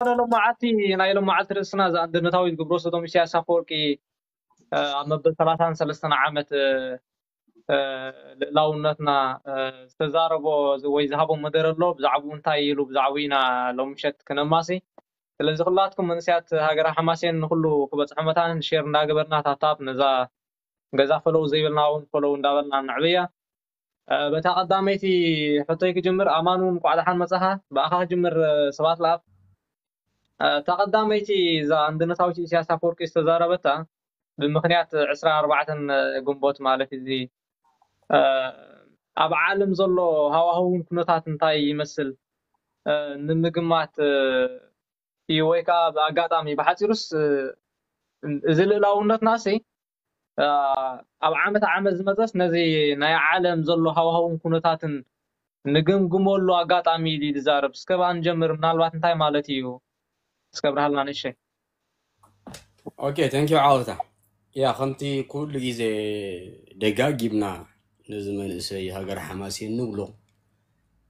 ሎማዓልቲ ናይ ሎማዓልቲ ርእስና እዚ ኣንድነታዊ ዝግብሮ ሰዶም ኢሳያስ ኣፈወርቂ ኣብ መበል ሰላሳን ሰለስተን ዓመት ልእላውነትና ዝተዛረቦ ወይ ዝሃቦ መደረ ኣሎ። ብዛዕባኡ እንታይ ኢሉ ብዛዕባኡ ኢና ሎም ምሸት ክነማሲ። ስለዚ ኩላትኩም መንእሰያት ሃገረ ሓማሴን ንኩሉ ክበፅሖ መታን ሼር እንዳገበርና ታፕታፕ ነዛ ገዛ ፈለው ዘይብልና እውን ፈለው እንዳበልና ንዕብያ። በታ ቀዳመይቲ ሕቶይ ክጅምር፣ ኣማን እውን እንኳዕ ደሓን መጻኻ። ብኣኻ ክጅምር። ሰባት ለኣብ እታ ቀዳመይቲ እዛ ኣንድነታዊት ኢሳያስ ኣፈወርቂ ዝተዛረበታ ብምኽንያት ዕስራ ኣርባዕተን ግንቦት ማለት እዚ ኣብ ዓለም ዘሎ ሃዋህውን ኩነታት እንታይ ይመስል ንምግማት እዩ፣ ወይ ከዓ ብኣጋጣሚ ብሓፂሩስ እዚ ልእላውነትና ሲ ኣብ ዓመት ዓመት ዝመፀስ ነዚ ናይ ዓለም ዘሎ ሃዋህውን ኩነታትን ንግምግመሉ ኣጋጣሚ ኢሉ ዝዛረብ። እስከ ብኣ ንጀምር፣ ምናልባት እንታይ ማለት እዩ? እስከ ብርሃልና ንእሸይ። ኦኬ፣ thank you ዓወታ። ያ ከምቲ ኩሉ ግዜ ደጋጊምና ነዚ መንእሰይ ሃገር ሓማሴን ንብሎ፣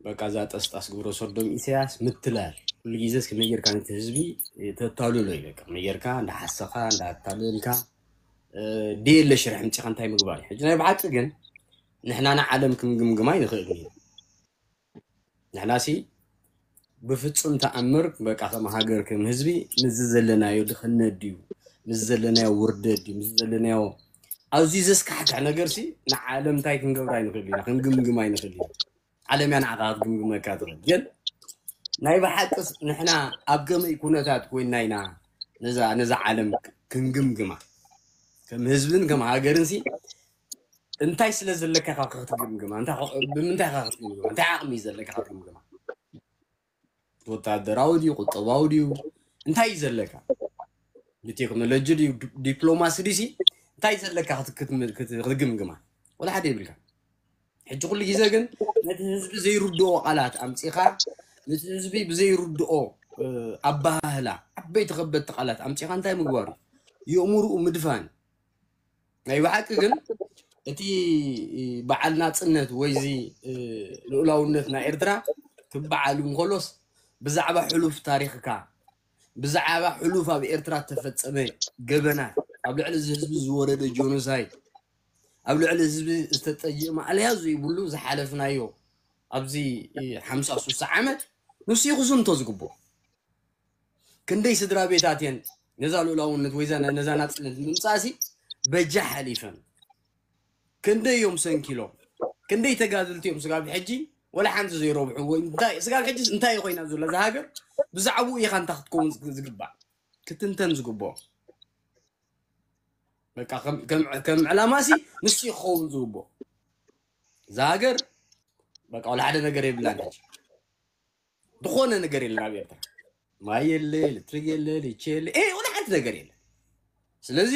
በቃ እዛ ጠስጣስ ግብረ ሰዶም ኢሳያስ ምትላል። ኩሉ ግዜ እስከ መይ ጌርካ ነቲ ህዝቢ ተታልሎ እዩ። በቃ መይ ጌርካ እንዳሓሰኻ እንዳኣታለልካ ድየለ ሽርሒ ምፂኻ እንታይ ምግባር እዩ? ሕጂ ናይ ብሓቂ ግን ንሕና ንዓለም ክንግምግማ ይንኽእል ኢና። ንሕናሲ ብፍጹም ተኣምር በቃ ከም ሃገር ከም ህዝቢ ምስዚ ዘለናዮ ድኽነት ድዩ ምስዚ ዘለናዮ ውርደት ድዩ ምስዚ ዘለናዮ ኣዝዩ ዘስካሕክሕ ነገርሲ ንዓለም እንታይ ክንገብር ኣይንኽእል ኢና፣ ክንግምግም ኣይንኽእል ኢና። ዓለም እያ ንዓኻ ክትግምግመካ ትኽእል። ግን ናይ ብሓቅስ ንሕና ኣብ ከመይ ኩነታት ኮይንና ኢና ነዛ ነዛ ዓለም ክንግምግማ? ከም ህዝብን ከም ሃገርን ሲ እንታይ ስለ ዘለካ ኢኻ ክትግምግማ? እንታይ ኸ- ብምንታይ ኢኻ ክትግምግማ? እንታይ ዓቕሚ እዩ ዘለካ ክትግምግማ? ወታደራዊ ድዩ ቁጠባዊ ድዩ እንታይ እዩ ዘለካ? ብቴክኖሎጂ ድዩ ዲ- ዲፕሎማሲ ድዩ ሲ እንታይ ዘለካ ክት- ክትም- ክት- ክትግምግማ? ወላ ሓደ የብልካ። ሕጂ ኩሉ ግዜ ግን ነቲ ህዝቢ ዘይርድኦ ቃላት ኣምፂኻ ነቲ ህዝቢ ብዘይርድኦ ኣባህላ ዓበይቲ ከበድቲ ቃላት ኣምፂኻ እንታይ ምግባሩ የእምርኡ ምድፋን። ናይ ብሓቂ ግን እቲ በዓል ናፅነት ወይ እዚ ልኡላውነት ናይ ኤርትራ ክበዓል እንከሎስ ብዛዕባ ሕሉፍ ታሪኽካ ብዛዕባ ሕሉፍ ኣብ ኤርትራ ዝተፈፀመ ገበናት ኣብ ልዕሊ እዚ ህዝቢ ዝወረደ ጆኖሳይድ ኣብ ልዕሊ ህዝቢ ዝተጠየመ ኣለያ ዘይብሉ ዝሓለፍናዮ ኣብዚ ሓምሳ ሱሳ ዓመት ንሱ ይኹስንቶ ዝግብኦ ክንደይ ስድራ ቤታት እየን ነዛ ልኡላውነት ወይ ነዛ ናፅነት ንምምፃእሲ በጃ ሓሊፈን ክንደይ እዮም ሰንኪሎም ክንደይ ተጋድልቲ እዮም ስጋብ ሕጂ ወላ ሓንቲ ዘይረብሑ ወይ እንታይ ስጋብ ሕጂ እንታይ ኮይና ዘሎ እዛ ሃገር ብዛዕባኡ ኢኻ እንታይ ክትከውን ዝግባእ ክትንተን ዝግብኦ በቃ ከም ዕላማሲ ንሱ ክኸውን ዝግብኦ እዛ ሃገር በቃ ወላ ሓደ ነገር የብላን ሕጂ ዝኾነ ነገር የለን ኣብ ኤርትራ ማይ የለ ኤሌክትሪክ የለ ሊቼ የለ እ ወላ ሓንቲ ነገር የለ ስለዚ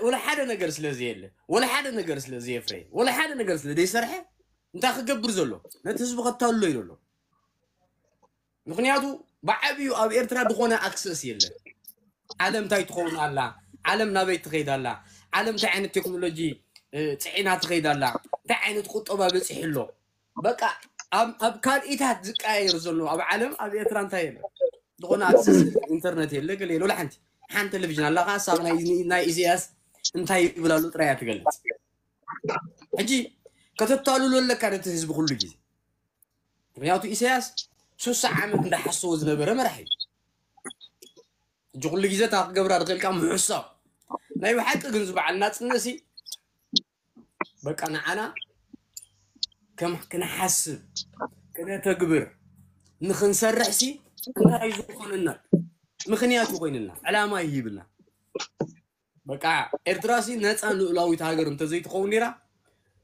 ወላ ሓደ ነገር ስለዚ የለ ወላ ሓደ ነገር ስለዚ የፍረ ወላ ሓደ ነገር ስለ ዘይሰርሐ እንታይ ክገብር ዘሎ ነቲ ህዝቢ ከታልሎ እዩ ዘሎ ምክንያቱ ብዓብዩ ኣብ ኤርትራ ዝኾነ ኣክሰስ የለን ዓለም እንታይ ትኸውን ኣላ ዓለም ናበይ ትኸይድ ኣላ ዓለም እንታይ ዓይነት ቴክኖሎጂ ፅዒና ትኸይድ ኣላ እንታይ ዓይነት ቁጠባ በፂሑ ኣሎ በቃ ኣብ ካልኢታት ዝቀያየር ዘሎ ኣብ ዓለም ኣብ ኤርትራ እንታይ የለ ዝኾነ ኣክሰስ ኢንተርነት የለ ገለ የለ ሓንቲ ሓንቲ ቴሌቪዥን ኣላ ከዓ ሳብ ናይ ኢሳያስ እንታይ ይብል ኣሎ ጥራይ ትገልፅ ሕጂ ከተታልሎ ኣለካ ነቲ ህዝቢ ኩሉ ግዜ ምክንያቱ ኢሳያስ ሱሳ ዓመት እንዳሓሰቦ ዝነበረ መራሒ እዩ ሕጂ ኩሉ ግዜ እታ ክገብራ ዝኽእልካ ምሕሳብ ናይ ብሓቂ ግን ዝበዓል ናፅነሲ በቃ ንዓና ከም ክንሓስብ ክነተግብር ንክንሰርሕ ሲ እንታይ ዝኾነና ምክንያት ይኮይንና ዕላማ ይሂብና በቃ ኤርትራ ሲ ነፃ ልኡላዊት ሃገር እንተዘይትኸውን ነራ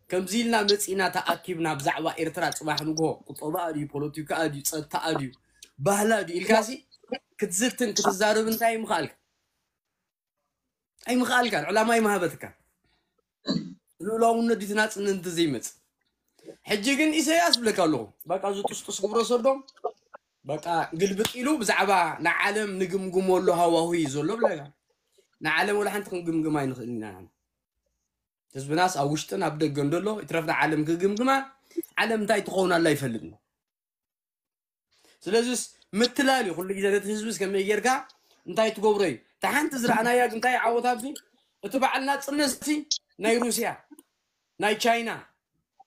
ከምዚ ኢልና መፂና ተኣኪብና ብዛዕባ ኤርትራ ፅባሕ ንግሆ ቁጠባ ድዩ ፖለቲካ ድዩ ፀጥታ ድዩ ባህላ ድዩ ኢልካ ሲ ክትዝትን ክትዛረብ እንታይ ምኽኣልካ ኣይምኽኣልካን ዕላማ ኣይምሃበትካ ልኡላውነት ድዩ ናፅነት እንተዘይመፅ ሕጂ ግን ኢሳያስ ብለካ ኣለኹ በቃ እዚ ጥስጡስ ግብረ ሰዶም በቃ ግልብጥ ኢሉ ብዛዕባ ንዓለም ንግምግመሉ ሃዋሁ እዩ ዘሎ ብለካ ንዓለም ወላ ሓንቲ ክንግምግም ኣይንኽእል ኢና ህዝብናስ ኣብ ውሽጥን ኣብ ደገን ደሎ ይትረፍና ዓለም ክግምግማ ዓለም እንታይ ትኸውን ኣላ ይፈልጥ ስለዚስ ምትላል እዩ። ኩሉ ግዜ ነቲ ህዝቢ ከመይ ጌርካ እንታይ ትገብሮ እዩ። እታ ሓንቲ ዝረኣናያ ግን እንታይ ዓወት ኣብዚ፣ እቲ በዓል ናጽነት ሲ ናይ ሩስያ፣ ናይ ቻይና፣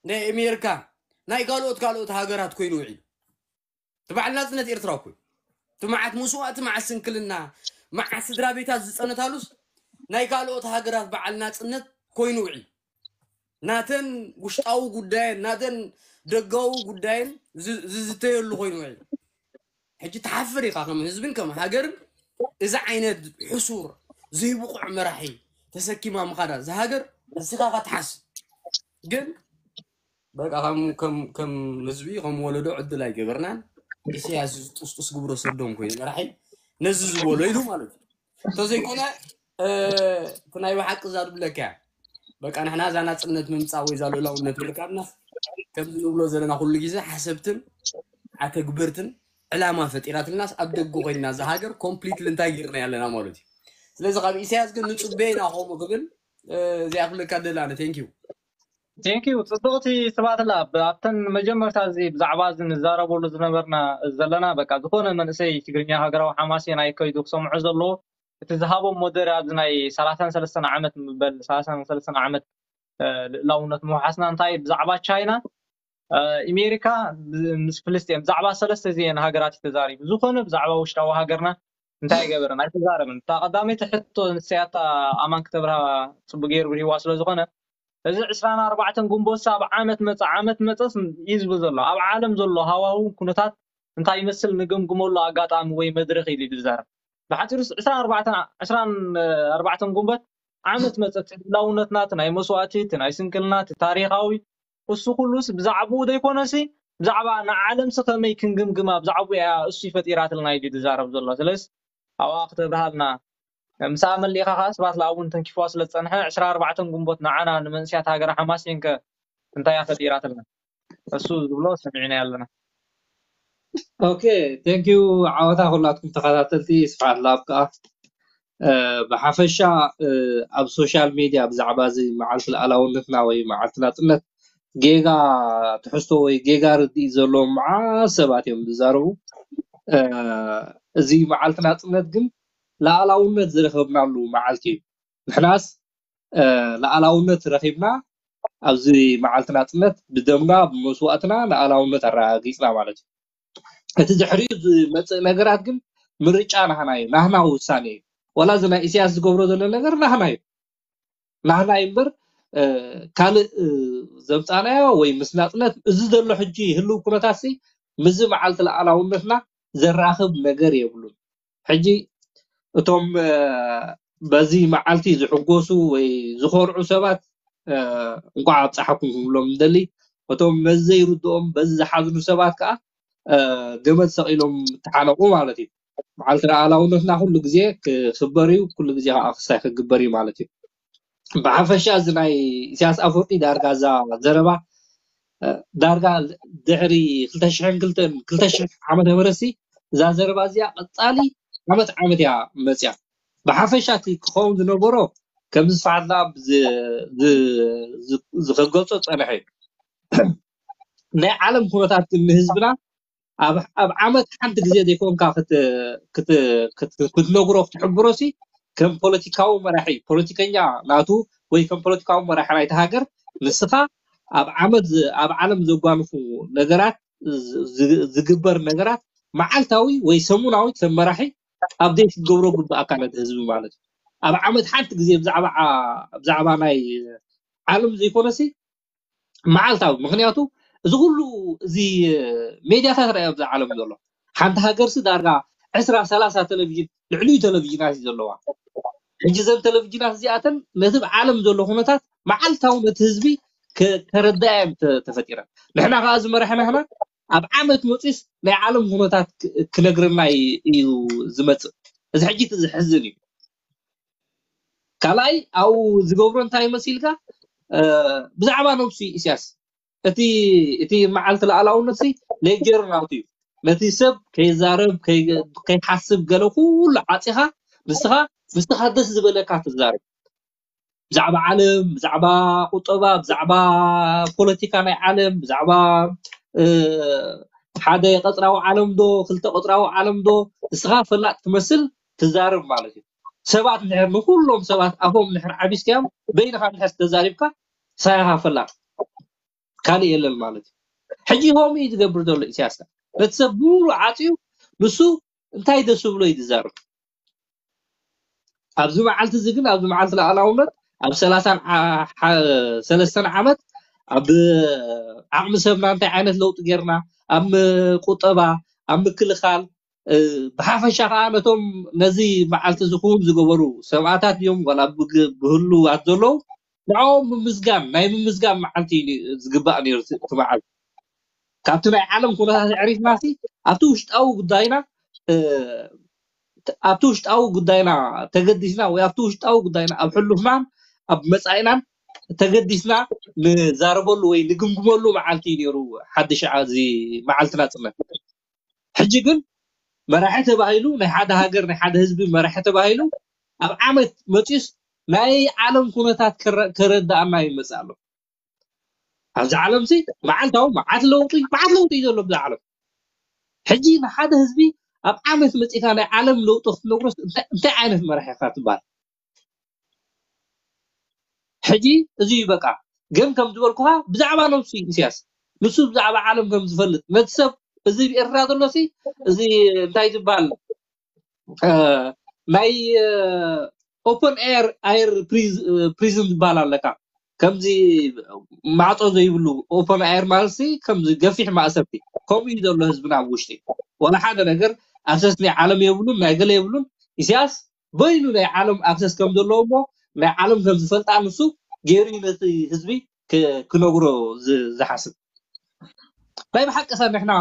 ናይ ኣሜሪካ፣ ናይ ካልኦት ካልኦት ሃገራት ኮይኑ ውዒሉ። እቲ በዓል ናጽነት ኤርትራ እኮ እዩ። እቲ መዓት መስዋእቲ፣ መዓት ስንክልና፣ መዓት ስድራ ቤታት ዝጸነታሉስ ናይ ካልኦት ሃገራት በዓል ናጽነት ኮይኑ ውዒሉ። ናተን ውሽጣዊ ጉዳየን ናተን ደጋዊ ጉዳየን ዝ- ዝዝተየሉ ኮይኑ ውዒሉ። ሕጂ ትሓፍር ኢኻ ከም ህዝብን ከም ሃገርን። እዚ ዓይነት ሕሱር ዘይብቑዕ መራሒ ተሰኪማ ምኻዳ እዚ ሃገር ንስኻ ኸትሓስ ግን በቃ ከም ከም ከም ህዝቢ ከም ወለዶ ዕድል ኣይገበርናን። ኢሳያስ ጥስጡስ ግብረ ሰዶም ኮይኑ መራሒ ነዚ ዝበሎ ኢሉ ማለት እዩ። እንተዘይኮነ እቲ ናይ ብሓቂ እዛ ድብለካ እያ። በቃ ንሕና እዛ ናፅነት ምምፃእ ወይ እዛ ልእላውነት ምርካብና ከምዚ ንብሎ ዘለና ኩሉ ግዜ ሓሰብትን ኣተግበርትን ዕላማ ፈጢራትልናስ ኣብ ደገ ኮይንና እዛ ሃገር ኮምፕሊትሊ እንታይ ጌርና ያለና ማለት እዩ። ስለዚ ካብ ኢሳያስ ግን ንፅበ ኢና ከምኡ ክብል እዚኣ ክብለካ ደላነ። ቴንኪዩ። ቴንኪዩ። ፅብቕቲ ስብኣት ላብ ኣብተን መጀመርታ እዚ ብዛዕባ እዚ ንዛረበሉ ዝነበርና ዘለና በቃ ዝኾነ መንእሰይ ትግርኛ ሃገራዊ ሓማሴን ኣይከይዱ ክሰምዖ ዘለዎ እቲ ዝሃቦም ሞደር ኣብዚ ናይ ሰላሳን ሰለስተን ዓመት ምበል ሰላሳን ሰለስተን ዓመት ልእላውነት ምውሓስና እንታይ ብዛዕባ ቻይና ኣሜሪካ ምስ ፍልስጤም ብዛዕባ ሰለስተ እዚአን ሃገራት እዩ ተዛሪቡ። ዝኾነ ብዛዕባ ውሽጣዊ ሃገርና እንታይ ገበረን ኣይተዛረበን። እታ ቀዳመይቲ ሕቶ ንስያታ ኣማን ክተብርሃ ፅቡቅ ገይሩ ብሪዋ ስለዝኾነ እዚ ዕስራን ኣርባዕተን ግንቦት ኣብ ዓመት መፀ ዓመት መፀስ እዩ ዝብል ዘሎ ኣብ ዓለም ዘሎ ሃዋህው ኩነታት እንታይ ይመስል ንግምግመሉ ኣጋጣሚ ወይ መድረክ ኢሉ ዝዛረብ። ብሓፂሩ ዕስራን ኣርባዕተን ዕስራን ኣርባዕተን ግንቦት ዓመት መፀ እቲ ህላውነትና እቲ ናይ መስዋእቲ እቲ ናይ ስንክልና እቲ ታሪካዊ እሱ ኩሉስ ብዛዕባኡ ዘይኮነሲ ብዛዕባ ንዓለምሲ ከመይ ክንግምግማ ብዛዕባኡ እያ እሱ ይፈጢራትልና ኢሉ ዝዛረብ ዘሎ። ስለስ ኣብኣ ክተብርሃልና ምሳኣ መሊእኻ ከዓ ስብሓት ለኣብ እውን ተንኪፍዋ ስለ ዝፀንሐ ዕስራ ኣርባዕተን ግንቦት ንዓና ንመንእስያት ሃገረ ሓማሴን ከ እንታይ እያ ፈጢራትልና? እሱ ዝብሎ ሰሚዕና ኣለና። ኦኬ፣ ቴንኪዩ። ዓወታ ኩላትኩም ተኸታተልቲ ስብሓት ለኣብ ከዓ ብሓፈሻ ኣብ ሶሻል ሚድያ ብዛዕባ እዚ መዓልቲ ልኣላውነትና ወይ መዓልቲ ናፅነት ጌጋ ትሕዝቶ ወይ ጌጋ ርድኢት ዘለዎም መዓት ሰባት እዮም ዝዛረቡ። እዚ መዓልቲ ናፅነት ግን ልኣላውነት ዝረኸብናሉ መዓልቲ እዩ። ንሕናስ ልኣላውነት ረኺብና ኣብዚ መዓልቲ ናፅነት ብደምና ብመስዋእትና ልኣላውነት ኣረጋጊፅና ማለት እዩ። እቲ ድሕሪኡ ዝመፅእ ነገራት ግን ምርጫ ናህና እዩ፣ ናህና ውሳኔ እዩ። ዋላ እዚ ናይ ኢሳያስ ዝገብሮ ዘሎ ነገር ናህና እዩ፣ ናህና እዩ እምበር ካልእ ዘምፃናዮ ወይ ምስ ናፅነት እዚ ዘሎ ሕጂ ህልው ኩነታት ሲ ምስዚ መዓልቲ ልኣላውነትና ዘራኽብ ነገር የብሉን። ሕጂ እቶም በዚ መዓልቲ ዝሕጎሱ ወይ ዝኾርዑ ሰባት እንኳዕ ኣብፀሓኩም ክብሎም እንደሊ፣ እቶም በዚ ዘይርድኦም በዚ ዝሓዝኑ ሰባት ከዓ ገመድ ሰቒሎም ተሓነቑ ማለት እዩ። መዓልቲ ልኣላውነትና ኩሉ ግዜ ክኽበር እዩ፣ ኩሉ ግዜ ከዓ ክሳይ ክግበር እዩ ማለት እዩ። ብሓፈሻ እዚ ናይ ኢሳያስ ኣፈወርቂ ዳርጋ እዛ ዘረባ ዳርጋ ድሕሪ ክልተ ሽሕን ክልተን ክልተ ሽሕ ዓመተ ምህረት ሲ እዛ ዘረባ እዚኣ ቀፃሊ ዓመት ዓመት እያ መፅያ። ብሓፈሻ እቲ ክኸውን ዝነበሮ ከምዚ ስብሓት ለኣብ ዝኸገፆ ፀንሐ እዩ። ናይ ዓለም ኩነታት ግን ንህዝብና ኣብ ዓመት ሓንቲ ግዜ ዘይኮንካ ክትነግሮ ክትሕብሮ ሲ ከም ፖለቲካዊ መራሒ ፖለቲከኛ ናቱ ወይ ከም ፖለቲካዊ መራሒ ናይቲ ሃገር ንስኻ ኣብ ዓመት ኣብ ዓለም ዘጓንፉ ነገራት ዝግበር ነገራት መዓልታዊ ወይ ሰሙናዊ ከም መራሒ ኣብዴት ክትገብሮ ግብኣካ ነቲ ህዝቢ ማለት እዩ። ኣብ ዓመት ሓንቲ ግዜ ብዛዕባ ናይ ዓለም ዘይኮነሲ መዓልታዊ። ምክንያቱ እዚ ኩሉ እዚ ሜድያታት ርኣዮ ኣብዛ ዓለም ዘሎ ሓንቲ ሃገርሲ ዳርጋ ዕስራ ሰላሳ ቴሌቪዥን ልዕሊኡ ቴሌቪዥናት እዩ ዘለዋ። ሕጂ እዘን ቴሌቪዥናት እዚኣተን ነቲ ኣብ ዓለም ዘሎ ኩነታት መዓልታዊ ነቲ ህዝቢ ከረዳያ እዮም ተፈጢረን። ንሕና ከዓ ዝመራሕና ህና ኣብ ዓመት መፂስ ናይ ዓለም ኩነታት ክነግረና እዩ ዝመፅእ። እዚ ሕጂ እቲ ዝሕዝን እዩ። ካልኣይ ኣብኡ ዝገብሮ እንታይ መሲልካ ብዛዕባ ነብሱ እዩ ኢሳያስ። እቲ እቲ መዓልቲ ልኣላውነት ሲ ሌጀር ናቱ እዩ። ነቲ ሰብ ከይዛረብ ከይሓስብ ገለ ኩሉ ዓፂኻ ንስኻ ንስኻ ደስ ዝበለካ ትዛረብ። ብዛዕባ ዓለም፣ ብዛዕባ ቁጠባ፣ ብዛዕባ ፖለቲካ ናይ ዓለም፣ ብዛዕባ ሓደ ቀፅራዊ ዓለም ዶ ክልተ ቀፅራዊ ዓለም ዶ ንስኻ ፈላጥ ትመስል ትዛረብ ማለት እዩ። ሰባት እንድሕር ንኩሎም ሰባት ኣፎም እንድሕር ዓቢስካዮም በይንኻ እንድሕር ተዛሪብካ ሳያኻ ፈላጥ ካልእ የለን ማለት እዩ። ሕጂ ከምኡ እዩ ዝገብር ዘሎ ኢሳያስ። ነቲ ሰብ ብሙሉ ዓፅዩ ንሱ እንታይ ደስ ብሎ እዩ ዝዛረብ። ኣብዚ መዓልቲ እዚ ግን ኣብዚ መዓልቲ ሉኣላውነት ኣብ ሰላሳን ዓ- ዓ- ሰለስተን ዓመት ኣብ ዓቕሚ ሰብና እንታይ ዓይነት ለውጢ ጌርና ኣብ ቁጠባ ኣብ ምክልኻል ብሓፈሻ ከዓ ነቶም ነዚ መዓልቲ ዝኸውን ዝገበሩ ሰብኣታት እዮም ዋላ ብህሉዋት ዘለዉ ንዕኦም ምምስጋን ናይ ምምስጋን መዓልቲ እዩ ዝግባእ ነይሩ እቲ መዓልቲ ካብቲ ናይ ዓለም ኩነታት ኣዕሪፍና ሲ ኣብቲ ውሽጣዊ ጉዳይና ኣብቲ ውሽጣዊ ጉዳይና ተገዲስና ወይ ኣብቲ ውሽጣዊ ጉዳይና ኣብ ሕሉፍናን ኣብ መፃኢናን ተገዲስና ንዛረበሉ ወይ ንግምግመሉ መዓልቲ እዩ ነይሩ ሓድሽ እዚ መዓልቲ ናፅነት ሕጂ ግን መራሒ ተባሂሉ ናይ ሓደ ሃገር ናይ ሓደ ህዝቢ መራሒ ተባሂሉ ኣብ ዓመት መፂኡስ ናይ ዓለም ኩነታት ከረዳእና ይመፅእ ኣሎ ኣብዚ ዓለም ሲ መዓልታዊ መዓት ለውጢ መዓት ለውጢ እዩ ዘሎ ብዛ ዓለም ሕጂ ንሓደ ህዝቢ ኣብ ዓመት መፂእካ ናይ ዓለም ለውጢ ክትነግሮስ እንታይ ዓይነት መራሒ ኢኻ ትበሃል ሕጂ እዚ እዩ በቃ ግን ከም ዝበልኩኻ ብዛዕባ ነብሱ እዩ ኢሳያስ ንሱ ብዛዕባ ዓለም ከም ዝፈልጥ ነቲ ሰብ እዚ ኤርትራ ዘሎ ሲ እዚ እንታይ ዝበሃል ናይ ኦፕን ኤር ኣየር ፕሪዝን ዝበሃል ኣለካ ከምዚ ማዕፆ ዘይብሉ ኦፕን ኣየር ማለት ከምዚ ገፊሕ ማእሰርቲ ከምኡ እዩ ዘሎ ህዝብና ኣብ ውሽጢ ወላ ሓደ ነገር ኣክሰስ ናይ ዓለም የብሉን ናይ ገለ የብሉን ኢሳያስ በይኑ ናይ ዓለም ኣክሰስ ከም ዘለዎ እሞ ናይ ዓለም ከም ዝፈልጣ ንሱ ገይሩ ነቲ ህዝቢ ክነግሮ ዝሓስብ ናይ ብሓቂ ከ ንሕና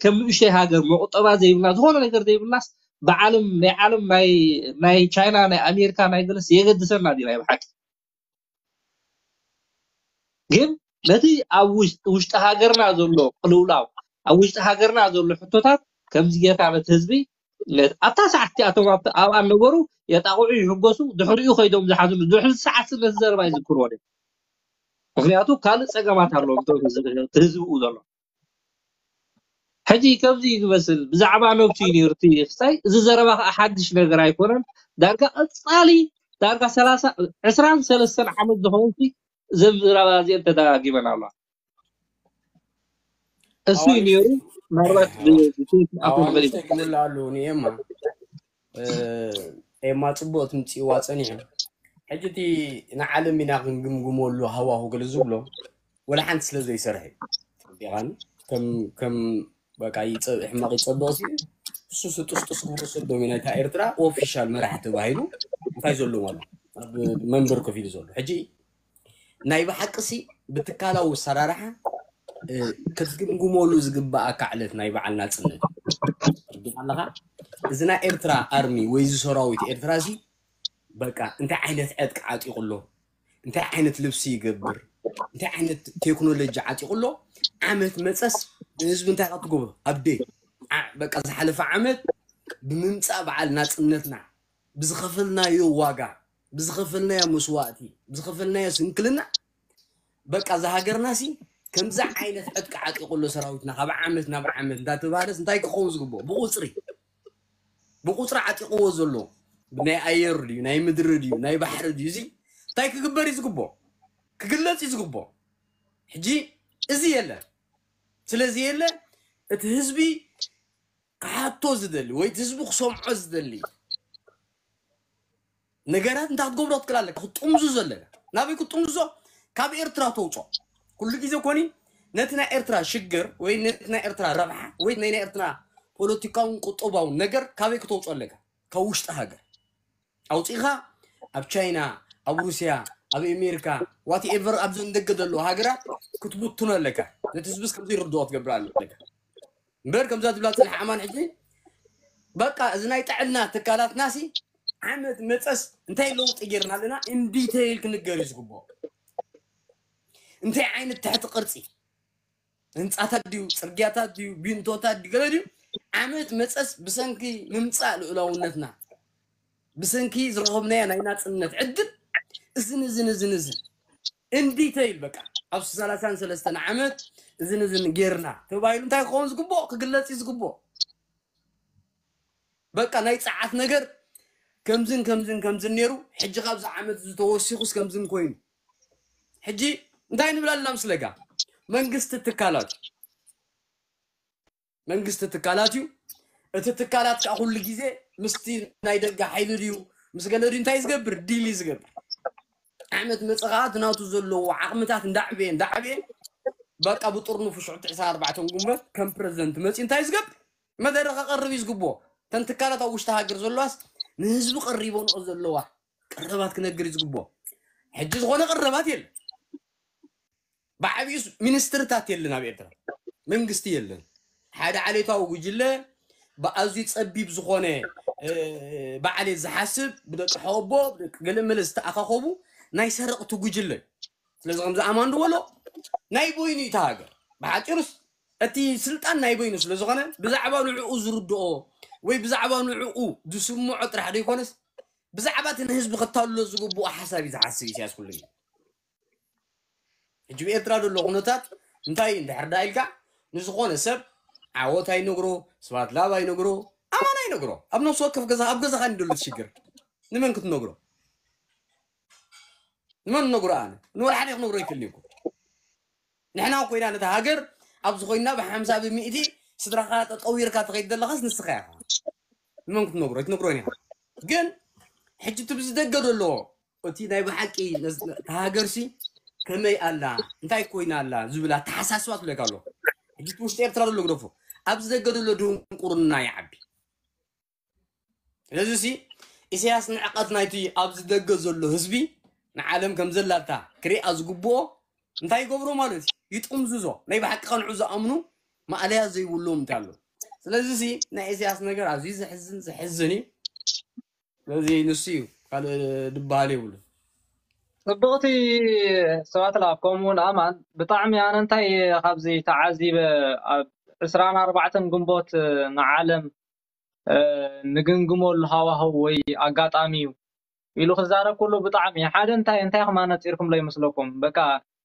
ከም ንእሽተይ ሃገር መቁጠባ ዘይብልና ዝኾነ ነገር ዘይብልናስ ብዓለም ናይ ዓለም ናይ ቻይና ናይ ኣሜሪካ ናይ ገለስ የገድሰና ድዩ ናይ ብሓቂ ግን ነቲ ኣብ ውሽጢ ሃገርና ዘሎ ቅልውላው ኣብ ውሽጢ ሃገርና ዘሎ ሕቶታት ከምዚ ጌርካ ነቲ ህዝቢ ኣብታ ሰዓት እቲኣቶም ኣብኣ ነበሩ የጣቕዑ ይሕጎሱ ድሕሪኡ ከይዶም ዝሓዝኑ ድሕሪ ሰዓት ነቲ ዘረባ ይዝክርዎ ምክንያቱ ካልእ ፀገማት ኣለዎም ህዝቢ ብኡ ዘሎ ሕጂ ከምዚ እዩ ዝመስል ብዛዕባ ነብሱ እዩ ነይሩ እቲ ክሳይ እዚ ዘረባ ከዓ ሓድሽ ነገር ኣይኮነን ዳርጋ ቀፃሊ ዳርጋ ሰላሳ ዕስራን ሰለስተን ዓመት ዝኸውን እዘን ዘረባ እዚአን ተደጋጊመን ኣለዋ እሱ እዩ ነይሩ ምናልባት ብትንሽ ኣፎ ንበል ክብሉ ኣሉ ንኤማ ኤማ ፅቡቅ ትምፅእዋ ፀኒሑ ሕጂ እቲ ንዓለም ኢና ክንግምግመሉ ሃዋሁ ገለ ዝብሎ ወላ ሓንቲ ስለ ዘይሰርሐ እዩ ዲኻኒ ከም ከም በቃ ይፀብእ ሕማቅ ይፀብቅ ሲ እሱ ስጡስጡስ ክብሎ ሰዶም ናይታ ኤርትራ ኦፊሻል መራሒ ተባሂሉ እንታይ ዘሎ ማለት ኣብ መንበር ኮፍ ኢሉ ዘሎ ሕጂ ናይ ብሓቂ ሲ ብትካላዊ ኣሰራርሓ ክትግምግመሉ ዝግባኣካ ዕለት ናይ በዓል ናፅነት እዩ ኣለካ እዚ ናይ ኤርትራ ኣርሚ ወይ እዚ ሰራዊት ኤርትራ ሲ በቃ እንታይ ዓይነት ዕጥቂ ዓጢቁ ኣሎ እንታይ ዓይነት ልብሲ ይገብር እንታይ ዓይነት ቴክኖሎጂ ዓጢቁ ኣሎ ዓመት መፀስ ንህዝቢ እንታይ ካብ ትገብሮ ኣብዴ በቃ ዝሓለፈ ዓመት ብምምፃእ በዓል ናፅነትና ብዝኸፈልናዮ ዋጋ ብዝኸፈልናዮ መስዋእቲ ብዝኸፈልናዮ ስንክልና በቃ እዛ ሃገርና ሲ ከምዚ ዓይነት ዕጥቂ ዓጢቁ ኣሎ ሰራዊትና ካብ ዓመት ናብ ዓመት እንዳተባሃለስ እንታይ ክኸውን ዝግብኦ ብቁፅሪ ብቁፅሪ ዓጢቅዎ ዘሎ ናይ ኣየር ድዩ ናይ ምድሪ ድዩ ናይ ባሕሪ ድዩ እዚ እንታይ ክግበር እዩ ዝግብኦ ክግለፅ እዩ ዝግብኦ ሕጂ እዚ የለ ስለዚ የለ እቲ ህዝቢ ክሓቶ ዝደሊ ወይ እቲ ህዝቢ ክሰምዖ ዝደሊ ነገራት እንታይ ክትገብሮ ክትክእል ኣለካ ክትጥምዙ ዘለካ ናበይ ክትጥምዙ ካብ ኤርትራ ተውፅኦ ኩሉ ግዜ ኮኒ ነቲ ናይ ኤርትራ ሽግር ወይ ነቲ ናይ ኤርትራ ረብሓ ወይ ናይ ናይ ኤርትራ ፖለቲካውን ቁጠባውን ነገር ካበይ ክተውፅኦ ኣለካ ካብ ውሽጢ ሃገር ኣውፂኻ ኣብ ቻይና ኣብ ሩስያ ኣብ ኣሜሪካ ዋትኤቨር ኣብዘን ደገ ዘለዉ ሃገራት ክትብትኖ ኣለካ ነቲ ህዝብስ ከምዚ ይርድኦ ክትገብር ኣለካ እምበር ከምዛ ትብላ ፅንሕ ኣማን ሕጂ በቃ እዚ ናይ ጥዕና ትካላትና ሲ ዓመት መፀስ እንታይ ለውጢ ጌርና ኣለና ኢንዲቴይል ክንገር እዩ ዝግብኦ እንታይ ዓይነት ትሕቲ ቅርፂ ህንፃታት ድዩ ፅርግያታት ድዩ ቢንቶታት ድዩ ገለ ድዩ ዓመት መፀስ ብሰንኪ ምምፃእ ልኡላውነትና ብሰንኪ ዝረኸብናዮ ናይ ናፅነት ዕድል እዝን እዝን እዝን እዝን ኢንዲቴይል በቃ ኣብ ሰላሳን ሰለስተን ዓመት እዝን እዝን ጌርና ተባሂሉ እንታይ ክኸውን ዝግብኦ ክግለጽ እዩ ዝግብኦ። በቃ ናይ ጸዓት ነገር ከምዝን ከምዝን ከምዝን ነይሩ፣ ሕጂ ካብዚ ዓመት ዝተወሲኹስ ከምዝን ኮይኑ። ሕጂ እንታይ ንብል ኣለና ምስ ለጋ መንግስቲ ትካላት መንግስቲ ትካላት እዩ። እቲ ትካላት ከዓ ኩሉ ግዜ ምስቲ ናይ ደገ ሓይሊ ድዩ ምስ ገለ ድዩ እንታይ ዝገብር ዲል እዩ ዝገብር። ዓመት መፀ ከዓ እቲ ናቱ ዘለዎ ዓቕምታት እንዳዕበየ እንዳዕበየ በቃ ብጥርንፉ ሽዑ ትዕሳ ኣርባዕተ ጉንበት ከም ፕረዚደንት መፂ እንታይ ዝገብር መደረ ከቐርብ እዩ ዝግብኦ። ተን ትካላት ኣብ ውሽጢ ሃገር ዘለዋስ ንህዝቢ ቀሪቦንኦ ዘለዋ ቀረባት ክነግር እዩ ዝግብኦ። ሕጂ ዝኾነ ቀረባት የለን። ብዓብዩስ ሚኒስትርታት የለን ኣብ ኤርትራ መንግስቲ የለን። ሓደ ዓሌታዊ ጉጅለ ብኣዝዩ ጸቢብ ዝኾነ በዓሌት ዝሓስብ ብደቂ ሐወቦ ብደቂ ገለመለ ዝተኣኻኸቡ ናይ ሰረቕቲ ጉጅለ እዩ። ስለዚ ከምዚ ኣማን ዝበሎ ናይ በይኑ እዩ እቲ ሃገር። ብሓፂሩስ እቲ ስልጣን ናይ በይኑ ስለ ዝኾነ ብዛዕባ ንዕኡ ዝርድኦ ወይ ብዛዕባ ንዕኡ ዝስምዖ ጥራሕ ዘይኮነስ ብዛዕባ እቲ ንህዝቢ ክታልሎ ዝግብኦ ሓሳብ እዩ ዝሓስብ ኢሳያስ ኩሉ ግዜ። ሕጂ ብኤርትራ ዘሎ ኩነታት እንታይ እንድሕር ዳ ኢልካ ንዝኾነ ሰብ ዓወት ኣይነግሮ፣ ስብሐት ለኣብ ኣይነግሮ፣ ኣማን ኣይነግሮ። ኣብ ነፍሲ ወከፍ ገዛ ኣብ ገዛኻ እንድሉ ትሽግር ንመን ክትነግሮ? ንመን ነግሮ ኣነ ንወላ ሓደ ክነግሮ ይክእል እኮ። ንሕና ኮይና ነታ ሃገር ኣብ ዝኾይና ብሓምሳ ብሚእቲ ስድራኻ ጠጠዊርካ ትኸይድ ዘለኻስ ንስኻ ኢኻ። ንመን ክትነግሮ ኣይትነግሮን ኢኻ። ግን ሕጂ እቲ ብዝደገ ዘሎ እቲ ናይ ብሓቂ ነዝ- እታ ሃገርሲ ከመይ ኣላ እንታይ ኮይና ኣላ ዝብል ኣተሓሳስባ ትብለካ ኣሎ። ሕጂ እቲ ውሽጢ ኤርትራ ዘሎ ግደፎ ኣብዚ ደገ ዘሎ ድንቁርና ይዓቢ። ስለዚ ሲ ኢሳያስ ንዕቐት ናይቲ ኣብዚ ደገ ዘሎ ህዝቢ ንዓለም ከም ዘላታ ክሪኣ ዝግብኦ እንታይ ይገብሮ ማለት እዩ? ይጥምዝዞ። ናይ ብሓቂ ከንዑ ዝኣምኑ ማእለያ ዘይብሎም እንታይ ኣሎ። ስለዚ ሲ ናይ ኢሳያስ ነገር ኣዝዩ ዘሕዝን ዘሕዝን እዩ። ስለዚ ንሱ እዩ ካልእ ድበሃል የብሉ። ጽብቕቲ ስብሐት ለኣብ ከምኡ እውን ኣማን ብጣዕሚ ኣነ እንታይ እየ ካብዚ ተዓዚበ ኣብ ዕስራን ኣርባዕተን ግንቦት ንዓለም ንግምግመሉ ሃዋህው ወይ ኣጋጣሚ እዩ ኢሉ ክዛረብ ከሎ ብጣዕሚ ሓደ እንታይ እንታይ ኢኹም ኣነጺርኩምሎ ይመስለኩም? በቃ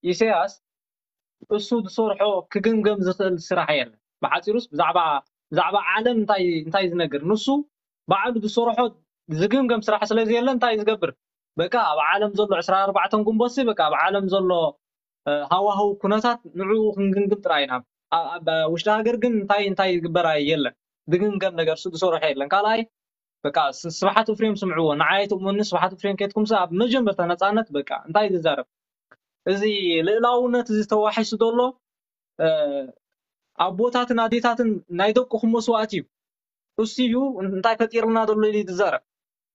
ኢሳያስ እሱ ዝሰርሖ ክግምገም ዝኽእል ስራሕ የለን። ብሓፂሩስ ብዛዕባ ብዛዕባ ዓለም እንታይ እንታይ ዝነግር ንሱ ባዕሉ ዝሰርሖ ዝግምገም ስራሕ ስለ ዘየለ እንታይ ዝገብር በቃ ኣብ ዓለም ዘሎ ዕስራ ኣርባዕተን ጉንቦት በቃ ኣብ ዓለም ዘሎ ሃዋህው ኩነታት ንዕኡ ክንግምግም ጥራይ ኢና። ኣብ ውሽጢ ሃገር ግን እንታይ እንታይ ዝግበር የለን። ዝግምገም ነገር እሱ ዝሰርሖ የለን። ካልኣይ በቃ ስብሓት እፍሬም ስምዕዎ ንዓይ ትእሙኒ ስብሓት እፍሬም ኬትኩም ኣብ መጀመርታ ነፃነት በቃ እንታይ ዝዛረብ እዚ ልእላውነት እዚ ተዋሒሱ ዘሎ ኣቦታትን ኣዴታትን ናይ ደቅኹም መስዋእቲ እዩ እሱ እዩ እንታይ ፈጢርልና ዘሎ ኢሉ ዝዛረብ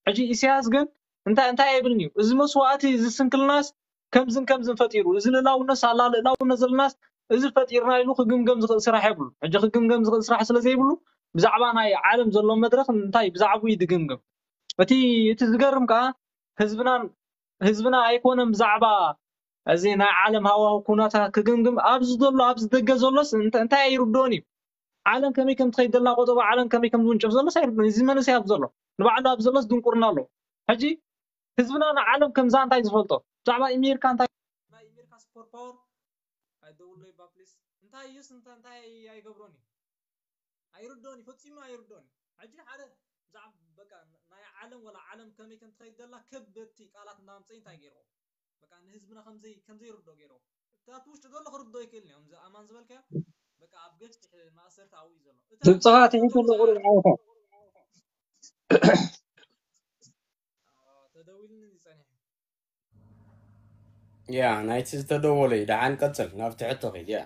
ሕጂ ኢሳያስ ግን እንታይ እንታይ ኣይብልን እዩ እዚ መስዋእቲ እዚ ስንክልናስ ከምዝን ከምዝን ፈጢሩ እዚ ልእላውነት ሳላ ልእላውነት ዘለናስ እዚ ፈጢርና ኢሉ ክግምገም ዝኽእል ስራሕ የብሉ ሕጂ ክግምገም ዝኽእል ስራሕ ስለ ዘይብሉ ብዛዕባ ናይ ዓለም ዘሎ መድረኽ እንታይ ብዛዕባኡ እዩ ዝግምግም እቲ እቲ ዝገርም ከዓ ህዝብናን ህዝብና ኣይኮነን ብዛዕባ እዚ ናይ ዓለም ሃዋሁ ኩነታት ክግምግም ኣብዚ ዘሎ ኣብዚ ደገ ዘሎስ እንታይ ኣይርድኦን እዩ ዓለም ከመይ ከም ትኸይድ ዘላ ቆጠባ ዓለም ከመይ ከም ዝውንጨፍ ዘሎስ ኣይርድኦን እዚ መንእሰይ ኣብ ዘሎ ንባዕሉ ኣብ ዘሎስ ድንቁርና ኣሎ ሕጂ ህዝብና ንዓለም ከምዛ እንታይ ዝፈልጦ ብዛዕባ ኣሜሪካ እንታይ ናይ ኣሜሪካ ሱፐር ፓወር ኣይደውሎ ይባ ፕሊስ እንታይ እዩስ እንታይ ኣይገብሮን እዩ ኣይርድኦን እዩ ፈጺሙ ኣይርድኦን እዩ ሕጂ ሓደ ብዛዕባ በቃ ናይ ዓለም ወላ ዓለም ከመይ ከም ትኸይድ ዘላ ከበድቲ ቃላት እንዳምፀ እንታይ ገይርዎ በቃ ንህዝብና ከምዘይ ከምዘይ ርዶ ገይርዎ እታ ውሽጢ ዘሎ ክርዶ ይክእል እዮም እዚ ኣማን ዝበልካዮ በቃ ኣብ ገፍትሕ ማእሰርቲ ኣብኡ እዩ ዘሎ ድምፅኻ ትሒቱ ኣሎ ቁሩብ ዓወታ ተደዊልኒ ዝፀኒሑ ያ ናይቲ ዝተደወለ እዩ ደሓን ቀፅል ናብቲ ሕቶ ኺድ ያ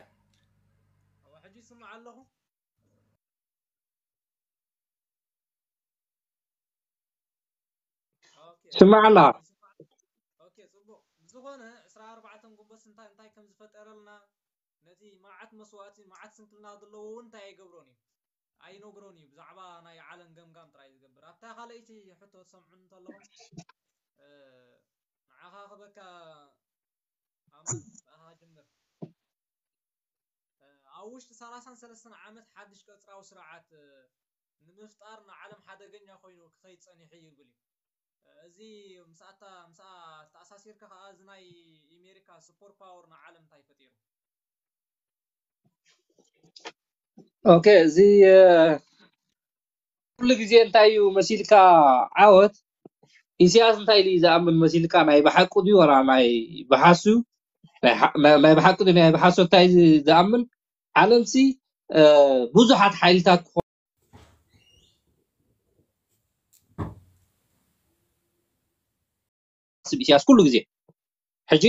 ሕጂ ይስማዕ ኣለኹ ስማዕ ኣለኻ ጽቡቅ ብዝኾነ ዕስራ ኣርባዕተ ጉንበት እንታይ እንታይ ከም ዝፈጠረልና ነቲ መዓት መስዋእቲ መዓት ስንክልና ዘለዎ እውን እንታይ ኣይገብሮን እዩ ኣይነግሮን እዩ ብዛዕባ ናይ ዓለም ገምጋም ጥራይ ዝገብር ኣብታ ካልኣይቲ ሕቶ ትሰምዑን እንተለኹም ንዓኻ ክበካ ኣማን ብኣኻ ጅምር ኣብ ውሽጢ ሰላሳን ሰለስተን ዓመት ሓድሽ ቀጽራዊ ስርዓት ንምፍጣር ንዓለም ሓደገኛ ኮይኑ ክኸይድ ጸኒሑ ይብል እዩ። እዚ ምስኣታ ምስኣ ተኣሳሲርካ ከዓ እዚ ናይ ኣሜሪካ ሱፐር ፓወር ንዓለም እንታይ ፈጢሩ? ኦኬ፣ እዚ ኩሉ ግዜ እንታይ እዩ መሲልካ? ዓወት ኢሳያስ እንታይ ኢሉ ዝኣምን መሲልካ? ናይ ብሓቁ ድዩ ወላ ናይ ብሓሱ ናይ ብሓቂ ናይ ብሓሶት እንታይ ዝኣምን? ዓለምሲ ብዙሓት ሓይልታት ክኾ ስብ ኢሳያስ ኩሉ ግዜ ሕጂ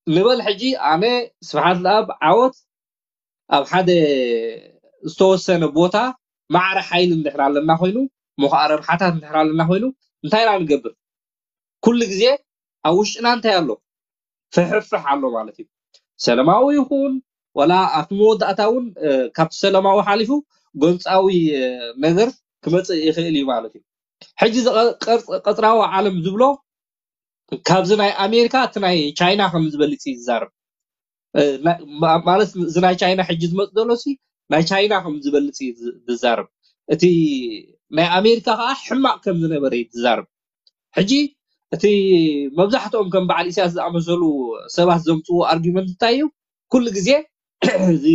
ንበል ሕጂ ኣነ ስብሓት ለኣብ ዓወት ኣብ ሓደ ዝተወሰነ ቦታ ማዕረ ሓይሊ እንድሕር ኣለና ኮይኑ ሞኸዓ ረብሓታት እንድሕር ኣለና ኮይኑ እንታይ ኢና ንገብር? ኩሉ ግዜ ኣብ ውሽጥና እንታይ ኣሎ? ፍሕፍሕ ኣሎ ማለት እዩ። ሰላማዊ ይኹን ወላ ኣብቲ መወዳእታ እውን ካብቲ ሰላማዊ ሓሊፉ ጎንፃዊ ነገር ክመፅእ ይኽእል እዩ ማለት እዩ። ሕጂ ቀፅራዊ ዓለም ዝብሎ ካብዚ ናይ ኣሜሪካ እቲ ናይ ቻይና ከም ዝበልፅ እዩ ዝዛረብ። ማለት እዚ ናይ ቻይና ሕጂ ዝመፅ ዘሎ ሲ ናይ ቻይና ከም ዝበልፅ እዩ ዝዛረብ። እቲ ናይ ኣሜሪካ ከዓ ሕማቅ ከም ዝነበረ እዩ ዝዛረብ። ሕጂ እቲ መብዛሕትኦም ከም በዓል ኢሳያስ ዝኣመሰሉ ሰባት ዘምፅዎ ኣርጊመንት እንታይ እዩ? ኩሉ ግዜ እዚ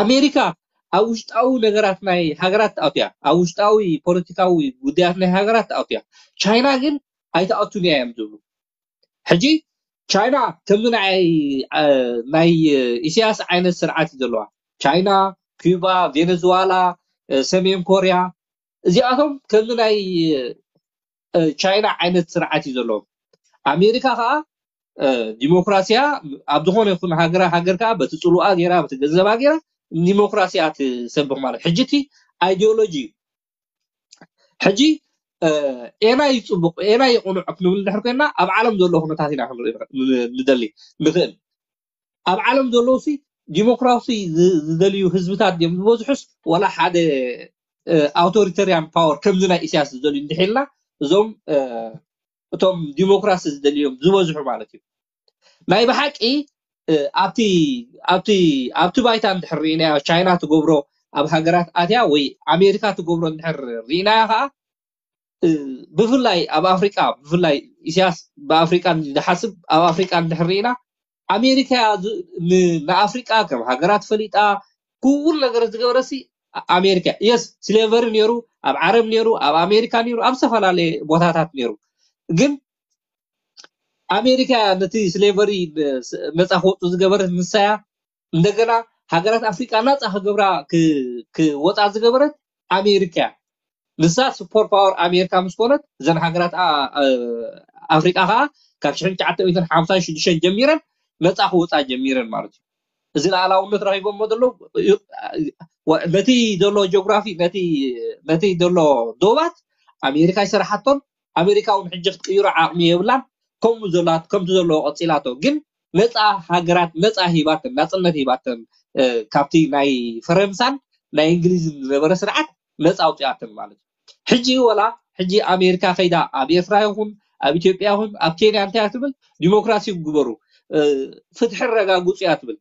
ኣሜሪካ ኣብ ውሽጣዊ ነገራት ናይ ሃገራት ትኣትያ፣ ኣብ ውሽጣዊ ፖለቲካዊ ጉዳያት ናይ ሃገራት ትኣትያ። ቻይና ግን ኣይትኣቱን እያ እዮም ዝብሉ። ሕጂ ቻይና ከምዚ ናይ ናይ ኢሳያስ ዓይነት ስርዓት እዩ ዘለዋ። ቻይና፣ ኪባ፣ ቬነዙዋላ፣ ሰሜን ኮርያ እዚኣቶም ከምዚ ናይ ቻይና ዓይነት ስርዓት እዩ ዘለዎም። ኣሜሪካ ከዓ ዲሞክራሲያ ኣብ ዝኾነ ይኹን ሃገር ሃገር ከዓ በቲ ፅሉኣ ገይራ በቲ ገንዘባ ገይራ ዲሞክራሲያ ትሰብኽ ማለት ሕጂ እቲ ኣይዲዮሎጂ እዩ። ሕጂ ኤና ይፅቡቅ ኤና ይቕኑዕ ክንብል እንድሕር ኮይና ኣብ ዓለም ዘሎ ኩነታት ኢና ክንርኢ ንደሊ ንኽእል። ኣብ ዓለም ዘለዉ ሲ ዲሞክራሲ ዝደልዩ ህዝብታት ድዮም ዝበዝሑስ ዋላ ሓደ ኣውቶሪተሪያን ፓወር ከምዚ ናይ ኢሳያስ ዝደልዩ እንድሒልና እዞም እቶም ዲሞክራሲ ዝደልዮም ዝበዝሑ ማለት እዩ። ናይ ብሓቂ ኣብቲ ኣብቲ ኣብቲ ባይታ እንድሕር ርኢናዮ ቻይና ትገብሮ ኣብ ሃገራት ኣትያ ወይ ኣሜሪካ ትገብሮ እንድሕር ርኢናዮ ከዓ ብፍላይ ኣብ ኣፍሪቃ ብፍላይ ኢሳያስ ብኣፍሪቃ ዝሓስብ ኣብ ኣፍሪቃ እንድሕር ርኢና ኣሜሪካ ንኣፍሪቃ ከም ሃገራት ፈሊጣ ኩሉ ነገር ዝገበረሲ ኣሜሪካ የስ ስሌቨሪ ነይሩ ኣብ ዓረብ ነይሩ ኣብ ኣሜሪካ ነይሩ ኣብ ዝተፈላለየ ቦታታት ነይሩ ግን ኣሜሪካ ነቲ ስሌቨሪ ነፃ ክወፁ ዝገበረት ንሳያ እንደገና ሃገራት ኣፍሪቃ ናፃ ክገብራ ክወፃ ዝገበረት ኣሜሪካ ንሳ ሱፐር ፓወር ኣሜሪካ ምስ ኮነት እዘን ሃገራት ኣፍሪቃ ከዓ ካብ ሽሕን ትሽዓተ ሚእትን ሓምሳን ሽዱሽተን ጀሚረን ነፃ ክወፃ ጀሚረን ማለት እዩ እዚ ላዕላውነት ረኪቦሞ ዘለዉ ነቲ ዘሎ ጂኦግራፊ ነቲ ዘሎ ዶባት ኣሜሪካ ይሰርሓቶን ኣሜሪካ እውን ሕጂ ክትቅይሮ ዓቕሚ የብላን ከምኡ ዘላት ከምቲ ዘለዎ ቀፂላቶ ግን ነፃ ሃገራት ነፃ ሂባተን ናፅነት ሂባተን ካብቲ ናይ ፈረንሳን ናይ እንግሊዝን ዝነበረ ስርዓት ነፃ ኣውፅኣተን ማለት እዩ ሕጂ ወላ ሕጂ ኣሜሪካ ከይዳ ኣብ ኤርትራ ይኹን ኣብ ኢትዮጵያ ይኹን ኣብ ኬንያ እንታይ ትብል ዲሞክራሲ ግበሩ ፍትሒ ረጋግፁ እያ ትብል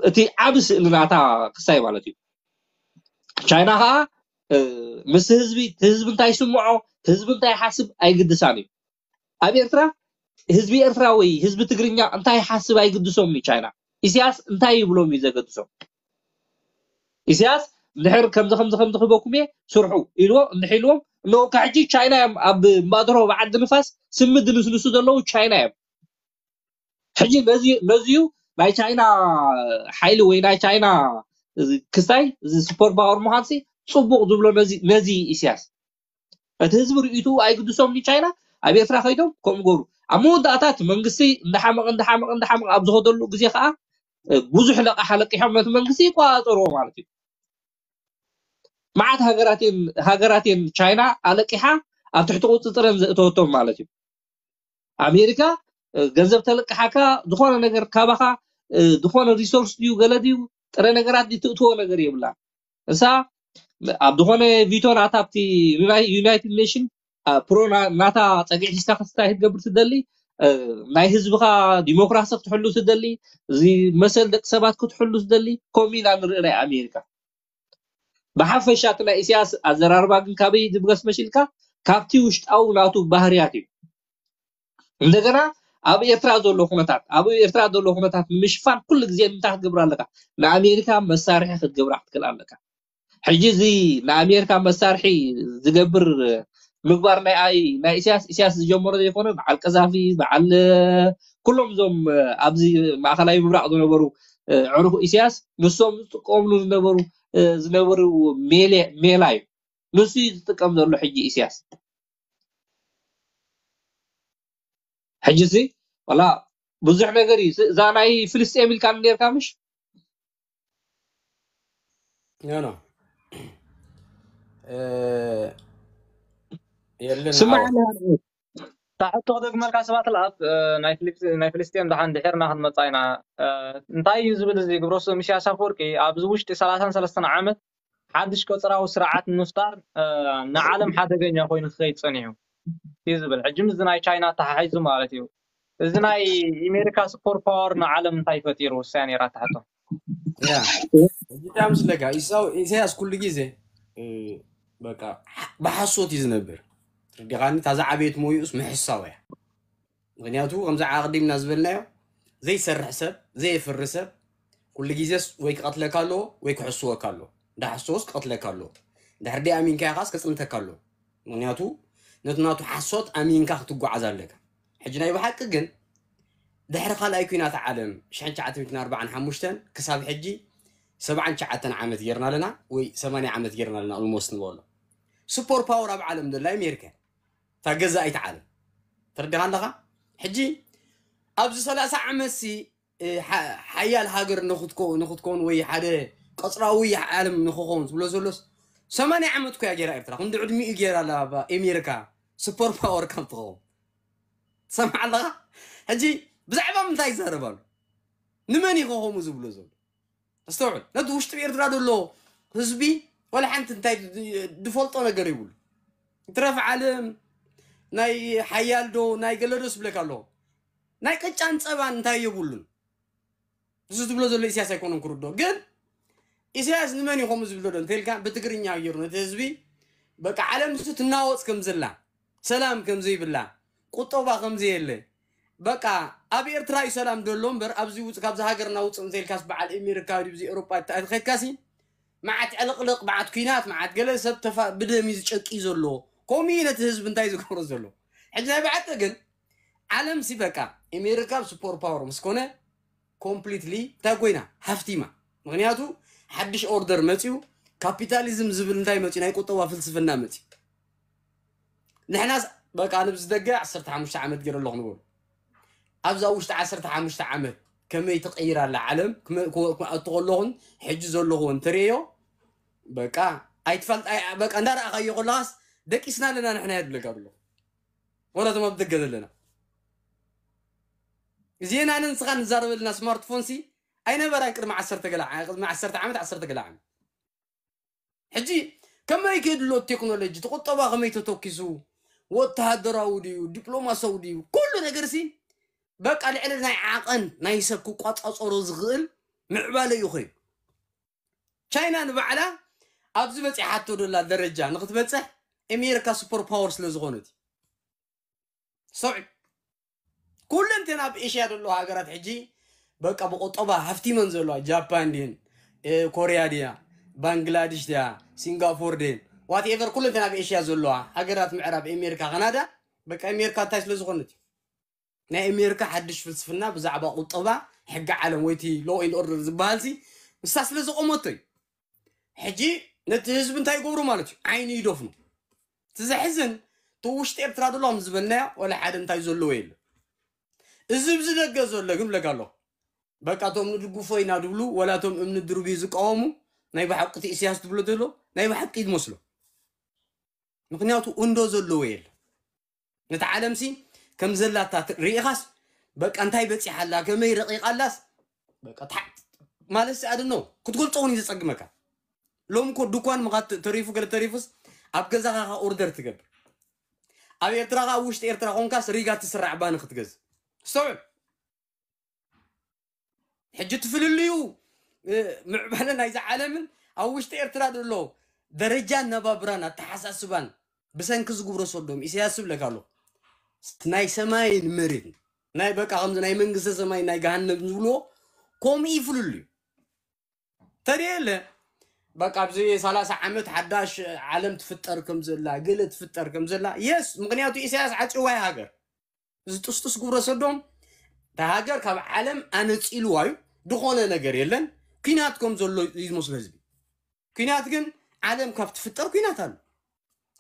እቲ ዓብ ስእሊ ናታ ክሳይ ማለት እዩ ቻይና ከዓ ምስ ህዝቢ ህዝቢ እንታይ ይስምዖ ህዝቢ እንታይ ሓስብ ኣይግድሳን እዩ ኣብ ኤርትራ ህዝቢ ኤርትራ ወይ ህዝቢ ትግርኛ እንታይ ሓስብ ኣይግድሶም እዩ ቻይና ኢሳያስ እንታይ ይብሎም እዩ ዘገድሶም ኢሳያስ እንድሕር ከምዚ ከምዚ ከምዚ ክበኩም እየ ስርሑ ኢልዎ እንድሕ ኢልዎም እነወካ ሕጂ ቻይና እዮም ኣብ ማእድሮ ብዓዲ ንፋስ ስሚ ድንስንሱ ዘለዉ ቻይና እዮም ሕጂ ነዚዩ ናይ ቻይና ሓይሊ ወይ ናይ ቻይና ክስታይ እዚ ሱፐር ፓወር ምዃንሲ ፅቡቅ ዝብሎ ነዚ ኢሳያስ እቲ ህዝቢ ርእይትኡ ኣይግድሶም ቻይና ኣብ ኤርትራ ከይዶም ከምኡ ገሩ ኣብ መወዳእታ እቲ መንግስቲ እንዳሓመቐ እንዳሓመቐ እንዳሓመቐ ኣብ ዝኸደሉ ግዜ ከዓ ብዙሕ ለቃሕ ኣለቂሖም ነቲ መንግስቲ ይቆፃፀርዎ ማለት እዩ መዓት ሃገራት እየን ቻይና ኣለቂሓ ኣብ ትሕቲ ቁፅፅረን ዘእተወቶም ማለት እዩ ኣሜሪካ ገንዘብ ተለቅሓካ ዝኾነ ነገር ካባኻ ዝኾነ ሪሶርስ ድዩ ገለ ድዩ ጥረ ነገራት ድዩ ትእትዎ ነገር የብላ እሳ ኣብ ዝኾነ ቪቶ ናታ ኣብቲ ዩናይትድ ኔሽን ፕሮ ናታ ፀግዒ ሒዝካ ክስታይ ክትገብር ትደሊ ናይ ህዝብኻ ዲሞክራሲ ክትሕሉ ትደሊ እዚ መሰል ደቂ ሰባት ክትሕሉ ትደሊ ከምኡ ኢና ንርኢ ናይ ኣሜሪካ ብሓፈሻ እቲ ናይ ኢሳያስ ኣዘራርባ ግን ካበይ ዝብገስ መሲልካ? ካብቲ ውሽጣዊ ናቱ ባህርያት እዩ። እንደገና ኣብ ኤርትራ ዘሎ ኩነታት፣ ኣብ ኤርትራ ዘሎ ኩነታት ምሽፋን ኩሉ ግዜ እንታይ ክትገብር ኣለካ? ንኣሜሪካ መሳርሒ ክትገብራ ክትክእል ኣለካ። ሕጂ እዚ ንኣሜሪካ መሳርሒ ዝገብር ምግባር ናይ ኣይ ናይ ኢሳያስ ኢሳያስ ዝጀመሮ ዘይኮነ፣ በዓል ቀዛፊ፣ በዓል ኩሎም እዞም ኣብዚ ማእከላይ ምብራቕ ዝነበሩ፣ ዕሩኽ ኢሳያስ ንሶም ዝጥቀምሉ ዝነበሩ ዝነበሩ ሜላ እዩ። ንሱ እዩ ዝጥቀም ዘሎ ሕጂ ኢሳያስ። ሕጂ ሲ ዋላ ብዙሕ ነገር እዩ። እዛ ናይ ፍልስጤም ኢልካ ነርካ ምሽ? ኖ ኖ የለን ስማዕ፣ ታሕቶ ክደግመልካ ሰባት ለኣብ ናይ ፍልስጤም ደሓን ድሒርና ክንመፃ ኢና። እንታይ እዩ ዝብል እዚ ግብረ ስም ኢሳያስ ኣፈወርቂ ኣብዚ ውሽጢ ሰላሳን ሰለስተን ዓመት ሓድሽ ቀፅራዊ ስርዓት ንምፍጣር ንዓለም ሓደገኛ ኮይኑ ክኸይድ ፀኒሑ እዩ ዝብል። ሕጂ ምስ ናይ ቻይና ተሓሒዙ ማለት እዩ። እዚ ናይ ኣሜሪካ ሱፐር ፓወር ንዓለም እንታይ ፈጢሩ ውሳኔ ራ ታሕቶ ያ እዚታ ምስለካ ኢሳያስ ኩሉ ግዜ በቃ ብሓሶት እዩ ዝነብር። ርዲኻኒ ታዛ ዓበየት ሞይኡስ ምሕሳው እያ። ምክንያቱ ከምዚ ኣቅዲምና ዝበልናዮ ዘይሰርሕ ሰብ ዘየፍሪ ሰብ ኩሉ ግዜስ ወይ ክቀትለካ ኣለዎ ወይ ክሕስወካ ኣለዎ። እንዳሓሰወስ ክቀትለካ ኣለዎ። ድሕር ዲ ኣሚንካ ኢኻስ ከፅንተካ ኣለዎ። ምክንያቱ ነቲ ናቱ ሓሶት ኣሚንካ ክትጓዓዝ ኣለካ። ሕጂ ናይ ብሓቂ ግን ድሕሪ ካልኣይ ኩናት ዓለም ሽሕን ትሽዓተ ሚእትን ኣርባዓን ሓሙሽተን ክሳብ ሕጂ ሰብዓን ትሽዓተን ዓመት ጌርና ኣለና ወይ ሰማንያ ዓመት ጌርና ኣለና። ኦልሞስት ንበሎ ሱፐር ፓወር ኣብ ዓለም ዘላ ኣሜሪካ እታ ገዛኢት ዓለም ተረዲኻ ኣለኻ። ሕጂ ኣብዚ ሰላሳ ዓመት ሲ ሓያል ሃገር ንክትከውን ወይ ሓደ ቀፅራዊ ዓለም ንክኸውን ዝብሎ ዘሎስ ሰማንያ ዓመት ኮያ ጌራ ኤርትራ ክንዲ ዕድሚኡ ጌራ ኣላ ኣሜሪካ ሱፐር ፓወር ካብ ትኸውን ትሰምዓ ኣለኻ። ሕጂ ብዛዕባ ምንታይ ይዛረብ ኣሎ? ንመን እዩ ከምኡ ዝብሎ ዘሎ? ኣስተውዕል። ነቲ ውሽጢ ኤርትራ ዘሎ ህዝቢ ወላ ሓንቲ እንታይ ዝፈልጦ ነገር ይብሉ። ትረፍ ዓለም ናይ ሓያል ዶ ናይ ገለ ዶ ስብለካ ኣለዎ። ናይ ቅጫን ፀባን እንታይ የብሉን። እዚ ዝብሎ ዘሎ ኢሳያስ ኣይኮነን ክርዶ። ግን ኢሳያስ ንመን እዩ ከምኡ ዝብሎ ዶ እንተልካ ብትግርኛ ገይሩ ነቲ ህዝቢ በቃ ዓለም ንሱ ትናወፅ ከም ዘላ ሰላም ከም ዘይብላ ቁጠባ ከም ዘየለ በቃ ኣብ ኤርትራ እዩ ሰላም ደሎ እምበር ኣብዚ ውፅ ካብዚ ሃገርና ውፅእ እንተልካስ በዓል ኣሜሪካ ኣብዚ ኤውሮጳ ተኸድካሲ መዓት ዕልቕልቕ መዓት ኩናት መዓት ገለ ሰብ ተፋ ብደም እዩ ዝጨቂ ዘሎ። ከምኡ እዩ ነቲ ህዝቢ እንታይ ዝገብሮ ዘሎ። ሕጂ ናይ ብሓቂ ግን ዓለም ሲ በቃ ኣሜሪካ ሱፐር ፓወር ምስ ኮነ ኮምፕሊትሊ እንታይ ኮይና ሃፍቲማ። ምክንያቱ ሓድሽ ኦርደር መፅዩ ካፒታሊዝም ዝብል እንታይ መፅዩ ናይ ቁጠባ ፍልስፍና መፅዩ። ንሕናስ በቃ ንብዚ ደገ ዓሰርተ ሓሙሽተ ዓመት ገይረ ኣለኹ ንበሉ። ኣብዛ ውሽጢ ዓሰርተ ሓሙሽተ ዓመት ከመይ ትቀይር ኣላ ዓለም ክመ- ክወ- ክኣቱ ከለኹን ሕጂ ዘለኹ እንትርእዮ በቃ ኣይትፈልጥ ኣይ- በቃ እንዳረኣኻዮ ከለኻስ ደቂስና ኣለና ንሕና የድለካ ብሎ ወላቶም ኣብ ደገ ዘለና እዚና ንስኻ ንዛረበልና ስማርትፎን ሲ ኣይነበራይ ቅድሚ ዓሰርተ ገለ ዓ- ቅድሚ ዓሰርተ ዓመት ዓሰርተ ገለ ዓመት ሕጂ ከመይ ከድሎ ቴክኖሎጂ ተቆጠባ ከመይ ተተኪሱ ወተሃደራዊ ድዩ ዲፕሎማሲያዊ ድዩ ኩሉ ነገር ሲ በቃ ልዕሊ ናይ ዓቐን ናይ ሰብ ክቋፃፀሮ ዝኽእል ምዕባለ እዩ ኮይኑ ቻይና ንባዕላ ኣብዚ በፂሓቶ ደላ ደረጃ ንክትበፅሕ ኣሜሪካ ሱፐር ፓወር ስለ ዝኾነት ሰውዒ ኩለንተን ኣብ ኤሽያ ዘሎ ሃገራት ሕጂ በቃ ብቆጠባ ሃፍቲመን ዘለዋ ጃፓን ድን ኮሪያ ድያ ባንግላድሽ ድያ ሲንጋፖር ድን ዋትኤቨር ኩለንተን ኣብ ኤሽያ ዘለዋ ሃገራት ምዕራብ ኣሜሪካ ካናዳ በቃ ኣሜሪካ እንታይ ስለ ዝኾነት እዩ ናይ ኣሜሪካ ሓድሽ ፍልስፍና ብዛዕባ ቁጠባ ሕጊ ዓለም ወይቲ ሎ ን ኦርደር ዝበሃል ሲ ንሳ ስለ ዘቆመቶ እዩ ሕጂ ነቲ ህዝቢ እንታይ ይገብሩ ማለት እዩ ዓይኑ ይደፍኑ እቲ ዘሕዝን እቲ ውሽጢ ኤርትራ ዘሎ ከም ዝበልናዮ ወላ ሓደ እንታይ ዘለዎ የለ እዚ ብዚ ደገ ዘሎ ግን ብለካ ኣሎ በቃ እቶም ንድግፎ ኢና ድብሉ ወላ እቶም እምኒ ድርብዩ ዝቃወሙ ናይ ብሓቂ እቲ ኢሳያስ ትብሎ ዘሎ ናይ ብሓቂ ዝመስሎ ምክንያቱ እንዶ ዘለዎ የለ ነቲ ዓለምሲ ከም ዘላታ ሪኢኻስ በቃ እንታይ በፂሓላ ከመይ ረቂቓላስ ማለት ሲ ኣድኖ ክትገልፆ እውን እዩ ዘፀግመካ ሎም ኮ ድኳን ምኻት ተሪፉ ገለ ተሪፉስ ኣብ ገዛኻ ኦርደር ትገብር ኣብ ኤርትራ ከዓ ውሽጢ ኤርትራ ኮንካስ ሪጋ ትስራዕ ባኒ ክትገዝ ስተውዕል ሕጂ ትፍልልዩ ምዕባለ ናይዚ ዓለምን ኣብ ውሽጢ ኤርትራ ዘሎ ደረጃ ኣነባብራን ኣተሓሳስባን ብሰንኪ ዝግብሮ ሰዶም ኢሳያስ ዝብለካ ኣሎ ናይ ሰማይን መሬትን ናይ በቃ ከምዚ ናይ መንግስተ ሰማይ ናይ ገሃነም ዝብልዎ ከምኡ ይፍልሉ እዩ። ተደየለ በቃ ኣብዚ ሰላሳ ዓመት ሓዳሽ ዓለም ትፍጠር ከም ዘላ ገለ ትፍጠር ከም ዘላ የስ ምክንያቱ ኢሳያስ ዓፂዋ ሃገር እዚ ጥስጥስ ግብረ ሰዶም እታ ሃገር ካብ ዓለም ኣነፂልዋ እዩ። ዝኾነ ነገር የለን። ኩናት ከም ዘሎ እዩ ዝመስሎ ህዝቢ። ኩናት ግን ዓለም ካብ ትፍጠር ኩናት ኣሎ።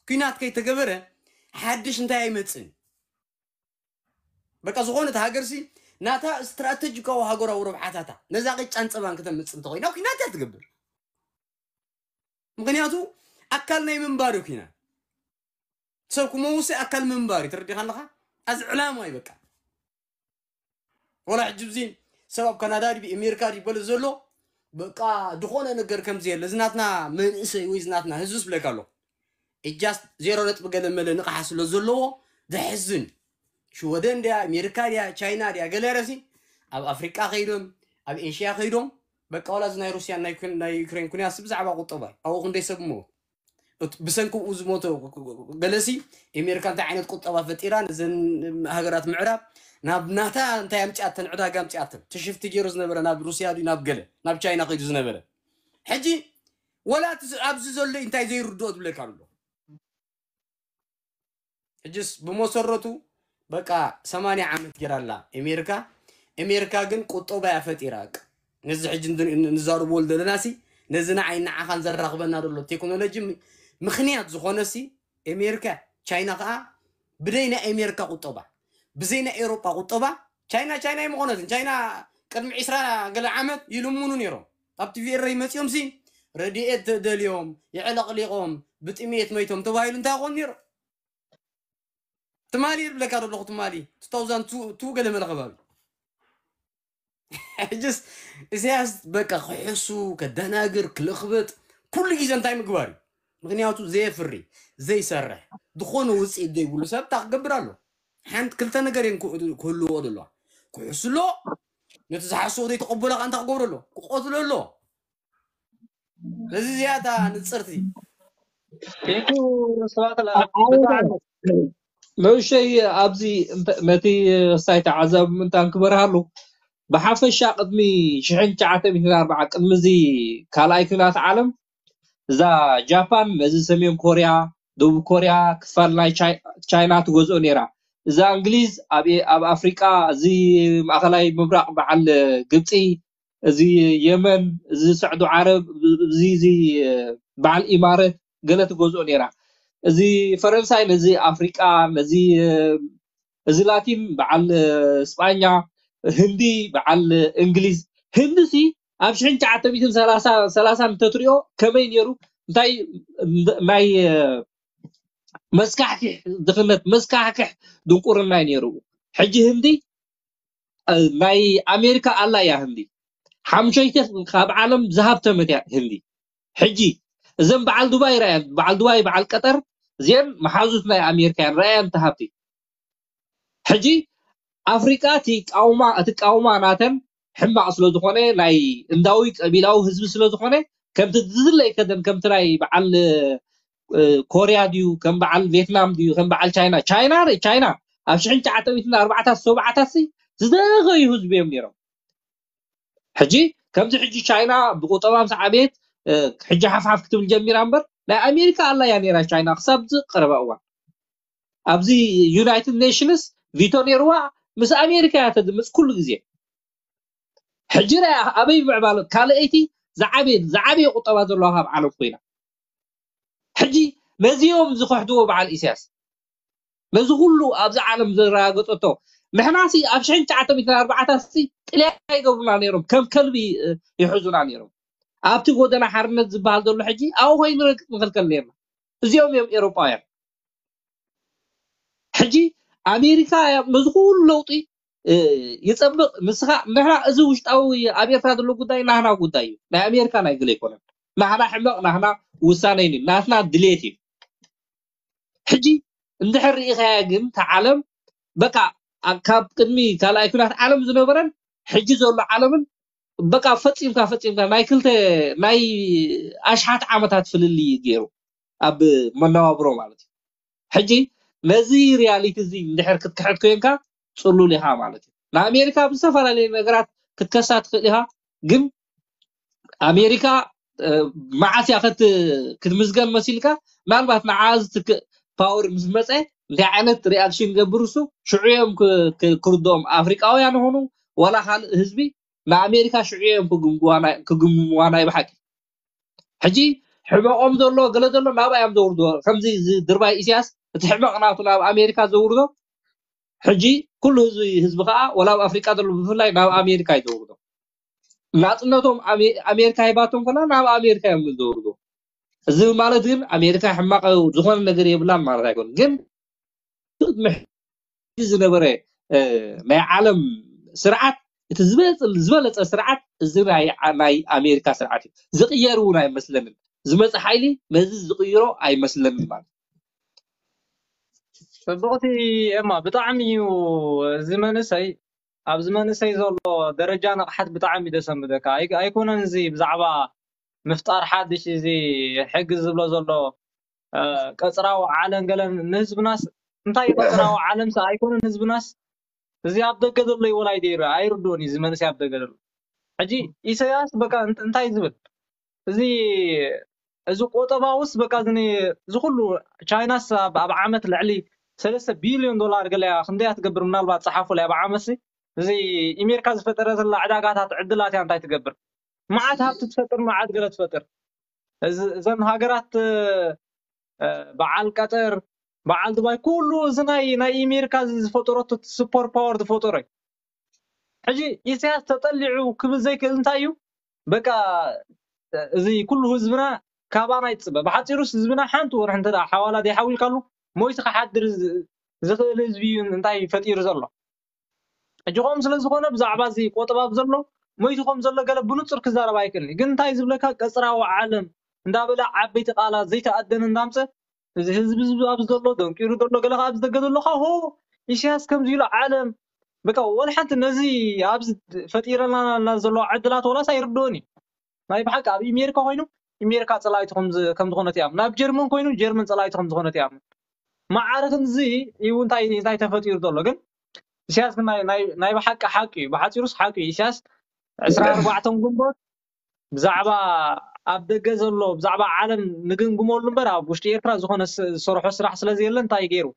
ኩናት ከይተገበረ ሓድሽ እንታይ ኣይመፅን። በቃ ዝኾነት ሃገርሲ ናታ ስትራተጂካዊ ሃገራዊ ረብሓታታ ነዛ ቅጫን ፀባን ክተምፅእ እንተኮይና ኩናት እያ ትገብር። ምክንያቱ ኣካል ናይ ምንባር እዩ ኩናት። ሰብ ክመውሲ ኣካል ምንባር እዩ። ተረዲኻ ኣለኻ? ኣዚ ዕላማ እዩ በቃ። ወላ ሕጂ ብዚ ሰብ ኣብ ካናዳ ድዩ ኣሜሪካ ድዩ ይበል ዘሎ በቃ ዝኾነ ነገር ከምዚ የለ። እዚ ናትና መንእሰይ ወይ እዚ ናትና ህዝቢ ዝብለካ ኣሎ እጃስ ዜሮ ነጥቢ ገለ መለ ንቕሓ ስለ ዘለዎ ዘሕዝን ሽወደን ድያ ኣሜሪካ ድያ ቻይና ድያ ገለ ረሲ ኣብ ኣፍሪቃ ከይዶም ኣብ ኤሽያ ከይዶም በቃ ወላ እዚ ናይ ሩስያን ናይ ዩክሬን ኩንያስ ብዛዕባ ቁጠባ ኣብኡ ክንደይ ሰብ ሞ ብሰንኪ ብኡ ዝሞተ ገለሲ ኣሜሪካ እንታይ ዓይነት ቁጠባ ፈጢራ ነዘን ሃገራት ምዕራብ ናብ ናታ እንታይ ኣምፅኣተን ዕዳጋ ኣምፅኣተን ትሽፍቲ ገይሩ ዝነበረ ናብ ሩስያ ድዩ ናብ ገለ ናብ ቻይና ከይዱ ዝነበረ ሕጂ ወላ ኣብዚ ዘሎ እንታይ ዘይርድኦ ትብለካ ኣሎ ሕጅስ ብመሰረቱ በቃ ሰማንያ ዓመት ጌራ ኣላ ኣሜሪካ ኣሜሪካ ግን ቁጠባ እያ ፈጢራ ነዚ ሕጂ ንዛረበሉ ዘለና ሲ ነዚ ንዓይ ንዓኻን ዘራኽበና ዘሎ ቴክኖሎጂ ምክንያት ዝኾነ ሲ ኣሜሪካ ቻይና ከዓ ብደይ ናይ ኣሜሪካ ቁጠባ ብዘይ ናይ ኤሮጳ ቁጠባ ቻይና ቻይና ኣይምኾነትን ቻይና ቅድሚ ዒስራ ገለ ዓመት ይልምኑ ነይሮም ኣብቲ ቪኤረይ መፂኦም ሲ ረድኤት ተደልዮም የዕለቕሊቖም ብጥሜት መይቶም ተባሂሉ እንታይ ይኾን ነይሩ ትማሊ ይብለካ ዘለኹ ትማሊ two thousand two ገለ መለ ከባቢ ሕጅስ ኢሳያስ በቃ ክሕሱ ከደናግር ክልኽበጥ ኩሉ ግዜ እንታይ ምግባር እዩ ምክንያቱ ዘየፍሪ ዘይሰርሕ ዝኾነ ውፅኢት ዘይብሉ ሰብ ታ ክገብር ኣሎ ሓንቲ ክልተ ነገር እየን ክህልዎ ዘለዋ ክሕሱ ኣሎ ነቲ ዝሓስቦ ዘይተቐበሎ ከዓ እንታይ ክገብሮ ኣሎ ክቆትሎ ኣሎ ስለዚ እዚኣ እታ ንፅርቲ ንእሽተይ ኣብዚ ነቲ ሳይ ተዓዛቢ ምንታን ክበርሃሉ ብሓፈሻ ቅድሚ ሽሕን ትሽዓተ ሚእትን ኣርባዓ ቅድሚ እዚ ካልኣይ ኩናት ዓለም እዛ ጃፓን ነዚ ሰሜን ኮርያ ደቡብ ኮርያ ክፋል ናይ ቻይና ትገዝኦ ነይራ እዛ እንግሊዝ ኣብ ኣፍሪቃ እዚ ማእኸላይ ምብራቅ በዓል ግብፂ እዚ የመን እዚ ስዕዱ ዓረብ እዚ እዚ በዓል ኢማረት ገለ ትገዝኦ ነይራ እዚ ፈረንሳይ ነዚ ኣፍሪቃ ነዚ እዚ ላቲን በዓል ስጳኛ ህንዲ በዓል እንግሊዝ ህንዲ ሲ ኣብ ሽሕን ትሽዓተ ሚእትን ሰላሳ ሰላሳ እንተትሪኦ ከመይ ነይሩ እንታይ ናይ መስካሕክሕ ድኽነት መስካሕክሕ ድንቁርና እዩ ነይሩ ሕጂ ህንዲ ናይ ኣሜሪካ ኣላ እያ ህንዲ ሓምሸይቲ ካብ ዓለም ዝሃብተመት እያ ህንዲ ሕጂ እዘን በዓል ዱባይ ራእያን በዓል ዱባይ በዓል ቀጠር እዚአን መሓዙት ናይ ኣሜሪካ እያን ራእያን ተሃብቲ ሕጂ ኣፍሪቃ እቲ ቃውማ እቲ ቃውማ ናተን ሕማቅ ስለ ዝኾነ ናይ እንዳዊ ቀቢላዊ ህዝቢ ስለ ዝኾነ ከምቲ ዝድለ ይከደን ከምቲ ናይ በዓል ኮርያ ድዩ ከም በዓል ቬትናም ድዩ ከም በዓል ቻይና ቻይና ቻይና ኣብ ሽሕን ትሽዓተ ሚእትን ኣርባዕታት ሰብዓታት ዝደኸዩ ህዝቢ እዮም ነይሮም ሕጂ ከምዚ ሕጂ ቻይና ብቁጠባ ምስ ዓበየት ሕጂ ሓፍሓፍ ክትብል ጀሚራ እምበር ናይ ኣሜሪካ ኣላ እያ ነይራ ቻይና ክሳብ ዝቀረባ እዋን ኣብዚ ዩናይትድ ኔሽንስ ቪቶ ነይርዋ ምስ ኣሜሪካ እያ ተድምፅ ኩሉ ግዜ ሕጂ ራያ ኣበይ ምዕባለ ካልኣይቲ ዝዓበየ ዝዓበየ ቁጠባ ዘለዋ ካብ ዓለም ኮይና ሕጂ ነዚኦም ዝኸሕድዎ በዓል ኢሳያስ ነዚ ኩሉ ኣብዚ ዓለም ዘረጋገፀቶ ንሕናሲ ኣብ ሽሕን ትሽዓተ ሚእትን ኣርባዕታሲ ጥልያ ይገብሩና ነይሮም ከም ከልቢ ይሕዙና ነይሮም ኣብቲ ጎደና ሓርነት ዝበሃል ዘሎ ሕጂ ኣብኡ ኮይኑ ንረግፅ ንኽልከል ነይርና እዚኦም እዮም ኤሮጳውያን ሕጂ ኣሜሪካ ነዚ ኩሉ ለውጢ ይፀብቕ ንስኻ ንሕና እዚ ውሽጣዊ ኣብ ኤርትራ ዘሎ ጉዳይ ናህና ጉዳይ እዩ ናይ ኣሜሪካ ናይ ግለ ኣይኮነን ናህና ሕመቕ ናህና ውሳነ እዩ ናትና ድሌት እዩ ሕጂ እንድሕር ርኢኻያ ግን ተዓለም በቃ ካብ ቅድሚ ካልኣይ ኩናት ዓለም ዝነበረን ሕጂ ዘሎ ዓለምን በቃ ፈፂምካ ፈፂምካ ናይ ክልተ ናይ ኣሽሓት ዓመታት ፍልልይ ገይሩ ኣብ መነባብሮ ማለት እዩ። ሕጂ ነዚ ሪያሊቲ እዚ እንድሕር ክትክሕድ ኮይንካ ፅሉል ኢኻ ማለት እዩ። ንኣሜሪካ ብዝተፈላለዩ ነገራት ክትከሳ ትኽእል ኢኻ፣ ግን ኣሜሪካ መዓስ እያ ክትምዝገን መሲልካ? ምናልባት ንዓ ዝትክእ ፓወር ምስ መፀ እንታይ ዓይነት ሪኣክሽን ይገብር እሱ ሽዑ እዮም ክርድኦም ኣፍሪቃውያን ይኹኑ ዋላ ካልእ ህዝቢ ንኣሜሪካ ሽዑ እዮም ክግምዋ ናይ ብሓቂ። ሕጂ ሕመቆም ዘሎ ገለ ዘሎ ናብኣ እዮም ዘውርዶ። ከምዚ ድርባይ ኢሳያስ እቲ ሕመቕ ናቱ ናብ ኣሜሪካ ዘውርዶ። ሕጂ ኩሉ ህዝቢ ህዝቢ ከዓ ወላ ኣብ ኣፍሪቃ ዘሎ ብፍላይ ናብ ኣሜሪካ እዩ ዘውርዶ። ናፅነቶም ኣሜሪካ ሂባቶም ከላ ናብ ኣሜሪካ እዮም ዘውርዶ። እዚ ማለት ግን ኣሜሪካ ሕማቕ ዝኾነ ነገር የብላን ማለት ኣይኮን። ግን ዝነበረ ናይ ዓለም ስርዓት እቲ ዝበለፀ ስርዓት እዚ ናይ ኣሜሪካ ስርዓት እዩ። ዝቅየር እውን ኣይመስለንን። ዝመፀ ሓይሊ ነዚ ዝቅይሮ ኣይመስለንን ማለት። ፅብቕቲ ኤማ፣ ብጣዕሚ እዩ እዚ መንእሰይ ኣብዚ መንእሰይ ዘሎ ደረጃ ንቕሓት ብጣዕሚ እዩ ደሰምደካ። ኣይኮነን እዚ ብዛዕባ ምፍጣር ሓድሽ እዚ ሕጊ ዝብሎ ዘሎ ቀፅራዊ ዓለም ገለን ንህዝብናስ እንታይ እዩ ቀፅራዊ ዓለም ሰ ኣይኮነን ህዝብናስ እዚ ኣብ ደገ ዘሎ ይወላይ ደይሩ ኣይርድኦን እዩ እዚ መንእሰይ ኣብ ደገ ዘሎ። ሕጂ ኢሳያስ በቃ እንታይ ዝብል እዚ እዚ ቆጠባውስ በቃ እዚ ኩሉ ቻይናስ ኣብ ዓመት ልዕሊ ሰለስተ ቢልዮን ዶላር ገለ እያ ክንደይ እያ ትገብር ምናልባት ፀሓፉ ላይ ኣብ ዓመት እዚ ኢሜርካ ዝፈጠረትላ ዕዳጋታት ዕድላት እያ እንታይ ትገብር መዓት ሃብቲ ትፈጥር መዓት ገለ ትፈጥር እዘን ሃገራት በዓል ቀጠር በዓል ዱባይ ኩሉ እዚ ናይ ናይ ኢሜርካ ዝፈጠረቱ ሱፐር ፓወር ዝፈጠሮ እዩ ሕጂ ኢሳያስ ተጠሊዑ ክብል ዘይክእል እንታይ እዩ በቃ እዚ ኩሉ ህዝብና ካባና ይፅበ ብሓፂሩስ ህዝብና ሓንቲ ወርሒ እንተ ሓዋላ ዘይሓዊልካሉ ሞይቱ ክሓድር ዝኽእል ህዝቢ እዩ እንታይ ፈጢሩ ዘሎ ሕጂ ከምኡ ስለ ዝኾነ ብዛዕባ እዚ ቆጠባብ ዘሎ ሞይቱ ከም ዘሎ ገለ ብንፁር ክዛረብ ኣይክእልን ግን እንታይ ዝብለካ ቀፅራዊ ዓለም እንዳበለ ዓበይቲ ቃላት ዘይተኣደነ እንዳምፀ እዚ ህዝቢ ኣብዚ ዘሎ ደንቂሩ ዘሎ ገለ ከዓ ኣብዚ ደገ ዘሎ ከዓ ሆ ኢሳያስ ከምዚ ኢሉ ዓለም በቃ ወላ ሓንቲ ነዚ ኣብዚ ፈጢረና ዘሎ ዕድላት ወላስ ኣይርድኦን እዩ ናይ ብሓቂ ኣብ ኢሜሪካ ኮይኑ ኢሜሪካ ፀላይቱ ከም ዝኾነት እያም ናብ ጀርመን ኮይኑ ጀርመን ፀላይቱ ከም ዝኾነት እያም ማዓረ ክንዚ እዩ እንታይ እንታይ ተፈጢሩ ዘሎ ግን ኢሳያስ ናይ ብሓቂ ሓቂ እዩ ብሓፂሩስ ሓቂ እዩ ኢሳያስ ዕስራ ኣርባዕተ ግንቦት ብዛዕባ ኣብ ደገ ዘሎ ብዛዕባ ዓለም ንግምግመሉ እምበር ኣብ ውሽጢ ኤርትራ ዝኾነ ዝሰርሖ ስራሕ ስለ ዘየለ እንታይ ገይሩ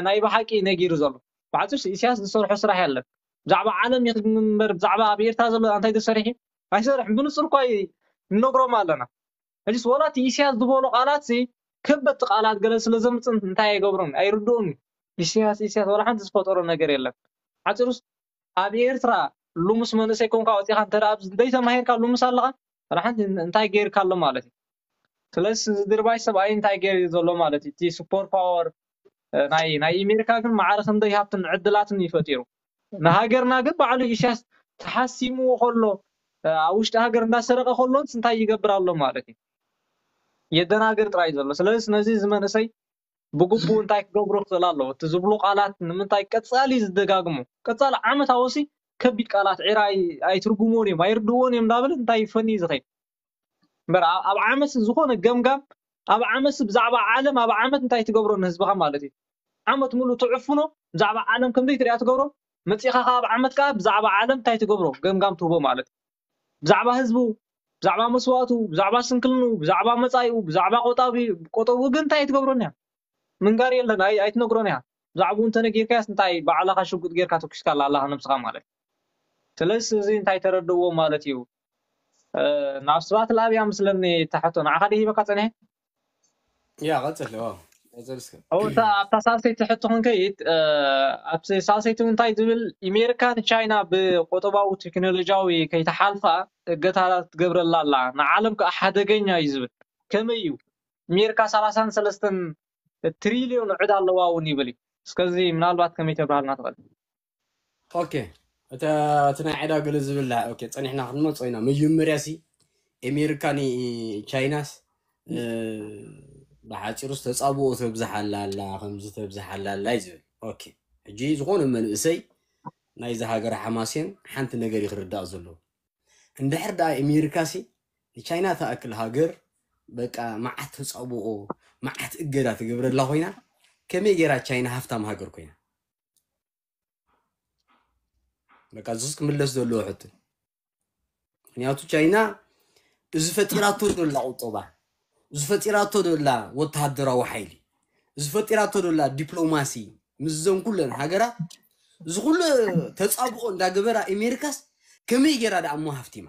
ናይ ብሓቂ ነጊሩ ዘሎ ብሓፂሩስ ኢሳያስ ዝሰርሖ ስራሕ የለን ብዛዕባ ዓለም ይኽግምግም እምበር ብዛዕባ ኣብ ኤርትራ ዘሎ እንታይ ተሰሪሑ ኣይሰርሕን ብንፁር እኳ ንነግሮም ኣለና ሕጂስ ወላ እቲ ኢሳያስ ዝበሎ ቃላት ከበድቲ ቃላት ገለ ስለ ዘምፅእ እንታይ ኣይገብሮም ኣይርድኡን ኢሳያስ ኢሳያስ ወላ ሓንቲ ዝፈጠሮ ነገር የለን ሓፂሩስ ኣብ ኤርትራ ሉሙስ መንእሰይ ኮንካ ወፂኻ እንተ ዘይተማሂርካ ሉሙስ ኣለኻ ሓንቲ እንታይ ገይርካ ኣሎ ማለት እዩ ስለዚ እዚ ድርባይ ሰብኣይ እንታይ ገይር ዘሎ ማለት እዩ እቲ ሱፐር ፓወር ናይ ናይ ኢሜሪካ ግን ማዕረ ክንደይ ሃብትን ዕድላትን ይፈጢሩ ንሃገርና ግን ባዕሉ ኢሳያስ ተሓሲምዎ ከሎ ኣብ ውሽጢ ሃገር እንዳሰረቀ ከሎንስ እንታይ ይገብር ኣሎ ማለት እዩ የደናግር ጥራይ ዘሎ ስለዚ ነዚ እዚ መንእሰይ ብግቡእ እንታይ ክገብሮ ክኽእል ኣለዎ እቲ ዝብሉ ቃላት ንምንታይ ቀፃሊ ዝደጋግሞ ቀፃሊ ዓመት ኣወሲ ከቢድ ቃላት ዒራ ኣይትርጉሞን እዮም ኣይርድዎን እዮም እንዳበለ እንታይ ይፈኒ ዝኸይድ እምበር ኣብ ዓመት ዝኾነ ገምጋም ኣብ ዓመት ብዛዕባ ዓለም ኣብ ዓመት እንታይ ትገብሮ ንህዝብኻ ማለት እዩ ዓመት ሙሉ ትዕፍኖ ብዛዕባ ዓለም ከምዘይ ትሪኣ ትገብሮ መፂኻ ኣብ ዓመት ከዓ ብዛዕባ ዓለም እንታይ ትገብሮ ገምጋም ትህቦ ማለት ብዛዕባ ህዝቡ ብዛዕባ መስዋእቱ ብዛዕባ ስንክልኑ ብዛዕባ መፃኢኡ ብዛዕባ ቆጣቢ ቆጠቡ ግን እንታይ ኣይትገብሮን እያ ምንጋር የለን ኣይትነግሮን እያ ብዛዕባኡ እንተነጊርካያስ እንታይ ባዕላኻ ሽጉጥ ጌርካ ተኩስካ ኣላ ኣላኻ ነብስኻ ማለት ስለዚ እዚ እንታይ ተረድእዎ ማለት እዩ ናብ ስብሓት ለኣብ እያ ምስለኒ እታ ሕቶ ንዓኻ ድየ ሂበካ ፀኒሐ ያ ቀፅል ቀፅል እስከ እታ ኣብታ ሳልሰይቲ ሕቶ ክንከይድ ኣብቲ ሳልሰይቲ እንታይ ዝብል ኢሜሪካ ንቻይና ብቆጠባዊ ቴክኖሎጂያዊ ከይተሓልፋ እገታታት ትገብረላ ኣላ ንዓለም ከዓ ሓደገኛ እዩ ዝብል ከመይ እዩ ኢሜሪካ ሰላሳን ሰለስተን ትሪልዮን ዕዳ ኣለዋ እውን ይብል እዩ እስከዚ ምናልባት ከመይ ተብርሃልና ትኽእል ኦኬ እቲ ናይ ዕዳ ገለ ዝብል ኦኬ ፀኒሕና ክንመፅኦ ኢና መጀመርያ ሲ ኣሜሪካ ንቻይናስ ብሓፂሩ ዝተፃብኦ ተብዝሓላ ኣላ ከምዚ ተብዝሓላ ኣላ እዩ ዝብል ኦኬ ሕጂ ዝኾነ መንእሰይ ናይዚ ሃገር ሓማሴን ሓንቲ ነገር እዩ ክርዳእ ዘለዎ እንድሕር ደኣ ኣሜሪካ ሲ ንቻይና ትኣክል ሃገር በቃ መዓት ተጻብኦ መዓት እገዳ ትገብረላ ኮይና፣ ከመይ ገይራ ቻይና ሃፍታም ሃገር ኮይና? በቃ እዚስ ክምለስ ዘለዎ ሕቶ። ምክንያቱ ቻይና እዚ ፈጢራቶ ዘላ ቁጠባ፣ እዚ ፈጢራቶ ዘላ ወተሃደራዊ ሓይሊ፣ እዚ ፈጢራቶ ዘላ ዲፕሎማሲ ምስዘን ኩለን ሃገራት እዚ ኩሉ ተጻብኦ እንዳገበራ ኣሜሪካስ ከመይ ገይራ ደኣ እሞ ሃፍቲማ?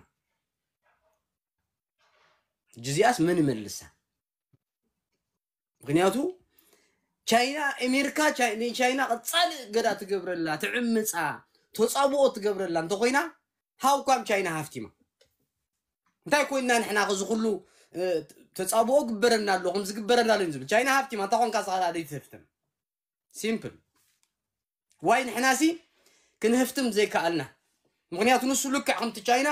ሕጂ እዚኣስ መን ይመልሳ? ምክንያቱ ቻይና ኣሜሪካ ቻይ- ንቻይና ቀጻሊ እገዳ ትገብረላ፣ ትዕምፃ፣ ተጻብኦ ትገብረላ እንተኮይና ሃውካም ቻይና ሃፍቲማ። እንታይ ኮይና ንሕና ከዚ ኩሉ እ፣ ተጻብኦ ግበረና ኣሎ ከም ዝግበረና ኣሎ ዝብል ቻይና ሃፍቲማ እንታይ ኮንካ ዝኸላ ደይ ትህፍትም? ሲምፕል። ዋይ ንሕናሲ ክንህፍትም ዘይከኣልና? ምክንያቱ ንሱ ልክዕ ከምቲ ቻይና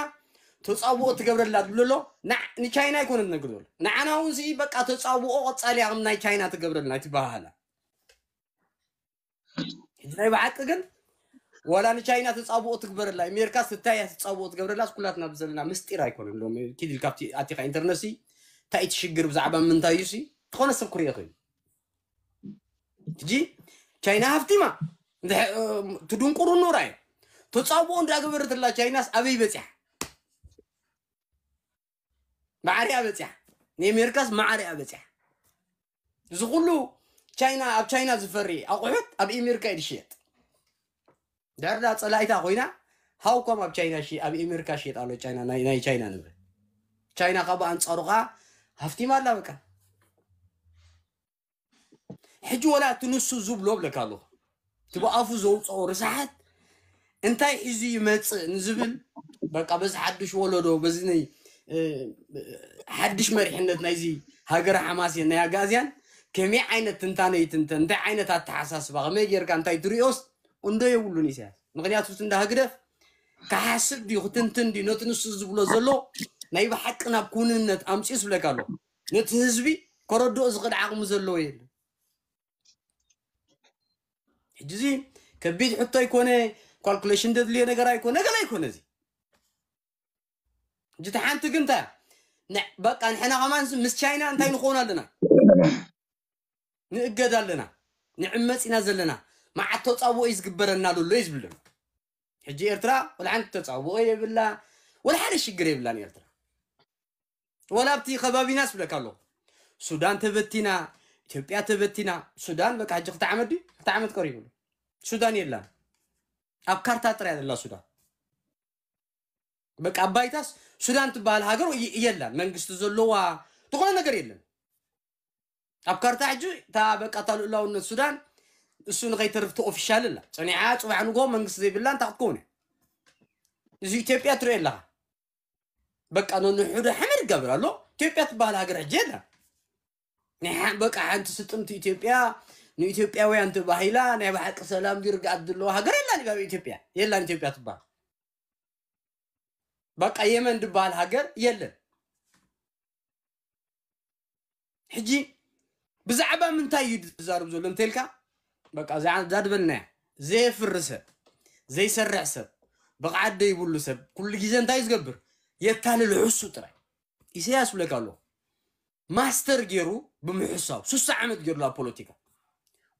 ተጻብኦ ትገብረላ ዝብሎ ኣሎ። ንዓ- ንቻይና ኣይኮነ ትነግር ዘሎ። ንዓና እውን ሲ በቃ ተጻብኦ ቀጻሊ እያ ከም ናይ ቻይና ትገብረልና ትበሃሃላ። ሕጂ ናይ ብሓቂ ግን ዋላ ንቻይና ተጻብኦ ትግበረላ ኣሜሪካ ስታያ ተጻብኦ ትገብረላ ኩላትና ብዘለና ምስጢር ኣይኮነን። ሎም ኪድ ኢልካ ኣብቲ ኣቲኻ ኢንተርነት ሲ እንታይ እቲ ሽግር ብዛዕባ ምንታይ እዩ ሲ ዝኾነ ሰብ ክሪኦ ይኽእል። ሕጂ ቻይና ሃፍቲማ እንድሕ- እ፣ ትድንቁሩ ኖራ እዩ። ተጻብኦ እንዳገበረትላ ቻይናስ ኣበይ በጺሓ? ማዕሪኣ በጺሓ። ንኣሜሪካስ ማዕሪኣ በጺሓ። እዚ ኩሉ ቻይና ኣብ ቻይና ዝፈሪ ኣቑሑት ኣብ ኣሜሪካ እዩ ዝሽየጥ። ድሕር ዳ ጸላኢታ ኮይና ሃውኮም ኣብ ቻይና ሺ ኣብ ኣሜሪካ ሽየጥ ኣሎ ቻይና ናይ ናይ ቻይና ንብረት። ቻይና ካብ ኣንጻሩ ኸዓ ሃፍቲማ ኣላ በቃ። ሕጂ ወላ እቲ ንሱ ዝብሎ ብለካ ኣለኹ እቲ ብኣፉ ዘውፅኦ ርስሓት እንታይ ሒዙ ይመፅእ ንዝብል በቃ በዚ ሓድሽ ወለዶ በዚ ናይ እ፣ ሓድሽ መሪሕነት ናይዚ ሃገረ ሓማሴን ናይ ኣጋዝያን ከመይ ዓይነት ትንታነ ይትንተን እንታይ ዓይነት ኣተሓሳስባ ከመይ ጌርካ እንታይ ትሪኦስ እንዶ የብሉን ኢሳያስ ምክንያቱ እቲ እንዳ ህግደፍ ክሓስብ ድዩ ክትንትን ድዩ ነቲ ንሱ ዝብሎ ዘሎ ናይ ብሓቂ ናብ ኩንነት ኣምፅኡ ስብለካ ኣሎ ነቲ ህዝቢ ከረድኦ ዝኽእል ዓቕሚ ዘለዎ የለን ሕጂ እዚ ከቢድ ሕቶ ኣይኮነ ካልኩሌሽን ደድልዮ ነገር ኣይኮነ ገለ ኣይኮነ እዚ ሕጂ እቲ ሓንቲ ግን እንታይ እያ? ን- በቃ ንሕና ከማን ምስ ቻይና እንታይ ንኸውን ኣለና ንእገድ ኣለና ንዕመፅ ኢና ዘለና መዓት ተፃብኦ እዩ ዝግበረና ዘሎ እዩ ዝብለና ሕጂ ኤርትራ ወላ ሓንቲ ተፃብኦ የብላ ወላ ሓደ ሽግር የብላን ኤርትራ ወላ ኣብቲ ከባቢና ስብለካ ኣለኹ ሱዳን ተበቲና ኢትዮጵያ ተበቲና ሱዳን በቃ ሕጂ ክልተ ዓመት ድዩ ክልተ ዓመት ቀሪቡ ሱዳን የላን ኣብ ካርታ ጥራይ ዘላ ሱዳን በቃ ኣብ ባይታስ ሱዳን ትበሃል ሃገር የ- የላን መንግስቲ ዘለዋ ዝኾነ ነገር የለን ኣብ ካርታ ሕጂ እታ በቃ እታ ልኡላውነት ሱዳን እሱ ንኸይተርፍ ኦፊሻል ኣላ ፀኒዓ ፅባሕ ንጎ መንግስቲ ዘይብላ እንታይ ክትከውን እያ እዚ ኢትዮጵያ ትሪኦ ኣለኻ በቃ ነንሕዶ ሓመድ ይጋብር ኣሎ ኢትዮጵያ ትበሃል ሃገር ሕጂ የላ ናይ ሓ- በቃ ሓንቲ ስጥምቲ ኢትዮጵያ ንኢትዮጵያውያን ተባሂላ ናይ ብሓቂ ሰላም ድርግኣት ዘለዎ ሃገር የላን ኣብ ኢትዮጵያ የላን ኢትዮጵያ ትበሃል በቃ የመን ዝበሃል ሃገር የለን ሕጂ ብዛዕባ ምንታይ እዩ ዝዛረብ ዘሎ እንተልካ በቃ እዛ እዛ ዝበልናያ ዘየፍሪ ሰብ ዘይሰርሕ ሰብ ብቕዓት ዘይብሉ ሰብ ኩሉ ግዜ እንታይ እዩ ዝገብር የታልል ሕሱ ጥራይ ኢሳያስ ብለካ ኣለኹ ማስተር ገይሩ ብምሕሳው ሱሳ ዓመት ገይሩ ኣብ ፖለቲካ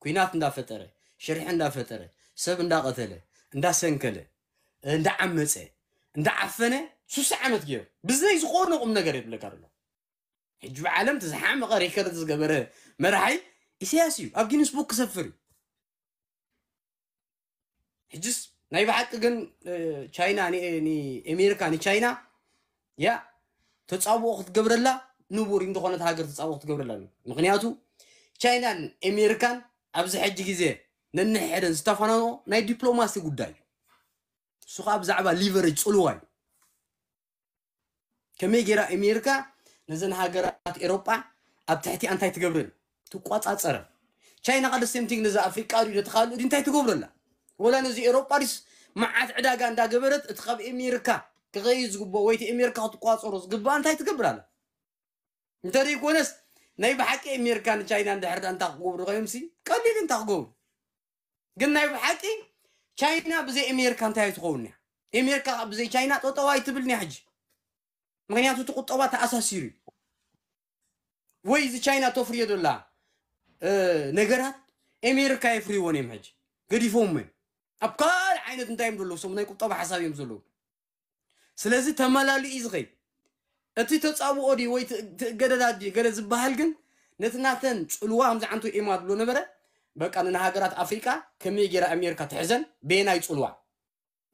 ኩናት እንዳፈጠረ ሽርሒ እንዳፈጠረ ሰብ እንዳቐተለ እንዳሰንከለ እንዳዓመፀ እንዳዓፈነ ሱሳ ዓመት ገይሩ ብዘይ ዝኾነ ቁም ነገር የብለካ ኣሎ ሕጂ ብዓለም እቲ ዝሓመቐ ሪከርድ ዝገበረ መራሒ ኢሳያስ እዩ ኣብ ጊንስ ቡክ ክሰፍር እዩ ሕጅስ ናይ ብሓቂ ግን እ፣ ቻይና ን- ንኤሜሪካ ንቻይና ያ ተፃብኦ ክትገብረላ ንቡር እንተኾነት ሃገር ተፃብኦ ክትገብረላ እዩ ምክንያቱ ቻይናን ኤሜሪካን ኣብዚ ሕጂ ግዜ ነንሕደን ዝተፈናንኦ ናይ ዲፕሎማሲ ጉዳይ እዩ እሱ ከዓ ብዛዕባ ሊቨሬጅ ፅልዋ እዩ ከመይ ገይራ ኣሜሪካ ነዘን ሃገራት ኤሮጳ ኣብ ትሕቲ እንታይ ትገብረን ትቋፃፀረን ቻይና ካ ደሴምቲንግ ነዚ ኣፍሪቃ ድዩ ነቲ ካልእ ድዩ እንታይ ትገብረላ ወላ ነዚ ኤሮጳ ድስ መዓት ዕዳጋ እንዳገበረት እቲ ካብ ኣሜሪካ ክኸይድ ዝግብኦ ወይ እቲ ኣሜሪካ ክትቋፀሮ ዝግብኣ እንታይ ትገብር ኣላ እንተ ዘይኮነስ ናይ ብሓቂ ኣሜሪካ ንቻይና እንድሕር እንታይ ክገብሩ ኮይኖም ሲ ቀሊል እንታይ ክገብሩ ግን ናይ ብሓቂ ቻይና ብዘይ ኣሜሪካ እንታይ ኣይትኸውን እያ ኣሜሪካ ብዘይ ቻይና ጠጠው ኣይትብልን እያ ሕጂ ምክንያቱ እቲ ቁጠባ ተኣሳሲሩ እዩ። ወይ እዚ ቻይና ተፍርዮ ዘላ ነገራት ኣሜሪካ የፍርይዎን እዮም። ሕጂ ገዲፎም እዮም። ኣብ ካልእ ዓይነት እንታይ እዮም ዘለዉ? ሰብ ናይ ቁጠባ ሓሳብ እዮም ዘለዉ። ስለዚ ተመላሊኡ እዩ ዝኸይድ። እቲ ተፃብኦ ድዩ ወይ ትእገደዳ ድዩ ገለ ዝበሃል ግን ነቲ ናተን ፅልዋ ከምዚ ዓንቶ ኤማ ዝብሎ ነበረ። በቃ ንሃገራት ኣፍሪቃ ከመይ ገይራ ኣሜሪካ ትሕዘን በየናይ ፅልዋ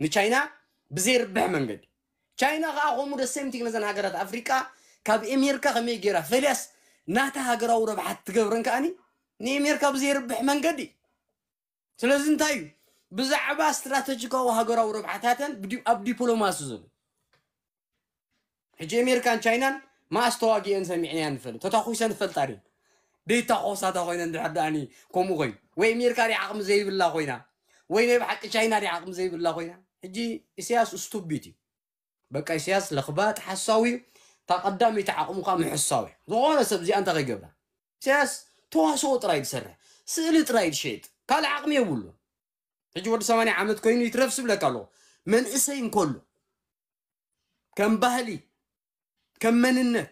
ንቻይና ብዘይርብሕ መንገዲ። ቻይና ከዓ ከምኡ ደሰምቲግ ነዘን ሃገራት ኣፍሪቃ ካብ ኣሜሪካ ከመይ ገይራ ፈልያስ ናታ ሃገራዊ ረብሓት ትገብረን ከዓኒ ንኣሜሪካ ብዘይርብሕ መንገዲ። ስለዚ እንታይ እዩ ብዛዕባ ስትራተጂካዊ ሃገራዊ ረብሓታተን ኣብ ዲፕሎማሲ ዘሎ ሕጂ ኣሜሪካን ቻይናን ማኣስ ተዋጊአን ሰሚዕናያ ንፈልጥ ተታኩሰን ንፈልጣ ድን ደይታኮሳታ ኮይነ እንድሕር ደኣኒ ከምኡ ኮይኑ ወይ ኣሜሪካ ዲ ዓቕሚ ዘይብላ ኮይና ወይ ናይ ብሓቂ ቻይና ዲ ዓቕሚ ዘይብላ ኮይና ሕጂ ኢሳያስ ስቱቢት እዩ። በቃ ኢሳያስ ለኽባጥ ሓሳዊ እዩ። እታ ቀዳመይቲ ዓቕሙ ከዓ ምሕሳው እዩ። ዝኾነ ሰብ እዚኣ እንታይ ከይገብራ ኢሳያስ ተዋስኦ ጥራይ ዝሰርሕ ስእሊ ጥራይ ዝሸይጥ ካልእ ዓቕሚ የብሉ። ሕጂ ወዲ ሰማንያ ዓመት ኮይኑ ይትረፍ ስብለካ ኣለኹ መንእሰይ እንከሎ ከም ባህሊ ከም መንነት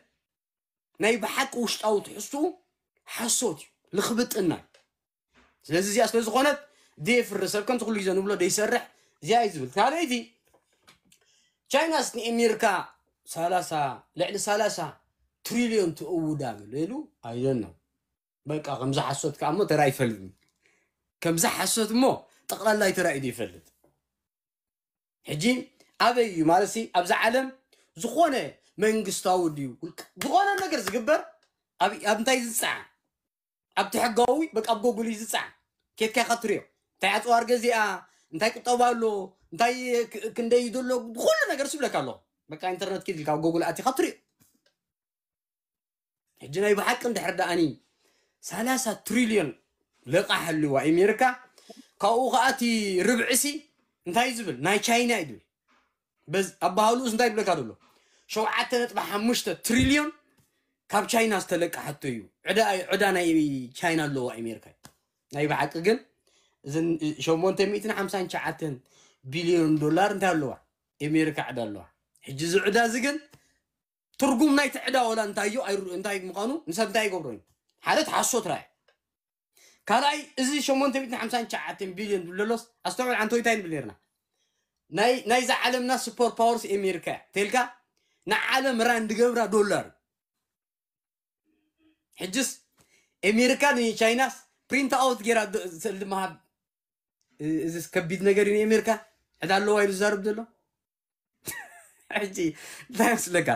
ናይ ብሓቂ ውሽጣዊ ትሕዝትኡ ሓሶት እዩ ልኽብጥና እዩ። ስለዚ እዚኣ ስለ ዝኾነት ደየፍሪ ሰብ ከምቲ ኩሉ ግዜ ንብሎ ደይሰርሕ እዚኣ እዩ ዝብል። ካልኣይቲ ቻይናስ ንኤሜሪካ ሰላሳ ልዕሊ ሰላሳ ትሪልዮን ትእውዳ ገለ ኢሉ ኣይደን ነው በቃ ከምዚ ሓሶት ከዓ እሞ ተራ ይፈልጥ ከምዚ ሓሶት እሞ ጠቕላላይ ተራ እዩ ይፈልጥ። ሕጂ ኣበይ እዩ ማለት ኣብዚ ዓለም ዝኾነ መንግስታዊ ድዩ ዝኾነ ነገር ዝግበር ኣብ እንታይ ዝፀዓን ኣብቲ ሕጋዊ በቃ ኣብ ጎጉል እዩ ዝፀዓን ኬድካ ኢኻ ትሪኦ እንታይ ኣፅዋር ገዚኣ እንታይ ቁጠባ ኣሎ እንታይ ክንደይ ዘሎ ኩሉ ነገር ስብለካ ኣሎ በቃ ኢንተርነት ኪድ ኢልካ ኣብ ጎጉል ኣቲኻ ትሪኦ ሕጂ ናይ ብሓቂ እንድሕር ደኣኒ ሰላሳ ትሪልዮን ለቃሕ ኣለዋ ኣሜሪካ ካብኡ ከዓ እቲ ርብዕሲ እንታይ ዝብል ናይ ቻይና እዩ ዝብል በዝ ኣባህልኡስ እንታይ ይብለካ ዘሎ ሸውዓተ ነጥቢ ሓሙሽተ ትሪልዮን ካብ ቻይና ዝተለቃሓቶ እዩ ዕዳ ዕዳ ናይ ቻይና ኣለዋ ኣሜሪካ ናይ ብሓቂ ግን እዘን ሸሞንተ ሚእትን ሓምሳን ትሽዓተን ቢልዮን ዶላር እንታይ ኣለዋ ኣሜሪካ ዕዳ ኣለዋ ሕጂ እዚ ዕዳ እዚ ግን ትርጉም ናይ ትዕዳ ወላ እንታይ እዩ እንታይ ምዃኑ ንሰብ እንታይ ይገብሮ እዩ ሓደ ተሓሶት ራይ ካልኣይ እዚ ሸሞንተ ሚእትን ሓምሳን ትሽዓተን ቢልዮን ዝብለሎስ ኣስተውዕል ዓንቶ እንታይ ንብል ነርና ናይ ናይዛ ዓለምና ሱፐር ፓወርስ ኣሜሪካ እያ ተልካ ንዓለም ራን ድገብራ ዶላር ሕጅስ ኣሜሪካ ንቻይናስ ፕሪንት ኣውት ጌራ ስእል ድመሃብ እዚ ከቢድ ነገር እዩ ኣሜሪካ ዕዳ ኣለዋ ኢሉ ዝዛረብ ዘሎ ሕጂ እንታይ መስለካ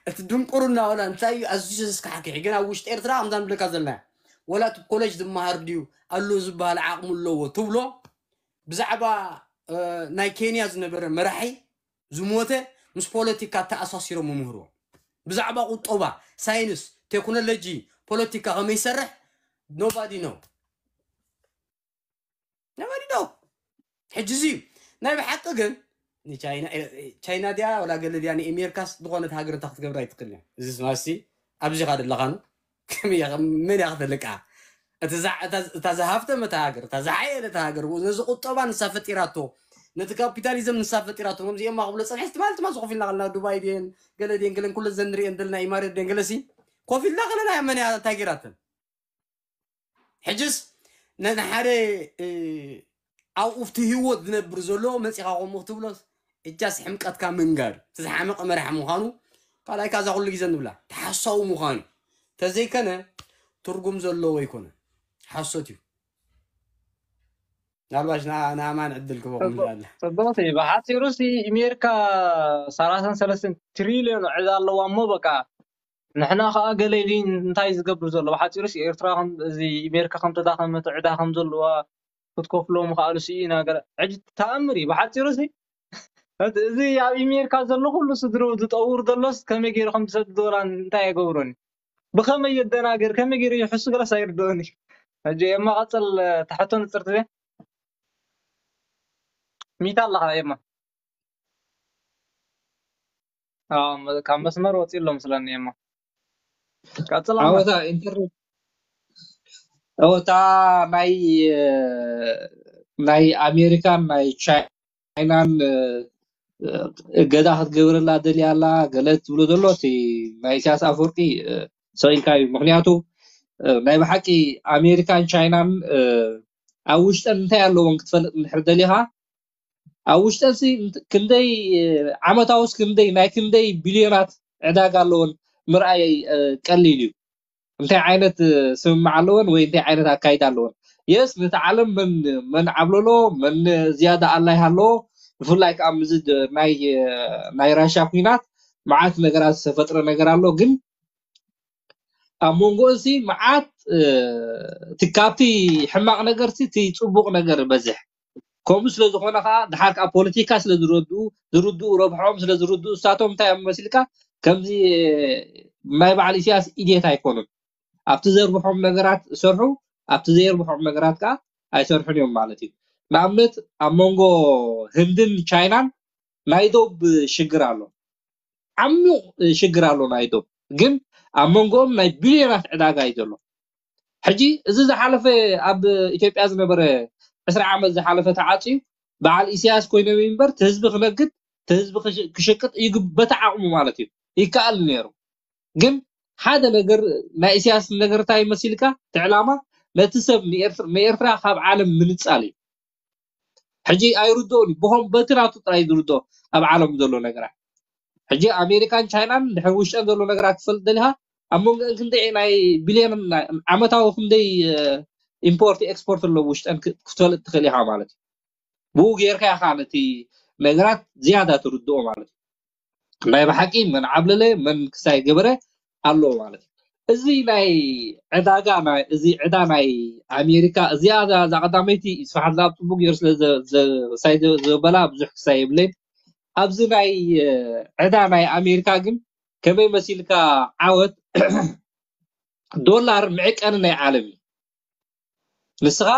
እቲ ድንቁርና ወላ እንታይ እዩ ኣዝዩ ዘስካሕክሕ ግን ኣብ ውሽጢ ኤርትራ ከምዛ ንብለካ ዘለና ወላ እቲ ኮሌጅ ዝመሃር ድዩ ኣሎ ዝበሃል ዓቕሚ ኣለዎ ትብሎ ብዛዕባ ናይ ኬንያ ዝነበረ መራሒ ዝሞተ ምስ ፖለቲካ ተኣሳሲሮም ይምህርዎ ብዛዕባ ቁጠባ ሳይንስ ቴክኖሎጂ ፖለቲካ ከመይ ይሰርሕ nobody know nobody know ሕጂ እዚ ናይ ብሓቂ ግን ንቻይና ቻይና ድያ ወላ ገለ ድያ ንኤሜሪካስ ዝኾነት ሃገር እንታ ክትገብራ ኣይትክእል እዚ ስማሲ ኣብዚኻ ዘለኻኑ መን እያ ክተልቃ እታ ዝሃፍተመት ሃገር እታ ዝሓየለት ሃገር ነዚ ቁጠባ ንሳ ፈጢራቶ ነቲ ካፒታሊዝም ንሳ ፈጢራቶ ከምዚኦም ክብሎ ፀንሐ ትማል ትማል ኮፍ ኢልና ከለና ዱባይ ድየን ገለ ድየን ገለን ኩለ ዘንሪኤን ዘለና ኢማሬት ድየን ገለሲ ኮፍ ኢልና ከለና መን እያ እንታይ ገይራተን ሕጅስ ንሓደ ኣብኡ ኣብቲ ህይወት ዝነብር ዘሎ መፂኻ ከምኡ ክትብሎስ እጃስ ሕምቀትካ ምንጋር እቲ ዝሓመቐ መራሕ ምዃኑ ካልኣይ ካዛ ኩሉ ግዜ ንብላ ተሓሳዊ ምዃኑ ተዘይከነ ትርጉም ዘለዎ ኣይኮነ ሓሶት እዩ ናልባሽ ንኣማን ዕድል ክበቁ ኣላ ፅቡቅቲ ብሓፂሩ ሲ ኣሜሪካ ሰላሳን ሰለስትን ትሪልዮን ዕዳ ኣለዋ እሞ በቃ ንሕና ከዓ ገለ ኢሉ እንታይ ዝገብር ዘሎ ብሓፂሩ ሲ ኤርትራ እዚ ኣሜሪካ ከም ተዳኸመት ዕዳ ከም ዘለዋ ክትከፍሎ ምኽኣሉ ስኢና ገለ ሕጂ ተኣምር እዩ ብሓፂሩ ሲ እቲ እዚ ኣብ ኣሜሪካ ዘሎ ኩሉ ስድርኡ ዝጠውር ዘሎስ ከመይ ገይሩ ከም ዝሰድድ ወላ እንታይ ኣይገብሮን እዩ ብኸመይ የደናግር ከመይ ገይሩ ይሕሱ ገለስ ኣይርድኦን እዩ ሕጂ የማቐፅል ተሕቶ ንፅርቲ ሚታ ኣለኻ የማ ካብ መስመር ወፂ ኣሎ ምስለኒ የማ ቀፅል ኣወታ ኢንተርኔት ኣወታ ናይ ናይ ኣሜሪካን ናይ ቻይናን እገዳ ክትገብረላ ደልያ ኣላ ገለ ትብሎ ዘሎ እቲ ናይ ኢሳያስ ኣፈወርቂ ሰቂልካ እዩ። ምክንያቱ ናይ ብሓቂ ኣሜሪካን ቻይናን ኣብ ውሽጠን እንታይ ኣለዎን ክትፈልጥ እንድሕር ደሊኻ ኣብ ውሽጠን ክንደይ ዓመታውስ ክንደይ ናይ ክንደይ ቢልዮናት ዕዳጋ ኣለዎን ምርኣይ ቀሊል እዩ። እንታይ ዓይነት ስምምዕ ኣለወን ወይ እንታይ ዓይነት ኣካይዳ ኣለወን? የስ ነቲ ዓለም መን መን ዓብለሎ መን ዝያዳ ኣላይ ሃለዎ ብፍላይ ከዓ ምዚ ናይ ናይ ራሻ ኩናት መዓት ነገራት ዝተፈጥረ ነገር ኣሎ። ግን ኣብ መንጎ እዚ መዓት እቲ ካብቲ ሕማቕ ነገር እቲ ጽቡቕ ነገር በዝሕ ከምኡ ስለ ዝኾነ ከዓ ድሓር ከዓ ፖለቲካ ስለ ዝረድኡ ዝርድኡ ረብሖም ስለ ዝርድኡ እሳቶም እንታይ እዮም መሲልካ ከምዚ ናይ በዓል ኢሳያስ ኢድየት ኣይኮኑን። ኣብቲ ዘርብሖም ነገራት ይሰርሑ፣ ኣብቲ ዘየርብሖም ነገራት ከዓ ኣይሰርሑን እዮም ማለት እዩ። ንኣብነት ኣብ መንጎ ህንድን ቻይናን ናይ ዶብ ሽግር ኣሎ፣ ዓሚቕ ሽግር ኣሎ ናይ ዶብ። ግን ኣብ መንጎኦም ናይ ቢልዮናት ዕዳጋ እዩ ዘሎ። ሕጂ እዚ ዝሓለፈ ኣብ ኢትዮጵያ ዝነበረ ዕስራ ዓመት ዝሓለፈ ተዓፅዩ በዓል ኢሳያስ ኮይኖም እምበር እቲ ህዝቢ ክነግድ እቲ ህዝቢ ክሽቅጥ በቲ ዓቕሙ ማለት እዩ ይከኣል ነይሩ። ግን ሓደ ነገር ናይ ኢሳያስ ነገር እንታይ መሲልካ እቲ ዕላማ ነቲ ሰብ ንኤርትራ ካብ ዓለም ምንፃል እዩ። ሕጂ ኣይርድኦን እዩ ብኾም በቲ ናቱ ጥራይ ዝርድኦ ኣብ ዓለም ዘሎ ነገራት። ሕጂ ኣሜሪካን ቻይናን ድሕሪ ውሽጠን ዘሎ ነገራት ትፈልጥ ደሊኻ ኣብ መንጎ ክንደይ ናይ ቢልዮን ዓመታዊ ክንደይ ኢምፖርት ኤክስፖርት ኣለዎ ውሽጠን ክትፈልጥ ትኽእል ኢኻ ማለት እዩ። ብኡ ጌርካ ኢኻ ነቲ ነገራት ዝያዳ ትርድኦ ማለት እዩ። ናይ ብሓቂ መን ዓብለለ መን ክሳይ ገበረ ኣለዎ ማለት እዩ። እዚ ናይ ዕዳጋ እዚ ዕዳ ናይ ኣሜሪካ እዚኣ እዛ ቀዳመይቲ ስፋሓት ኣብ ፅቡቅ ገይሩ ስለ ዘበላ ብዙሕ ክሳይ የብለይን። ኣብዚ ናይ ዕዳ ናይ ኣሜሪካ ግን ከመይ መሲልካ ዓወት ዶላር መዕቀኒ ናይ ዓለም እዩ። ንስኻ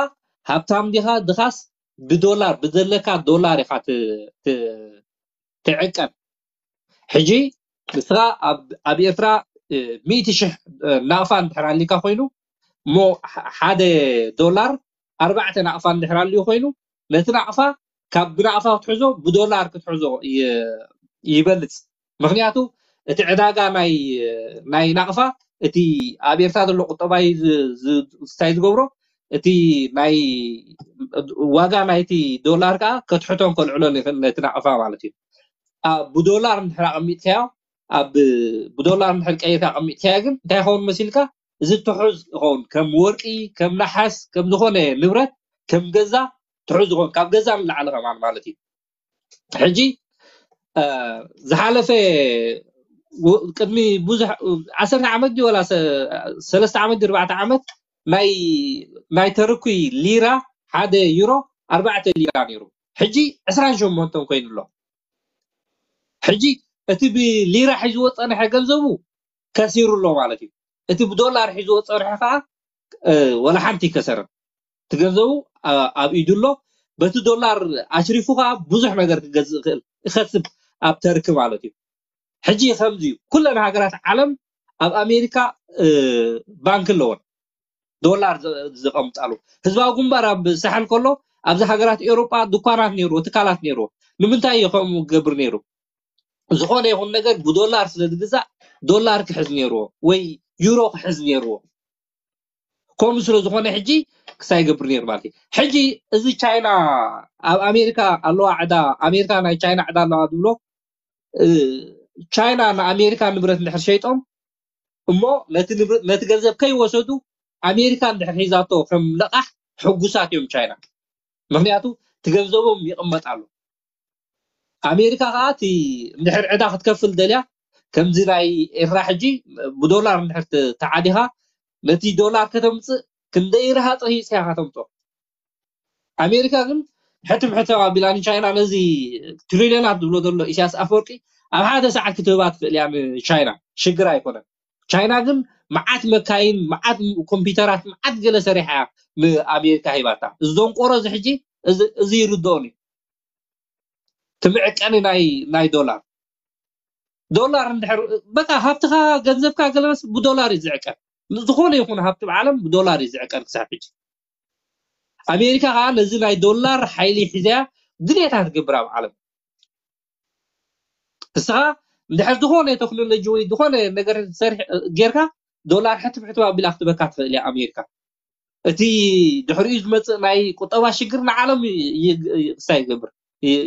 ሃብታም ዲኻ ድኻስ ብዶላር ብዘለካ ዶላር ኢኻ ትዕቀን። ሕጂ ንስኻ ኣብ ኤርትራ ሚእቲ ሽሕ ናቕፋ እንድሕር ኣሊካ ኮይኑ እሞ ሓደ ዶላር ኣርባዕተ ናቕፋ እንድሕር ኣልዩ ኮይኑ ነቲ ናቕፋ ካብ ብናቕፋ ክትሕዞ ብዶላር ክትሕዞ ይበልፅ። ምክንያቱ እቲ ዕዳጋ ናይ ናይ ናቕፋ እቲ ኣብ ኤርትራ ዘሎ ቁጠባ እንታይ ዝገብሮ እቲ ናይ ዋጋ ናይቲ ዶላር ከዓ ከትሕቶን ከልዕሎን ይኽእል ነቲ ናቕፋ ማለት እዩ። ብዶላር እንድሕር ኣቐሚጥካዮ ኣብ ብዶላር እንድሕር ቀይርካ ኣቐሚጥካዮ ግን እንታይ ይኸውን መሲልካ እዚ ትሑዝ ይኸውን ከም ወርቂ ከም ነሓስ ከም ዝኾነ ንብረት ከም ገዛ ትሑዝ ይኸውን ካብ ገዛ ንላዕሊ ከማን ማለት እዩ። ሕጂ ዝሓለፈ ቅድሚ ብዙሕ ዓሰርተ ዓመት ድዩ ወላ ሰለስተ ዓመት ድዩ ኣርባዕተ ዓመት ናይ ናይ ተርኩይ ሊራ ሓደ ዩሮ ኣርባዕተ ሊራ ነይሩ። ሕጂ ዕስራን ሸሞንተን ኮይኑ ኣሎ። ሕጂ እቲ ብሊራ ሒዝዎ ዝፀንሐ ገንዘቡ ከሲሩ ኣሎ ማለት እዩ። እቲ ብዶላር ሒዝዎ ዝፀንሐ ከዓ ወላ ሓንቲ ይከሰርን። እቲ ገንዘቡ ኣብ ኢዱ ኣሎ። በቲ ዶላር ኣሽሪፉ ከዓ ብዙሕ ነገር ክገዝእ ይኽእል ይኸስብ ኣብ ተርኪ ማለት እዩ። ሕጂ ከምዚ እዩ ኩለን ሃገራት ዓለም ኣብ ኣሜሪካ ባንክ ኣለወን ዶላር ዘቐምጣሉ ህዝባዊ ግንባር ኣብ ሳሕል ከሎ ኣብዚ ሃገራት ኤውሮጳ ድኳናት ነይርዎ ትካላት ነይርዎ ንምንታይ እዩ ከምኡ ገብር ነይሩ ዝኾነ ይኹን ነገር ብዶላር ስለ ዝግዛእ ዶላር ክሕዝ ነይርዎ ወይ ዩሮ ክሕዝ ነይርዎ ከምኡ ስለ ዝኾነ ሕጂ ክሳይ ገብር ነይሩ ማለት እዩ ሕጂ እዚ ቻይና ኣብ ኣሜሪካ ኣለዋ ዕዳ ኣሜሪካ ናይ ቻይና ዕዳ ኣለዋ ዝብሎ ቻይና ንኣሜሪካ ንብረት እንድሕር ሸይጦም እሞ ነቲ ገንዘብ ከይወሰዱ ኣሜሪካ እንድሕር ሒዛቶ ከም ለቓሕ ሕጉሳት እዮም ቻይና ምክንያቱ እቲ ገንዘቦም ይቕመጥ ኣሎ ኣሜሪካ ከዓ እቲ እንድሕር ዕዳ ክትከፍል ደልያ ከምዚ ናይ ኤርትራ ሕጂ ብዶላር እንድሕር ተዓዲኻ ነቲ ዶላር ከተምፅእ ክንደይ ረሃፀ ሂፅካ ከተምፅኦ ኣሜሪካ ግን ሕትም ሕትም ኣቢላ ንቻይና ነዚ ትሪልዮናት ዝብሎ ዘሎ ኢሳያስ ኣፈወርቂ ኣብ ሓደ ሰዓት ክትህባ ትኽእል እያ ንቻይና ሽግር ኣይኮነን ቻይና ግን መዓት መካይን መዓት ኮምፒውተራት መዓት ገለ ሰሪሓ እያ ንኣሜሪካ ሂባታ እዚ ደንቆሮ እዚ ሕጂ እዚ ይርድኦን እዩ ትምዕቀኒ ናይ ናይ ዶላር ዶላር እንድሕር በቃ ሃብትኻ ገንዘብካ ገለመስ ብዶላር እዩ ዝዕቀን ዝኾነ ይኹን ሃብቲ ብዓለም ብዶላር እዩ ዝዕቀን ክሳብ ሕጂ ኣሜሪካ ከዓ ነዚ ናይ ዶላር ሓይሊ ሒዘያ ድሌታ ትገብር ኣብ ዓለም ንስኻ እንድሕር ዝኾነ ቴክኖሎጂ ወይ ዝኾነ ነገር ሰርሕ ጌርካ ዶላር ሕትም ሕትም ኣቢላ ክትበካ ትኽእል እያ ኣሜሪካ። እቲ ድሕሪኡ ዝመፅእ ናይ ቁጠባ ሽግር ንዓለም ክስታይ ይገብር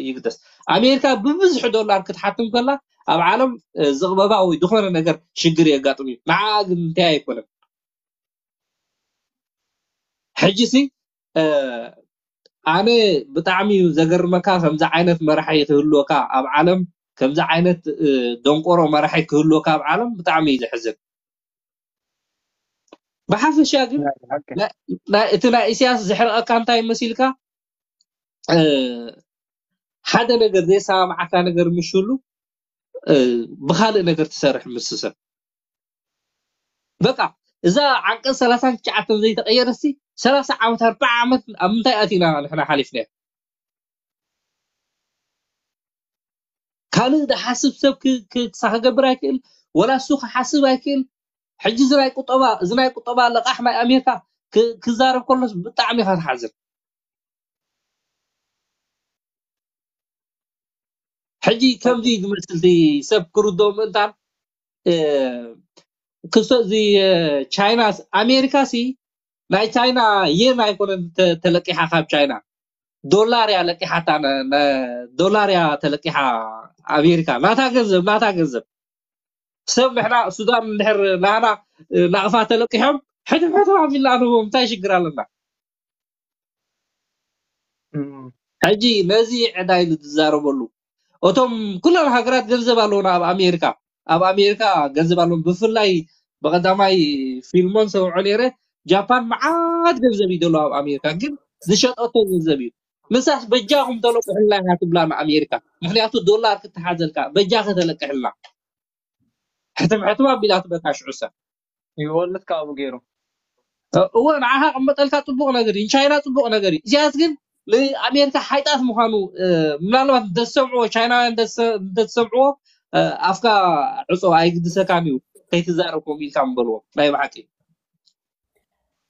ይግደስ። ኣሜሪካ ብብዝሒ ዶላር ክትሓትም ከላ ኣብ ዓለም ዝቕበባ ወይ ዝኾነ ነገር ሽግር የጋጥም እዩ። ንዓ ግን እንታይ ኣይኮነን። ሕጂ ሲ ኣነ ብጣዕሚ እዩ ዘገርመካ ከምዚ ዓይነት መራሒ ክህልወካ ኣብ ዓለም ከምዚ ዓይነት ደንቆሮ መራሒ ክህልወካ ኣብ ዓለም ብጣዕሚ እዩ ዘሕዝን። ብሓፈሻ ግን እቲ ናይ ኢሳያስ ዘሕርቐካ እንታይ መሲልካ ሓደ ነገር ዘይሰማማዓካ ነገር ምሽሉ ብካልእ ነገር ትሰርሕ ምስ ሰብ በቃ እዛ ዓንቀፅ ሰላሳን ትሽዓተን ዘይተቀየረሲ ሰላሳ ዓመት ኣርባዓ ዓመት ኣብ ምንታይ ኣቲና ንሕና ሓሊፍና ካልእ ዝሓስብ ሰብ ክሳ ክገብር ኣይክእል ወላ እሱ ክሓስብ ኣይክእል ሕጂ እዚ ናይ ቁጠባ እዚ ናይ ቁጠባ ለቃሕ ናይ ኣሜሪካ ክዛረብ ከሎስ ብጣዕሚ ኢካ ትሓዝን ሕጂ ከምዚ ዝመስል ሰብ ክርድኦ ምእንታን ክሶ እዚ ቻይና ኣሜሪካ ሲ ናይ ቻይና የን ኣይኮነን ተለቂሓ ካብ ቻይና ዶላር እያ ለቂሓታ ዶላር እያ ተለቂሓ ኣሜሪካ ናታ ገንዘብ ናታ ገንዘብ ሰብ ንሕና ሱዳን እንድሕር ናህና ናቕፋ ተለቂሖም ሕትም ሕትም ኣቢልና ንህቦም እንታይ ሽግር ኣለና ሕጂ ነዚ ዕዳ ኢሉ ዝዛረበሉ እቶም ኩለን ሃገራት ገንዘብ ኣለውና ኣብ ኣሜሪካ ኣብ ኣሜሪካ ገንዘብ ኣለዎም ብፍላይ ብቀዳማይ ፊልሞን ሰምዖ ነይረ ጃፓን መዓት ገንዘብ እዩ ዘሎ ኣብ ኣሜሪካ ግን ዝሸጠቶ ገንዘብ እዩ ንሳስ በጃኹም ተለቁሕልና ኢና ትብላ ንኣሜሪካ ምክንያቱ ዶላር ክትሓዘልካ በጃ ከተለቅሕልና ሕትም ሕትም ኣቢላ ትበካ ሽዑ ሰብ ይወልድ ካብኡ ገይሩ እወ ንዓኻ ቅመጠልካ ፅቡቅ ነገር እዩ ንቻይና ፅቡቅ ነገር እዩ ኢሳያስ ግን ንኣሜሪካ ሓይጣት ምዃኑ ምናልባት እንተዝሰምዕዎ ቻይናውያን እንተዝሰምዕዎ ኣፍካ ዕፆ ኣይግድሰካን እዩ ከይትዛረብ ከምኡ ኢልካ ምበልዎ ናይ ብሓቂ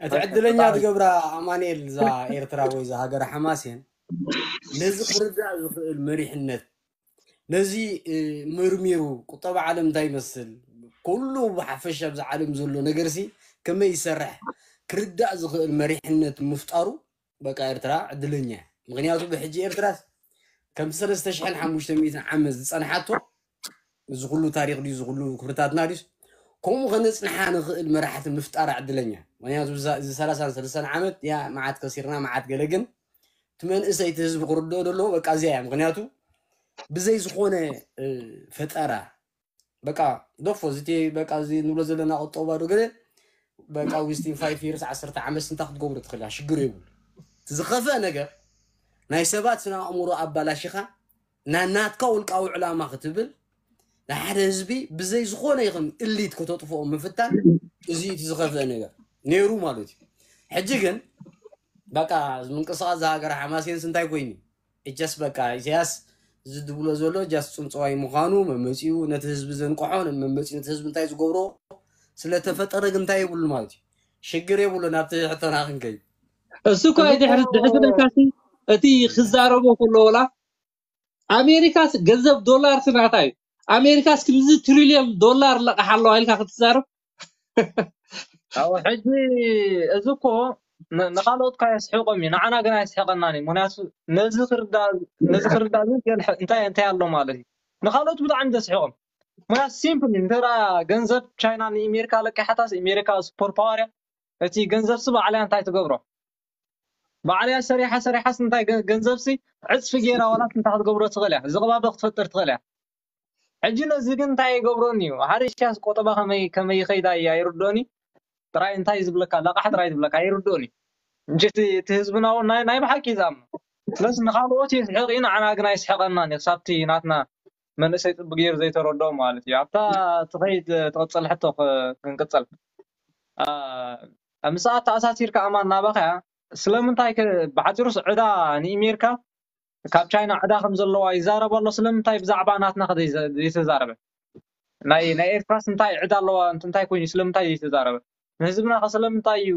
እቲ ዕድለኛ ትገብራ ኣማንኤል እዛ ኤርትራ ወይ እዛ ሃገር ሓማሴን ነዚ ክርዳእ ዝኽእል መሪሕነት ነዚ መርሚሩ ቁጠባ ዓለም እንታይ ይመስል ኩሉ ብሓፈሻ ኣብዚ ዓለም ዘሎ ነገርሲ ከመይ ይሰርሕ ክርዳእ ዝኽእል መሪሕነት ምፍጣሩ በቃ ኤርትራ ዕድለኛ ምክንያቱ ብሕጂ ኤርትራስ ከም ሰለስተ ሽሕን ሓሙሽተ ሚእትን ዓመት ዝፀንሓቶ እዚ ኩሉ ታሪክ ድዩ እዚ ኩሉ ክብርታትና ድዩስ ከምኡ ከነፅንሓ ንኽእል መራሕቲ ምፍጣር ዕድለኛ ምክንያቱ እዚ ሰላሳን ሰለስተን ዓመት ያ መዓት ከሲርና መዓት ገለ ግን እቲ መንእሰይ እቲ ህዝቢ ክርድኦ ዘለዎ በቃ እዚኣ እያ ምክንያቱ ብዘይ ዝኾነ ፈጠራ በቃ ዶፎ እዚ በቃ እዚ ንብሎ ዘለና ቁጠባ ዶ ገለ በቃ ዊስቲን ፋይቭ ይርስ ዓሰርተ ዓመት ስንታ ክትገብሮ ትኽእል ሽግር የብሉ ዝኸፍአ ነገር ናይ ሰባት ስነ ኣእምሮ ኣባላሽኻ ናናትካ ውልቃዊ ዕላማ ክትብል ንሓደ ህዝቢ ብዘይ ዝኾነ ይኹን እሊት ከተጥፍኦ ምፍታን እዚ እቲ ዝኸፍአ ነገር ነይሩ ማለት እዩ ሕጂ ግን በቃ ምንቅስቃስ ዝሃገር ሓማሴንስ እንታይ ኮይኑ እጀስ በቃ ኢሳያስ እዚ ድብሎ ዘሎ ጃስ ፅንፅዋይ ምዃኑ መመፂኡ ነቲ ህዝቢ ዘንቅሖ መመፂኡ ነቲ ህዝቢ እንታይ ዝገብሮ ስለተፈጠረ ግን እንታይ የብሉ ማለት እዩ ሽግር የብሉ ናብቲ ሕቶና ክንከይ እሱ እኮ ድሕሪ ድሕሪ ለካሲ እቲ ክዛረቦ ከሎ ወላ ኣሜሪካስ ገንዘብ ዶላር ስናታ እዩ ኣሜሪካስ ክንዚ ትሪልዮን ዶላር ለቃሕ ኣለዋ ኢልካ ክትዛረብ ኣብ ሕጂ እዚ እኮ ንካልኦት ካ የስሕቆም እዩ ንዓና ግን ኣይስሕቀናን እዩ ምክንያቱ ነዚ ክርዳእ ነዚ ክርዳእ ግን እንታይ እንታይ ኣሎ ማለት እዩ ንካልኦት ብጣዕሚ ዘስሕቆም ምክንያቱ ሲምፕል እንተራ ገንዘብ ቻይና ንእሜሪካ ለቂሓታስ እሜሪካ ሱፐር ፓወር እያ እቲ ገንዘብ ስ ባዕልያ እንታይ ትገብሮ ባዕልያ ሰሪሓ ሰሪሓስ እንታይ ገንዘብ ሲ ዕፅፊ ገይራ ዋላስ እንታይ ክትገብሮ ትኽእል እያ ዝቕባበ ክትፈጥር ትኽእል እያ ሕጂ ነዚ ግን እንታይ ይገብሮን እዩ ሓደ ኢሳያስ ቆጠባ ከመይ ከመይ ይኸይዳ እያ ይርዶኒ ጥራይ እንታይ ዝብለካ ለቃሕ ጥራይ ዝብለካ ይርዶኒ እንጂ እቲ ህዝብና ናይ ብሓቂ ይዛም ስለዚ ንካልኦት የስሕቕ እዩ ንዓና ግን ኣይስሕቐናን እዩ ክሳብቲ ናትና መንእሰይ ፅቡቅ ገይሩ ዘይተረድኦ ማለት እዩ ኣብታ ትኸይድ ትቕፅል ሕቶ ክንቅፅል ምሳኣ ተኣሳሲርካ ኣማን ናባኸያ ስለምንታይ ብሓፂሩስ ዕዳ ንእሜርካ ካብ ቻይና ዕዳ ከም ዘለዋ ይዛረብ ኣሎ ስለምንታይ ብዛዕባ ናትና ዘይተዛረበ ናይ ናይ ኤርትራስ እንታይ ዕዳ ኣለዋ እንታይ ኮይኑ ስለምንታይ ዘይተዛረበ ንህዝብና ከ ስለምንታይ እዩ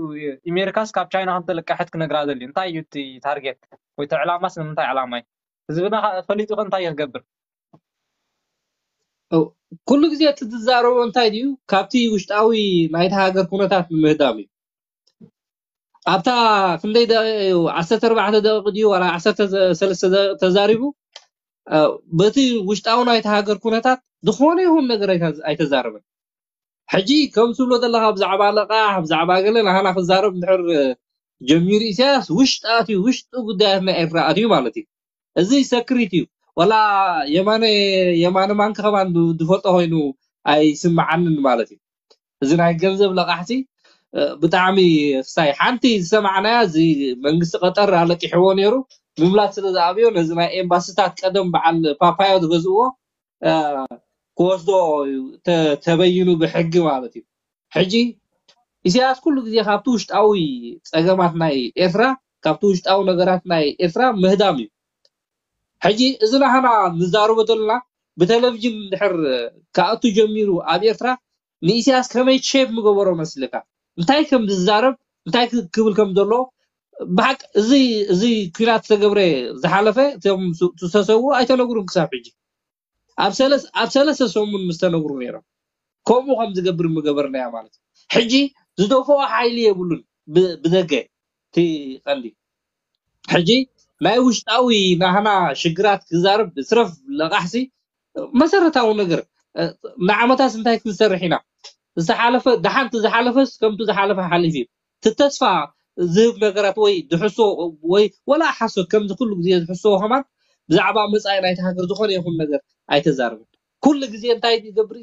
እሜርካስ ካብ ቻይና ከም ተለቀሐት ክነግራ ዘድልዩ እንታይ እዩ እቲ ታርጌት ወይ እቲ ዕላማስ ንምንታይ ዕላማ እዩ ህዝብና ፈሊጡ ከ እንታይ ክገብር ኩሉ ግዜ እቲ ዝዛረቦ እንታይ ድዩ? ካብቲ ውሽጣዊ ናይቲ ሃገር ኩነታት ንምህዳም እዩ። ኣብታ ክንደይ ደቂቕ እዩ? ዓሰርተ ኣርባዕተ ደቂቕ ድዩ ዋላ ዓሰርተ ሰለስተ ደቂቕ ተዛሪቡ? በቲ ውሽጣዊ ናይቲ ሃገር ኩነታት ዝኾነ ይኹን ነገር ኣይተዛረበን። ሕጂ ከም ትብሎ ዘለኻ ብዛዕባ ለቓሕ ብዛዕባ ገለ ናህና ክዛረብ እንድሕር ጀሚሩ ኢሳያስ ውሽጢ ኣትዩ ውሽጢ ጉዳያት ናይ ኤርትራ ኣትዩ ማለት እዩ። እዚ ሰክሪት እዩ። ወላ የማነ የማነ ማንክ ከማን ዝፈልጦ ኮይኑ ኣይስምዓንን ማለት እዩ። እዚ ናይ ገንዘብ ለቓሕቲ ብጣዕሚ ክሳይ ሓንቲ ዝሰማዕናያ እዚ መንግስቲ ቀጠር ኣለቂሕዎ ነይሩ። ምምላስ ስለ ዝኣብዮ ነዚ ናይ ኤምባስታት ቀደም በዓል ፓፓዮ ዝገዝእዎ ክወስዶ ተበይኑ ብሕጊ ማለት እዩ። ሕጂ ኢሳያስ ኩሉ ግዜ ካብቲ ውሽጣዊ ፀገማት ናይ ኤርትራ ካብቲ ውሽጣዊ ነገራት ናይ ኤርትራ ምህዳም እዩ። ሕጂ እዚ ናህና ንዛረቦ ዘለና ብቴሌቪዥን ድሕር ክኣቱ ጀሚሩ ኣብ ኤርትራ ንኢሳያስ ከመይ ሼፕ ምገበሮ መስልካ እንታይ ከም ዝዛረብ እንታይ ክብል ከም ዘሎ ብሓቅ እዚ እዚ ኩናት ዝተገብረ ዝሓለፈ እቶም ዝተሰዉ ኣይተነግሩን ክሳብ ሕጂ ኣብ ሰለስተ ሰሙን ምስ ተነግሩ ነይሮም። ከምኡ ከም ዝገብር ምገበርናያ ማለት እዩ። ሕጂ ዝደፍኦ ሓይሊ የብሉን ብደገ እቲ ቀንዲ ሕጂ ናይ ውሽጣዊ ናህና ሽግራት ክዛረብ ስረፍ ለቃሕሲ መሰረታዊ ነገር ንዓመታት እንታይ ክንሰርሕ ኢና ዝሓለፈ ደሓንቲ ዝሓለፈስ ከምቱ ዝሓለፈ ሓሊፍ እዩ እቲ ተስፋ ዝህብ ነገራት ወይ ድሕሶ ወይ ወላ ሓሶት ከምዚ ኩሉ ግዜ ዝሕስዎ ከማን ብዛዕባ መፃኢ ናይቲ ሃገር ዝኾነ ይኹን ነገር ኣይተዛርብን። ኩሉ ግዜ እንታይ ይገብር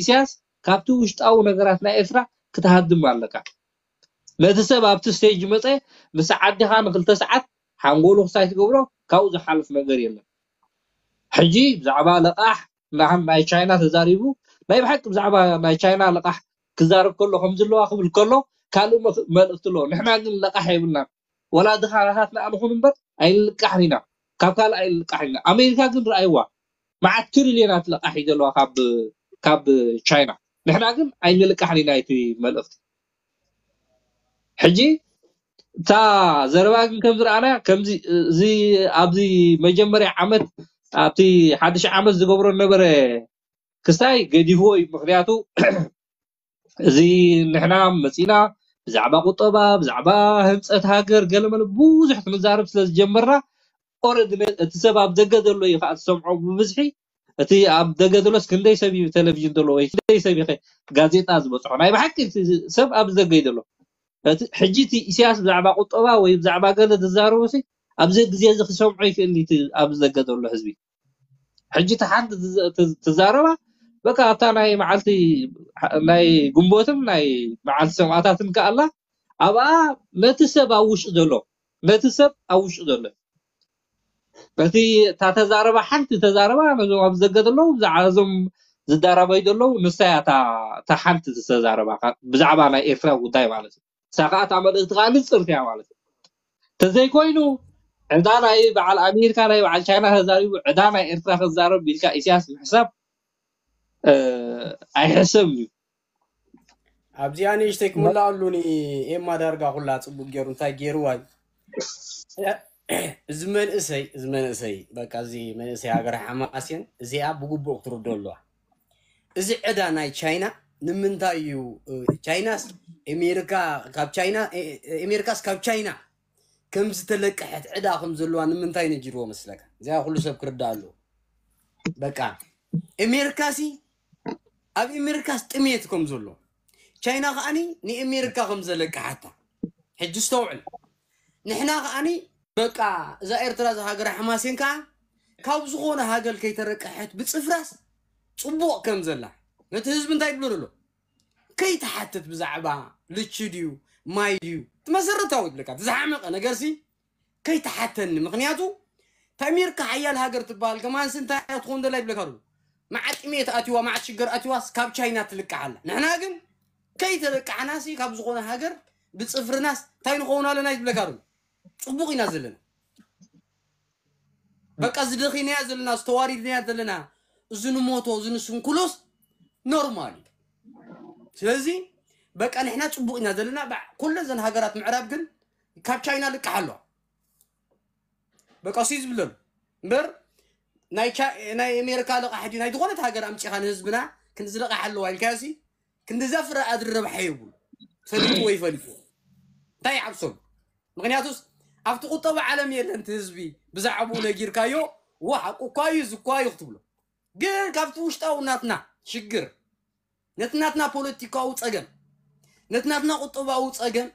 ኢሳያስ ካብቲ ውሽጣዊ ነገራት ናይ ኤርትራ ክትሃድም ኣለካ። ነቲ ሰብ ኣብቲ ስቴጅ መፀ ምስ ዓዲኻ ንክልተ ሰዓት ሓንጎሉ ክሳይ ትገብሮ ካብኡ ዝሓልፍ ነገር የለን። ሕጂ ብዛዕባ ለቃሕ ናይ ቻይና ተዛሪቡ ናይ ብሓቂ ብዛዕባ ናይ ቻይና ለቃሕ ክዛረብ ከሎ ከም ዘለዋ ክብል ከሎ ካልእ መልእክቲ ኣለዎ። ንሕና ግን ለቃሕ የብልናን። ወላ ድኻታትና ንኹን እምበር ኣይንልቃሕን ኢና። ካብ ካልእ ኣይንልቃሕን ኢና። ኣሜሪካ ግን ረኣይዋ መዓት ትሪልዮናት ለቃሕ እዩ ዘለዋ ካብ ካብ ቻይና። ንሕና ግን ኣይንልቃሕን ኢና እቲ መልእክቲ። ሕጂ እታ ዘረባ ግን ከም ዝረኣናያ ከምዚ እዚ ኣብዚ መጀመርያ ዓመት ኣብቲ ሓድሽ ዓመት ዝገብሮ ነበረ ክስታይ ገዲፍዎ እዩ። ምክንያቱ እዚ ንሕና መፂና ብዛዕባ ቁጠባ ብዛዕባ ህንፀት ሃገር ገለመለ ብዙሕ ክንዛረብ ስለ ዝጀመርና ኦረዲ እቲ ሰብ ኣብ ደገ ዘሎ እዩ ከዓ ትሰምዖ ብብዝሒ እቲ ኣብ ደገ ዘሎስ ክንደይ ሰብ እዩ ቴሌቪዥን ዘሎ ወይ ክንደይ ሰብ ይኸ ጋዜጣ ዝበፅሖ ናይ ብሓቂ ሰብ ኣብ ደገ እዩ ዘሎ። ሕጂ እቲ ኢሳያስ ብዛዕባ ቁጠባ ወይ ብዛዕባ ገለ ዝዛረቦ ሲ ኣብዚ ግዜ እዚ ክሰምዖ ይክእል እቲ ኣብዚ ደገ ዘሎ ህዝቢ። ሕጂ እቲ ሓንቲ ትዛረባ በቃ ኣብታ ናይ መዓልቲ ናይ ግንቦትን ናይ መዓልቲ ሰማእታትን ከኣላ ኣብኣ ነቲ ሰብ ኣብ ውሽጢ ዘሎ ነቲ ሰብ ኣብ ውሽጢ ዘሎ እቲ እታ ተዛረባ ሓንቲ ተዛረባ ነዞም ኣብ ዘገ ዘለዉ ብዛዕባ እዞም ዝዳረባዩ ዘለዉ ንሳያ እታ ሓንቲ ዝተዛረባ ብዛዕባ ናይ ኤርትራ ጉዳይ ማለት እዩ። ንሳ ከዓ እታ መልእክቲ ከዓ ንፅርቲ እያ ማለት እዩ። ተዘይኮይኑ ዕዳ ናይ በዓል ኣሜሪካ ናይ በዓል ቻይና ተዛሪቡ ዕዳ ናይ ኤርትራ ክዛረብ ኢልካ ኢሳያስ ምሕሳብ ኣይሕሰብን እዩ። ኣብዚኣ ንእሽተይ ክምልኣሉ ንኤማ ዳርጋ ኩላ ፅቡቅ ገይሩ እንታይ ገይርዋ እዩ እዚ መንእሰይ እዚ መንእሰይ በቃ እዚ መንእሰይ ሃገር ሓማስየን እዚኣ ብግቡእ ክትርዶ ኣለዋ። እዚ ዕዳ ናይ ቻይና ንምንታይ እዩ ቻይናስ ኤሜሪካ ካብ ቻይና ኤሜሪካስ ካብ ቻይና ከም ዝተለቀሐት ዕዳ ከም ዘለዋ ንምንታይ ነጊርዎ መስለካ? እዚኣ ኩሉ ሰብ ክርዳእ ኣለዎ። በቃ ኤሜሪካሲ ኣብ ኤሜሪካስ ጥሜት ከም ዘሎ ቻይና ከዓኒ ንኤሜሪካ ከም ዘለቀሓታ ሕጂ ስተውዕል። ንሕና ከዓኒ በቃ እዛ ኤርትራ እዛ ሃገር ሓማሴን ከዓ ካብ ዝኾነ ሃገር ከይተረቀሐት ብፅፍራስ ፅቡቕ ከም ዘላ ነቲ ህዝቢ እንታይ ይብሎ ዘሎ ከይተሓትት ብዛዕባ ልቺ ድዩ ማይ ድዩ እቲ መሰረታዊ ይብለካ እቲ ዝሓመቐ ነገርሲ ከይተሓተኒ ምክንያቱ ተሚርካ ሓያል ሃገር ትበሃል ከማንስ እንታይ ክትኾን ደላ ይብለካ ዶ መዓት ጥሜት ኣትዋ መዓት ሽገር ኣትዋስ ካብ ቻይና ትልቃሕ ኣላ ንሕና ግን ከይተለቃሕናሲ ካብ ዝኾነ ሃገር ብፅፍርናስ እንታይ ንኸውን ኣለና ይብለካ ዶ ፅቡቕ ኢና ዘለና በቃ ዝደኺናያ ዘለና ዝተዋሪድናያ ዘለና እዚ ንሞቶ እዚ ንስንኩሎስ ኖርማል እዩ ስለዚ በቃ ንሕና ፅቡቕ ኢና ዘለና ኩለን ዘን ሃገራት ምዕራብ ግን ካብ ቻይና ልቃሕ ኣለዋ በቃ ሲ ዝብለሉ እምበር ናይ ቻ- ናይ ኣሜሪካ ለቃሕ ድዩ ናይ ዝኾነት ሃገር ኣምፂኻ ንህዝብና ክንዚ ለቃሕ ኣለዋ ኢልካዮሲ ክንዲ ዘፍረ ኣድሪ ረብሓ የብሉ። ፈሊጡ ወይ ፈሊጡ እንታይ ይዓብሰሉ? ምክንያቱስ ኣብቲ ቁጠባ ዓለም የለን እቲ ህዝቢ ብዛዕባኡ ነጊርካዮ ዋ ሓቁ እኳ እዩ እዚ እኳ እዩ ክትብሎ ግን ካብቲ ውሽጣዊ ናትና ሽግር ነቲ ናትና ፖለቲካዊ ፀገም ነቲ ናትና ቁጠባዊ ፀገም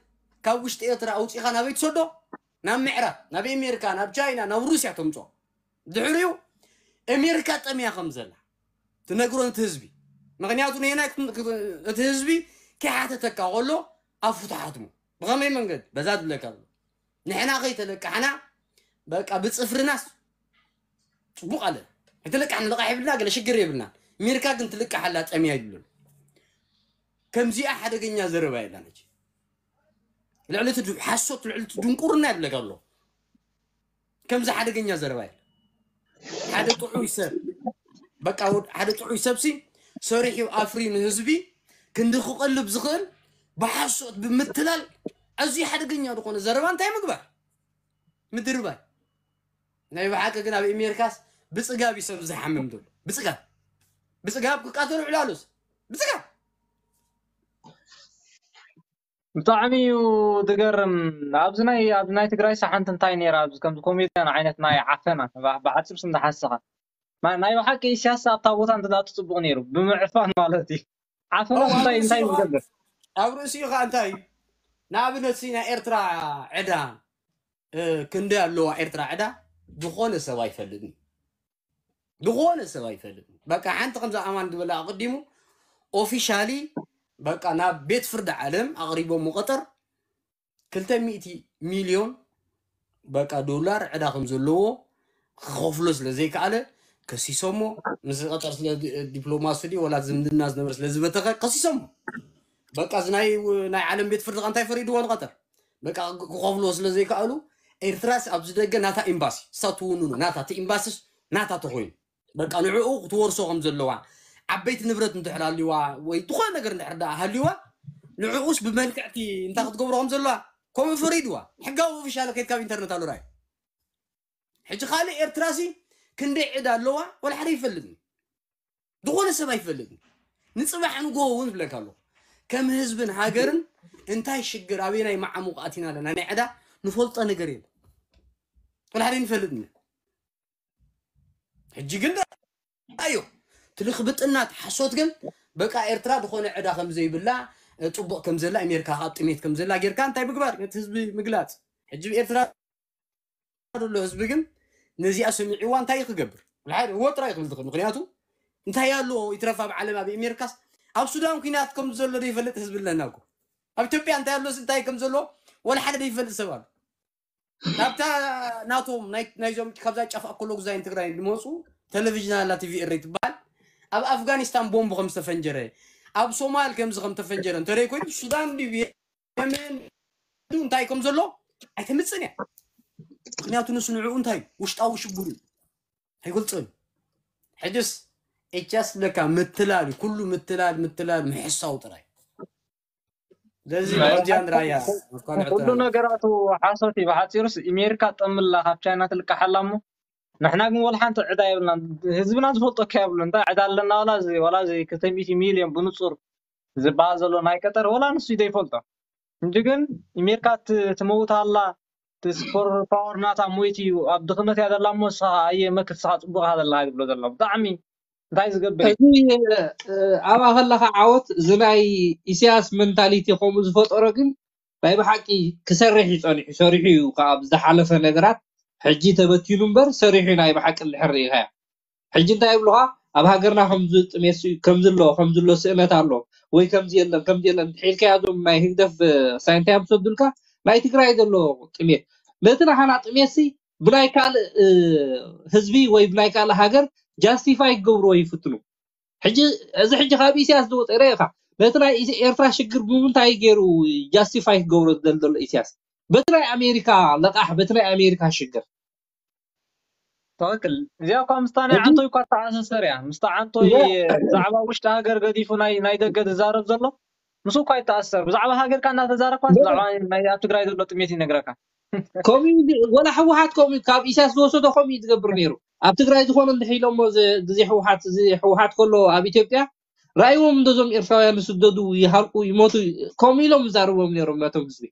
ካብ ውሽጢ ኤርትራ ኣውፂኻ ናበይ ትሰዶ? ናብ ምዕራብ ናብ ኣሜሪካ ናብ ቻይና ናብ ሩስያ ተምፅኦ። ድሕሪኡ ኣሜሪካ ጠምያ ከም ዘላ ትነግሮ ነቲ ህዝቢ። ምክንያቱ ንየናይ እቲ ህዝቢ ከይሓተተካ ከሎ ኣፉ ትሓትሙ። ብኸመይ መንገዲ በዛ ትብለካ ኣሎ ንሕና ከይተለቃሕና በቃ ብፅፍርናስ ፅቡቅ ኣለ ኣይተለቃሕና ልቃሕ የብልና ገለ ሽግር የብልና። ኣሜሪካ ግን ትልቃሕ ኣላ ጠምያ ይብሉን። ከምዚኣ ሓደገኛ ዘረባ የላን። ልዕሊ እቲ ሓሶት ልዕሊ እቲ ድንቁርና ይብለካ ኣሎ። ከምዚ ሓደገኛ ዘረባ የለ። ሓደ ጥዑይ ሰብ በቃ ሓደ ጥዑይ ሰብሲ ሰሪሑ ኣፍሪ ንህዝቢ ክንዲ ክቐልብ ዝኽእል ብሓሶት ብምትላል ኣዝዩ ሓደገኛ ዝኾነ ዘረባ እንታይ ምግባር ምድርባይ። ናይ ብሓቂ ግን ኣብ ኣሜሪካስ ብፅጋብ እዩ ሰብ ዝሓምም ዘሎ። ብፅጋብ ብፅጋብ ክቃተሉ ዕላሉስ ብፅጋብ ብጣዕሚ እዩ ዝገርም። ኣብዚ ናይ ኣብዚ ናይ ትግራይ ሰሓንቲ እንታይ ነይራ ኣብዚ ከምዚ ኮሜድያን ዓይነት ናይ ዓፈና ብሓፂር ስም ዝሓሰኻ ናይ ብሓቂ ኢሳያስ ኣብታ ቦታ እንተ ትፅቡቕ ነይሩ ብምዕፋን ማለት እዩ። ዓፈና እንታይ እንታይ ዝገብር ኣብ ርእሲኡ ከዓ እንታይ እዩ ንኣብነት ናይ ኤርትራ ዕዳ ክንደይ ኣለዋ ኤርትራ ዕዳ ዝኾነ ሰብ ኣይፈልጥን። ዝኾነ ሰብ ኣይፈልጥን። በቃ ሓንቲ ከምዛ ኣማን ዝበላ ኣቐዲሙ ኦፊሻሊ በቃ ናብ ቤት ፍርዲ ዓለም ኣቕሪቦም ቀጠር ክልተ ሚእቲ ሚልዮን በቃ ዶላር ዕዳ ከም ዘለዎ ክኸፍሎ ስለ ዘይከኣለ ከሲሶሞ ምስ ቀጠር ስለ ዲፕሎማሲ ድዩ ወላ ዝምድና ዝነበረ ስለ ዝበተኸ ከሲሶሞ። በቃ እዚ ናይ ናይ ዓለም ቤት ፍርዲ እንታይ ፈሪድዎ ንቀጠር በቃ ክኸፍልዎ ስለ ዘይከኣሉ ኤርትራስ ኣብዚ ደገ ናታ ኤምባሲ እሳ ትውንኑ ናታ እቲ ኤምባስስ ናታ ተኮይኑ በቃ ንዕኡ ክትወርሶ ከም ዘለዋ ዓበይቲ ንብረት እንድሕር ኣልዋ ወይ ዝኾነ ነገር እንድሕር ደኣ ሃልዋ ንዕኡስ ብመልክዕቲ እንታይ ክትገብሮ ከም ዘለዋ ከምኡ ፈሪድዋ ሕጋዊ ኦፊሻል ከይድ ካብ ኢንተርነት ኣሎ ራይ ሕጂ ካልእ ኤርትራሲ ክንደይ ዕዳ ኣለዋ ወላ ሓደ ይፈልጥኒ ዝኾነ ሰብ ኣይፈልጥን። ንፅባሕ ንጎ እውን ዝብለካ ኣለኹ ከም ህዝብን ሃገርን እንታይ ሽግር ኣበየናይ መዓሙቕ ኣቲና ኣለና ናይ ዕዳ ንፈልጦ ነገር የለ ወላ ሓደ ንፈልጥኒ ሕጂ ግን ኣዮ ትልክብጥናት ሓሶት ግን በቃ ኤርትራ ዝኾነ ዕዳ ከም ዘይብላ ፅቡቕ ከም ዘላ ኣሜሪካ ካብ ጥሜት ከም ዘላ ጌርካ እንታይ ምግባር ነቲ ህዝቢ ምግላፅ ሕጂ ኤርትራ ዘሎ ህዝቢ ግን ነዚኣ ሰሚዕዋ እንታይ ክገብር ወጥራ ይክብል ትኽእል ምክንያቱ እንታይ ኣሎ ይትረፍ ኣብ ዓለም ኣብ ኣሜሪካስ ኣብ ሱዳን ኩናት ከም ዘሎ ዘይፈልጥ ህዝቢ ኣለና እኮ ኣብ ኢትዮጵያ እንታይ ኣሎ እንታይ ከም ዘሎ ወላ ሓደ ዘይፈልጥ ሰብ ኣሎ ናብታ ናቶም ናይዞም ካብዛ ጫፍ ኣኮሎጉዛይን ትግራይ ዝመፁ ቴሌቪዥን ኣላ ቲቪ ኤሪ ትበሃል ኣብ ኣፍጋኒስታን ቦምብ ከም ዝተፈንጀረ ኣብ ሶማል ከምዚ ከም ተፈንጀረ እንተደይ ኮይኑ ሱዳን ድዩ የመን እንታይ ከም ዘሎ ኣይተምፅን እያ ምክንያቱ ንሱ ንዕኡ እንታይ ውሽጣዊ ሽግሩ ኣይገልፅን ሕጅስ ኤቻስ ለካ ምትላል ኩሉ ምትላል ምትላል ምሕሳው ጥራይ ስለዚ ከምዚኣ ንራያ ኩሉ ነገራቱ ሓሶት እዩ ብሓፂሩስ ኣሜሪካ ጠምላ ካብ ቻይና ትልቃሓላ እሞ ንሕና ግን ወላ ሓንቲ ዕዳ የብልና ህዝብና ዝፈልጦ ከ የብሉ እንታይ ዕዳ ኣለና ወላ እዚ ወላ እዚ ክልተ ሚእቲ ሚልዮን ብንፁር ዝበሃል ዘሎ ናይ ቀጠር ወላ ንሱ ዘይፈልጦ እንጂ ግን ኣሜሪካ ትመውት ኣላ ስፖር ፓወር ናታ ሞይት እዩ ኣብ ድኽነት እያ ዘላ እሞ ንስኻ ኣየ መክት ስኻ ፅቡቅ ኢኻ ዘለኻ ዝብሎ ዘሎ ብጣዕሚ እንታይ ዝገብር እዩ እዚ ኣብኣ ከለካ ዓወት እዚ ናይ ኢሳያስ መንታሊቲ ከምኡ ዝፈጠሮ ግን ናይ ብሓቂ ክሰርሕ እዩ ፀኒሑ ሰሪሑ እዩ ካብ ዝሓለፈ ነገራት ሕጂ ተበቲኑ እምበር ሰሪሑ ናይ ብሓቂ እንድሕር ርኢኻዮ ሕጂ እንታይ ይብሉኻ ኣብ ሃገርና ከምዚ ጥሜት ከምዚ ኣሎ ከምዚ ኣሎ ስእነት ኣሎ ወይ ከምዚ የለን ከምዚ የለን እንድሕር ኢልካዮ እዞም ናይ ህግደፍ ሳይንታይ ምሰዱልካ ናይ ትግራይ ዘሎ ጥሜት ነቲ ናሃና ጥሜት ሲ ብናይ ካልእ ህዝቢ ወይ ብናይ ካልእ ሃገር justify ክገብርዎ ይፍትኑ ሕጂ እዚ ሕጂ ካብ ኢሳያስ ዝወፀ ርኢኻ ነቲ ናይ ኤርትራ ሽግር ብምንታይ ገይሩ justify ክገብሮ ዝደል ዘሎ ኢሳያስ በቲ ናይ ኣሜሪካ ለቃሕ በቲ ናይ ኣሜሪካ ሽግር ትክክል እዚኣ እኳ ምስታ ናይ ዓንቶይ እኳ ተኣሳሰር እያ ምስታ ዓንቶይ ብዛዕባ ውሽጢ ሃገር ገዲፉ ናይ ናይ ደገ ዝዛረብ ዘሎ ምስ እኳ ይተኣሰር ብዛዕባ ሃገርካ እናተዛረብካ ብዛዕባ ናይ ኣብ ትግራይ ዘሎ ጥሜት ይነግረካ ከምኡ ወላ ህወሓት ከምኡ ካብ ኢሳያስ ዝወሰዶ ከምኡ ዝገብር ነይሩ ኣብ ትግራይ ዝኾነ እንድሕር ኢሎሞ፣ እዚ ግዜ ህወሓት፣ እዚ ህወሓት ከሎ ኣብ ኢትዮጵያ ረኣይዎም፣ እንደዞም ኤርትራውያን ዝስደዱ፣ ይሃልቁ፣ ይሞቱ፣ ከምኡ ኢሎም ይዛረብዎም ነይሮም ናቶም ህዝቢ።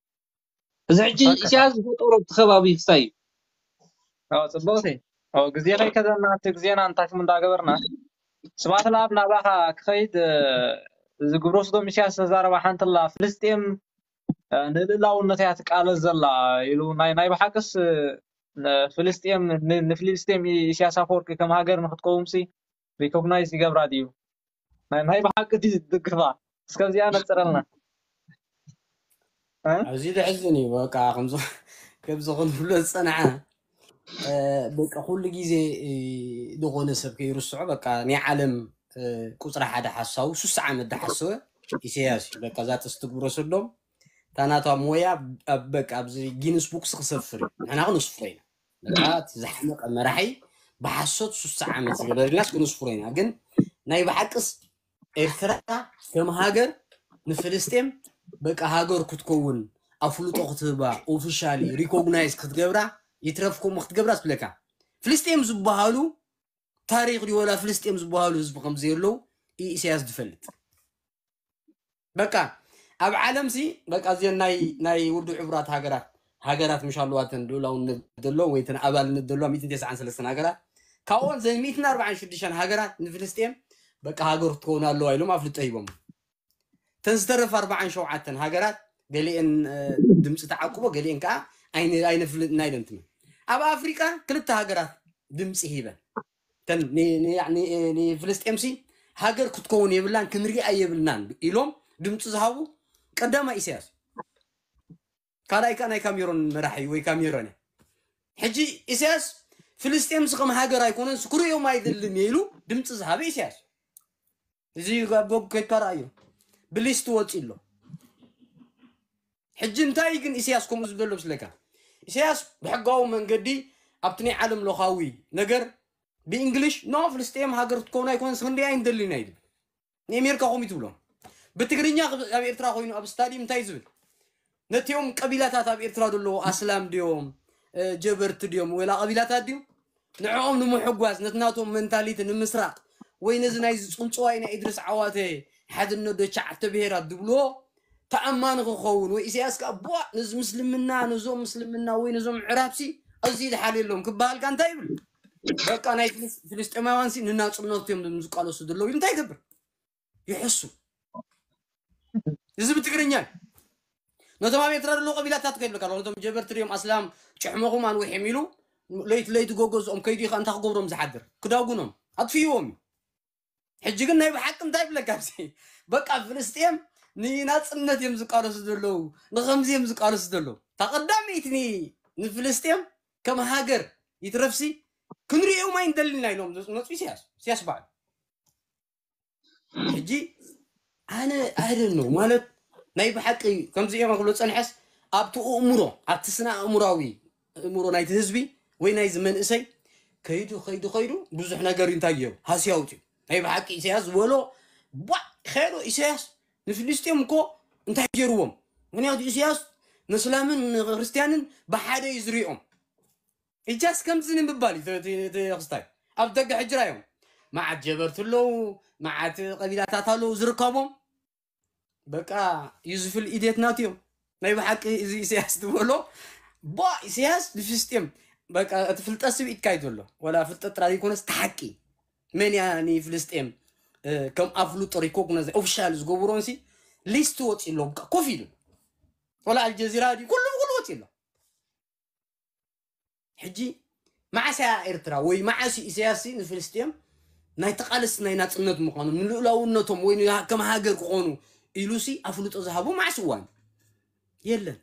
እዚ ሕጂ ሓቂ። ኢሳያስ ዝፈጠሮ እቲ ከባቢ ክስታይ እዩ። ኣዎ፣ ጽቡቕቲ። ኣዎ፣ ግዜ ከይከደና፣ እቲ ግዜና እንታይ እንዳገበርና፣ ስብሓት ለኣብ ናባኻ ክኸይድ፣ እ፣ እዚ ግብረ ሰዶም ኢሳያስ ተዛረባ ሓንቲ ኣላ፣ ፍልስጤም፣ እ፣ ንልእላውነት እያ ትቃለስ ዘላ ኢሉ፣ ናይ፣ ናይ ብሓቅስ፣ እ፣ ፍልስጤም፣ ን-፣ ንፍልስጤም ኢ-፣ ኢሳያስ ኣፈወርቂ ከም ሃገር ንክትቀውምሲ ሪኮግናይዝ ይገብራ ድዩ? ናይ፣ ናይ ብሓቂ ድዩ ዝድግፋ? እስከዚኣ ነጽረልና። እ? ኣዝዩ ዘሕዝን እዩ። በቃ ከምዚ፣ ከምዚ ክንብሎ ዝጸናሕና፣ እ፣ በቃ ኩሉ ግዜ፣ እ፣ ዝኾነ ሰብ ከይርስዖ፣ በቃ ናይ ዓለም፣ እ፣ ቁጽሪ ሓደ ሓሳዊ፣ ሱሳ ዓመት ዝሓሰወ ኢሳያስ እዩ። በቃ እዛ ጥስቲ ግብረ ሰዶም፣ እታ ናታ ሞያ ኣብ፣ በቃ ኣብዚ ጊንስ ቡክስ ክሰፍር እዩ። ንሕና ክነስፍሮ ኢና። በቃ እቲ ዝሓመቐ መራሒ ብሓሶት ሱሳ ዓመት ዝገበረ ኢልናስ ክነስፍሮ ኢና። ግን ናይ ብሓቅስ ኤርትራ ከም ሃገር ንፍልስጤም በቃ ሃገር ክትከውን ኣፍልጦ ክትህባ፣ ኦፊሻሊ ሪኮግናይዝ ክትገብራ፣ ይትረፍ ከምኡ ክትገብራ ዝብለካ። ፍልስጤም ዝበሃሉ ታሪኽ ድዩ ወላ ፍልስጤም ዝበሃሉ ህዝቢ ከም ዘየለዉ ኢሳያስ ዝፈልጥ። በቃ ኣብ ዓለምሲ በቃ እዚአን ናይ፣ ናይ ውድብ ሕቡራት ሃገራት፣ ሃገራት ምሽ ኣለዋ፣ እተን ልኡላውነት ዘለዎም ወይ እተን ኣባልነት ዘለዋ ሚእትን ተስዓን ሰለስተን ሃገራት። ካብኦን ዘን ሚእትን ኣርባዓን ሽዱሽተን ሃገራት ንፍልስጤም በቃ ሃገር ክትከውን ኣለዋ ኢሎም ኣፍልጦ ሂቦም። እተን ዝተረፋ ኣርባዓን ሸውዓተን ሃገራት ገሊአን፣ እ፣ ድምፂ ተዓቁቦ፣ ገሊአን ከዓ ኣይነ-፣ ኣይነፍልጥና ኢለን ትመን። ኣብ ኣፍሪቃ ክልተ ሃገራት ድምፂ ሂበን። እተን ን-፣ ን-፣ ን-፣ ንፍልስጤምሲ ሃገር ክትከውን የብላን፣ ክንሪኣ የብልናን ኢሎም ድምፂ ዝሃቡ ቀዳማይ ኢሳያስ። ካልኣይ ከዓ ናይ ካሜሮን መራሒ ወይ ካሜሮን እዩ። ሕጂ ኢሳያስ ፍልስጤምሲ ከም ሃገር ኣይኮነን፣ ክርእዮም ኣይደልን እየ ኢሉ ድምፂ ዝሃበ ኢሳያስ። እዚ ኣብ ጎግ ከይድካ ረኣዮ። ብሊስት ወፂ ኣሎ። ሕጂ እንታይ ግን ኢሳያስ ከምኡ ዝብለሎ ምስለካ? ኢሳያስ ብሕጋዊ መንገዲ ኣብቲ ናይ ዓለም ለኻዊ ነገር ብእንግሊሽ፣ "ኖ፣ ፍልስጤም ሃገር ክትከውን ኣይኮነን፣ ክንደይ ኣይንደልን ኢና" ይብል። ንኣሜሪካ ከምኡ ትብሎም። ብትግርኛ ኣብ ኤርትራ ኮይኑ ኣብ ስታዲየም እንታይ ዝብል? ነቲኦም ቀቢላታት ኣብ ኤርትራ ዘለዉ ኣስላም ድዮም፣ እ፣ ጀበርቲ ድዮም፣ ወላ ቀቢላታት ድዮም? ንዕኦም ንምሕጓስ፣ ነቲ ናቶም መንታሊቲ ንምስራቕ፣ ወይ ነዚ ናይዚ ጽንጽዋይ ናይ ኢድሪስ ዓዋተ ሓድነት ዶ ትሽዓተ ብሄራት ዝብልዎ ተኣማኒ ክኸውን፣ ወይ ኢሳያስ ከኣ ቧ፣ ነዚ ምስልምና፣ ነዞም ምስልምና ወይ ነዞም ዕራብሲ ኣዝዩ ዝሓልየሎም ክበሃልካ እንታይ ይብል? በቃ ናይ ፍልስ-፣ ፍልስጤማውያንሲ ንናጽነቶም እዮም ዝቃለሱ ዘለዉ ኢሉ እንታይ ይገብር? ይሕሱ። እዚ ብትግርኛ እዩ። ነቶም ኣብ ኤርትራ ዘለዉ ቀቢላታት ከይብለካ ኣለኹ፣ ነቶም ጀበርቲ ድዮም ኣስላም ጭሕመኹም ኣንውሕም ኢሉ ለይቲ ለይቲ ጎገዝኦም ከይዱ ኢኻ እንታይ ክገብሮም ዝሓድር? ክዳጉኖም፣ ኣጥፍይዎም እዩ። ሕጂ ግን ናይ ብሓቂ እንታይ ይብለካ ኣብዚ? በቃ ፍልስጤም ንናጽነት እዮም ዝቃለሱ ዘለዉ፣ ንኸምዚ እዮም ዝቃለሱ ዘለዉ። እታ ቀዳመይቲ ኒ-፣ ንፍልስጤም ከም ሃገር ይትረፍሲ ክንርእዮም ኣይንደልን ኢና ኢሎም ዝመጹ ኢሳያስ፣ ኢሳያስ በዓሉ። ሕጂ ኣነ I don't know ማለት ናይ ብሓቂ ከምዚ እዮም ክብሎ ጸንሐስ ኣብቲ ኣእምሮ ኣብቲ ስነ ኣእምራዊ ኣእምሮ ናይቲ ህዝቢ ወይ ናይዚ መንእሰይ ከይዱ ከይዱ ከይዱ ብዙሕ ነገር እዩ እንታይ ገይሩ ሃስያ ኣውፅዩ። ናይ ብሓቂ ኢሳያስ ዝበሎ ቧዕ ኸዶ ኢሳያስ ንፍልስጤም እኮ እንታይ ገይርዎም? ምክንያቱ ኢሳያስ ንእስላምን ንክርስቲያንን ብሓደ እዩ ዝሪኦም። ኢጃስ ከምዚ ንምባል እዩ እቲ ክስታይ ኣብ ደገ ሕጂ ራዮም መዓት ጀበርቲ ኣለዉ፣ መዓት ቀቢላታት ኣለዉ ዝርከቦም። በቃ ዩዝፍል ኢዴት ናት እዮም። ናይ ብሓቂ እዚ ኢሳያስ ዝበሎ ቧ ኢሳያስ ንፍልስጤም በቃ እቲ ፍልጠት ስብኢትካ እዩ ዘሎ። ወላ ፍልጠት ጥራይ ዘይኮነስ እቲ ሓቂ መን እያ ንፍልስጤም፣ እ፣ ከም ኣፍልጦ ሪኮግናይዝ ኦፊሻል ዝገብሮንሲ ሊስት ወፂ ኣሎ። በቃ ኮፍ ኢሉ ወላ ኣልጀዚራ ድዩ ኩሉ ብኩሉ ወፂ ኣሎ። ሕጂ መዓስ እያ ኤርትራ ወይ መዓስ እዩ ኢሳያስ ንፍልስጤም ናይ ተቓለስቲ ናይ ናጽነት ምዃኑ ንልኡላውነቶም ወይ ን-፣ ከም ሃገር ክኾኑ ኢሉሲ ኣፍልጦ ዝሃቦ መዓስ እዋን የለን።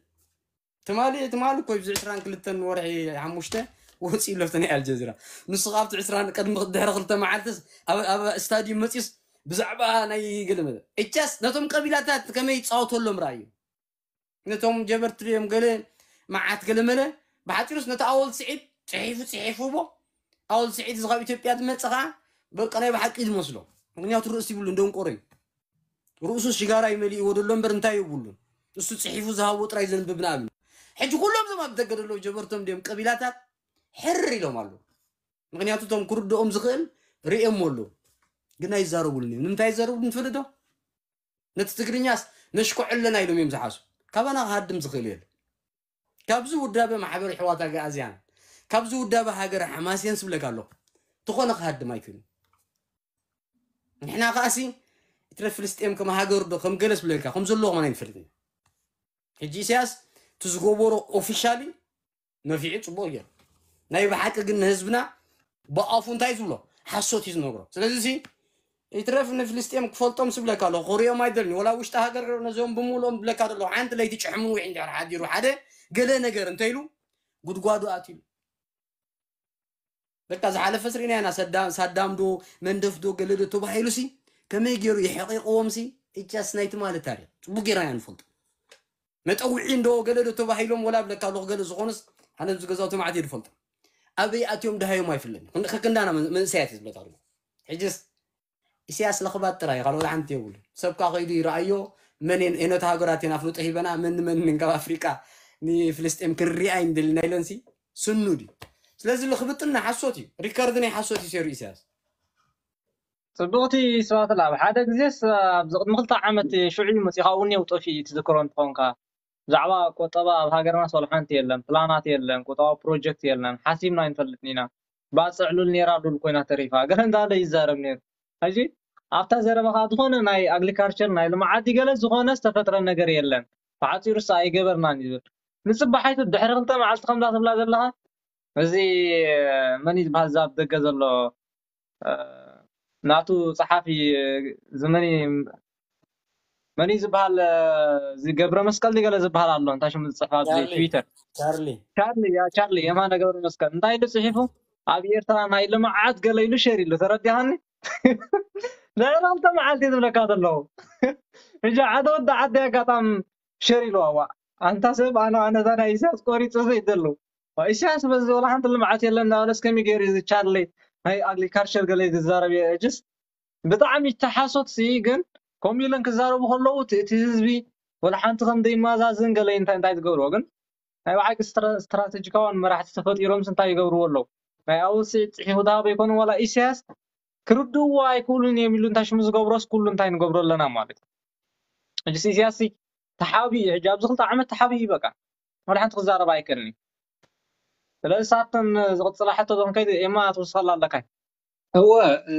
ትማሊ ትማሊ እኮ ኣብዚ ዕስራን ክልተን ወርሒ ሓሙሽተ ወፂኡ ኣሎ ናይ ኣልጀዚራ። ንሱ ካብቲ ዕስራን ቅድሚ ድሕሪ ክልተ መዓልትስ ኣብ፣ ኣብ ስታዲየም መፂኡስ ብዛዕባ ናይ ገለመለ እቻስ ነቶም ቀቢላታት ከመይ ይፃወተሎም ረኣዩ። ነቶም ጀበርቲ ድዮም ገለ መዓት ገለ መለ ብሓፂሩስ ነቲ ኣወል ስዒድ ፅሒፉ ፅሒፉ ቦ ኣወል ስዒድ እዚ ካብ ኢትዮጵያ ዝመፀ ከዓ በቃ ናይ ብሓቂ ዝመስሎ ምክንያቱ ርእሲ ይብሉ እንደንቆሮ እዩ። ርእሱ ሽጋራ ይመሊእዎ ደሎ እምበር እንታይ የብሉን። እሱ ፅሒፉ ዝሃቦ ጥራይ ዘንብብ ንኣብነት። ሕጂ ኩሎም እዞም ኣብ ደገ ደለዉ ጀበርቶም ድዮም ቀቢላታት ሕር ኢሎም ኣለዉ። ምክንያቱ እቶም ክርድኦም ዝኽእል ርእዮም ኣለዉ፣ ግን ኣይዛረቡልን እዮም። ንምንታይ ይዛረቡ ንፈልጥ ዶ? ነቲ ትግርኛስ ነሽኮዐለና ኢሎም እዮም ዝሓሱ። ካባና ክሃድም ዝኽእል የለ። ካብዚ ውዳበ ማሕበር ኣሕዋት ኣግኣዝያን፣ ካብዚ ውዳበ ሃገረ ሓማሴን ስብለካ ኣለኹ። ትኾነ ክሃድም ኣይክእልን። ንሕና ከኣሲ እትረ ፍልስጤም ከም ሃገር ዶ ከም ገለ ስብለካ ከም ዘለዎ ከማን ኣይንፈልጥን። ሕጂ ኢሳያስ እቲ ዝገበሮ ኦፊሻሊ ነፊዑ ጽቡቕ ገይሩ። ናይ ብሓቂ ግን ንህዝብና ብኣፉ እንታይ ዝብሎ ሓሶት እዩ ዝነግሮ። ስለዚ እዚ ይትረፍ ንፍልስጤም ክፈልጦም ስብለካ ኣለኹ። ክሪኦም ኣይደልን። ወላ ውሽጢ ሃገር ነዚኦም ብምልኦም ብለካ ዘለኹ። ሓንቲ ለይቲ ጭሕሙ ውዒ እንድሕር ሓዲሩ ሓደ ገለ ነገር እንተኢሉ ጉድጓዱ ኣትዩ። በቃ ዝሓለፈ ስርኢና ኢና። ሰዳ-፣ ሳዳም ዶ መንደፍ ዶ ገለ ዶ ተባሂሉ ሲ ከመይ ገይሩ የሕቂቕዎም ሲ እቻስ ናይቲ ማለት ታሪኽ ጽቡቅ ገይርና ኢና ንፈልጦ። መጠውዒ እንዶ ገለ ዶ ተባሂሎም ወላ ብለካ ኣለኹ ገለ ዝኾኑስ ኣነ ኣብዚ ገዛውቲ ማዕት እየ ዝፈልጦ። ኣበይ ኣትዮም ድሃዮም ኣይፍለጥን። ክንዲ-፣ ከክንዳና መን-፣ መንእሰያት እዩ ዝብለካ ኣለኹ። ሕጅስ ኢሳያስ ለኽባት ጥራይ ካልኦት ሓንቲ የብሉ። ሰብካ ከይዱ ይረኣዮ መን የን-፣ የነተ ሃገራት የን ኣፍልጦ ሂበና መን መን ካብ ኣፍሪቃ ንፍልስጤም ክንሪኣ ይንደልና ኢለንሲ ስኑ ድዩ? ስለዚ ልኽብጥና ሓሶት እዩ። ሪከርድ ናይ ሓሶት እዩ ሰሩ ኢሳያስ። ጽቡቕቲ ስብሃት ለኣብ፣ ሓደ ግዜስ ኣብዚ ቅድሚ ክልተ ዓመት ሽዑ እዩ መጺኡ፣ ካብኡ እኒአው ጠፊኡ እዩ ትዝክሮ እንተኾንካ። ብዛዕባ ቁጠባ ኣብ ሃገርናስ ዋላ ሓንቲ የለን፣ ፕላናት የለን፣ ቁጠባዊ ፕሮጀክት የለን፣ ሓሲብና ኣይንፈልጥን ኢና። ባጽዕ ሉል ነይራ ሉል ኮይና ተሪፋ። ገለ እንዳበለ ይዛረብ ነይሩ። ሕጂ ኣብታ ዘረባ ከኣ ዝኾነ ናይ ኣግሪካልቸር ናይ ልምዓት ድዩ ገለ ዝኾነ ዝተፈጥረ ነገር የለን። ብሓጺሩስ ኣይገበርናን እዩ ዝብል። ንጽባሓይቱ ድሕሪ ክልተ መዓልቲ ከምዛ ትብላ ዘለኻ፣ እዚ መን እዩ ዝበሃል እዛ ኣብ ደገ ዘሎ፣ እ፣ ናቱ ጸሓፊ፣ እዚ መን እዩ፣ መን እዩ ዝበሃል፣ እ፣ እዚ ገብረ መስቀል ድዩ ገለ ዝበሃል ኣሎ፣ እንታይ ሽሙ ዝጽሕፍ ኣብዚ ቻርሊ። ትዊተር? ቻርሊ። ቻርሊ፣ ያ ቻርሊ፣ የማነ ገብረ መስቀል። እንታይ ኢሉ ጽሒፉ? ኣብ ኤርትራ ናይ ልምዓት ገለ ኢሉ ሸር ኢሉ፣ ተረዲኻኒ? ድሕሪ ክልተ መዓልቲ ዝብለካ ዘለኹ። ሕጂ ሓደ ወዲ ዓዲ ኣጋጣሚ ሸር ኢልዋ፣ ዋእ፣ ኣንታ ሰብ፣ ኣነ፣ ኣነ እዛ ናይ ኢሳያስ ቆሪጸ ዘይደሉ። ዋእ፣ ኢሳያስ በዚ ዋላ ሓንቲ ልምዓት የለን እናበለስ ከመይ ገይሩ እዚ ቻርሊ ናይ ኣግሪካልቸር ገለ ዝዛረብ እየ? እጅስ ብጣዕሚ ተሓሶት ሲ፣ ግን ከምኡ ኢለን ክዛረቡ ከለዉ እቲ፣ እቲ ህዝቢ ዋላ ሓንቲ ከም ዘይመዛዝን ገለ እንታይ፣ እንታይ ዝገብርዎ ግን ናይ ብሓቂ ስትራ-፣ ስትራተጂካውያን መራሕቲ ተፈጢሮምስ እንታይ ይገብርዎ ኣለዉ? ናይ ኣውሲ ጽሒፉ ዝሃበ ኣይኮነን ዋላ ኢሳያስ ክርድእዎ ኣይክእሉን እዮም ኢሉ እንታይ ሽሙ ዝገብሮስ ኩሉ እንታይ ንገብሮ ኣለና ማለት እዩ። ሕጂ ኢሳያስ ሲ ተሓብዩ፣ ሕጂ ኣብዚ ክልተ ዓመት ተሓብዩ በቃ። ዋላ ሓንቲ ክዛረብ ኣይክእልን እዩ። ስለዚ ሳተን ዝቕጽላ ሕቶ ዞም ከይድ ኤማ ትውስኸላ ኣለካ። እወ፣ እ፣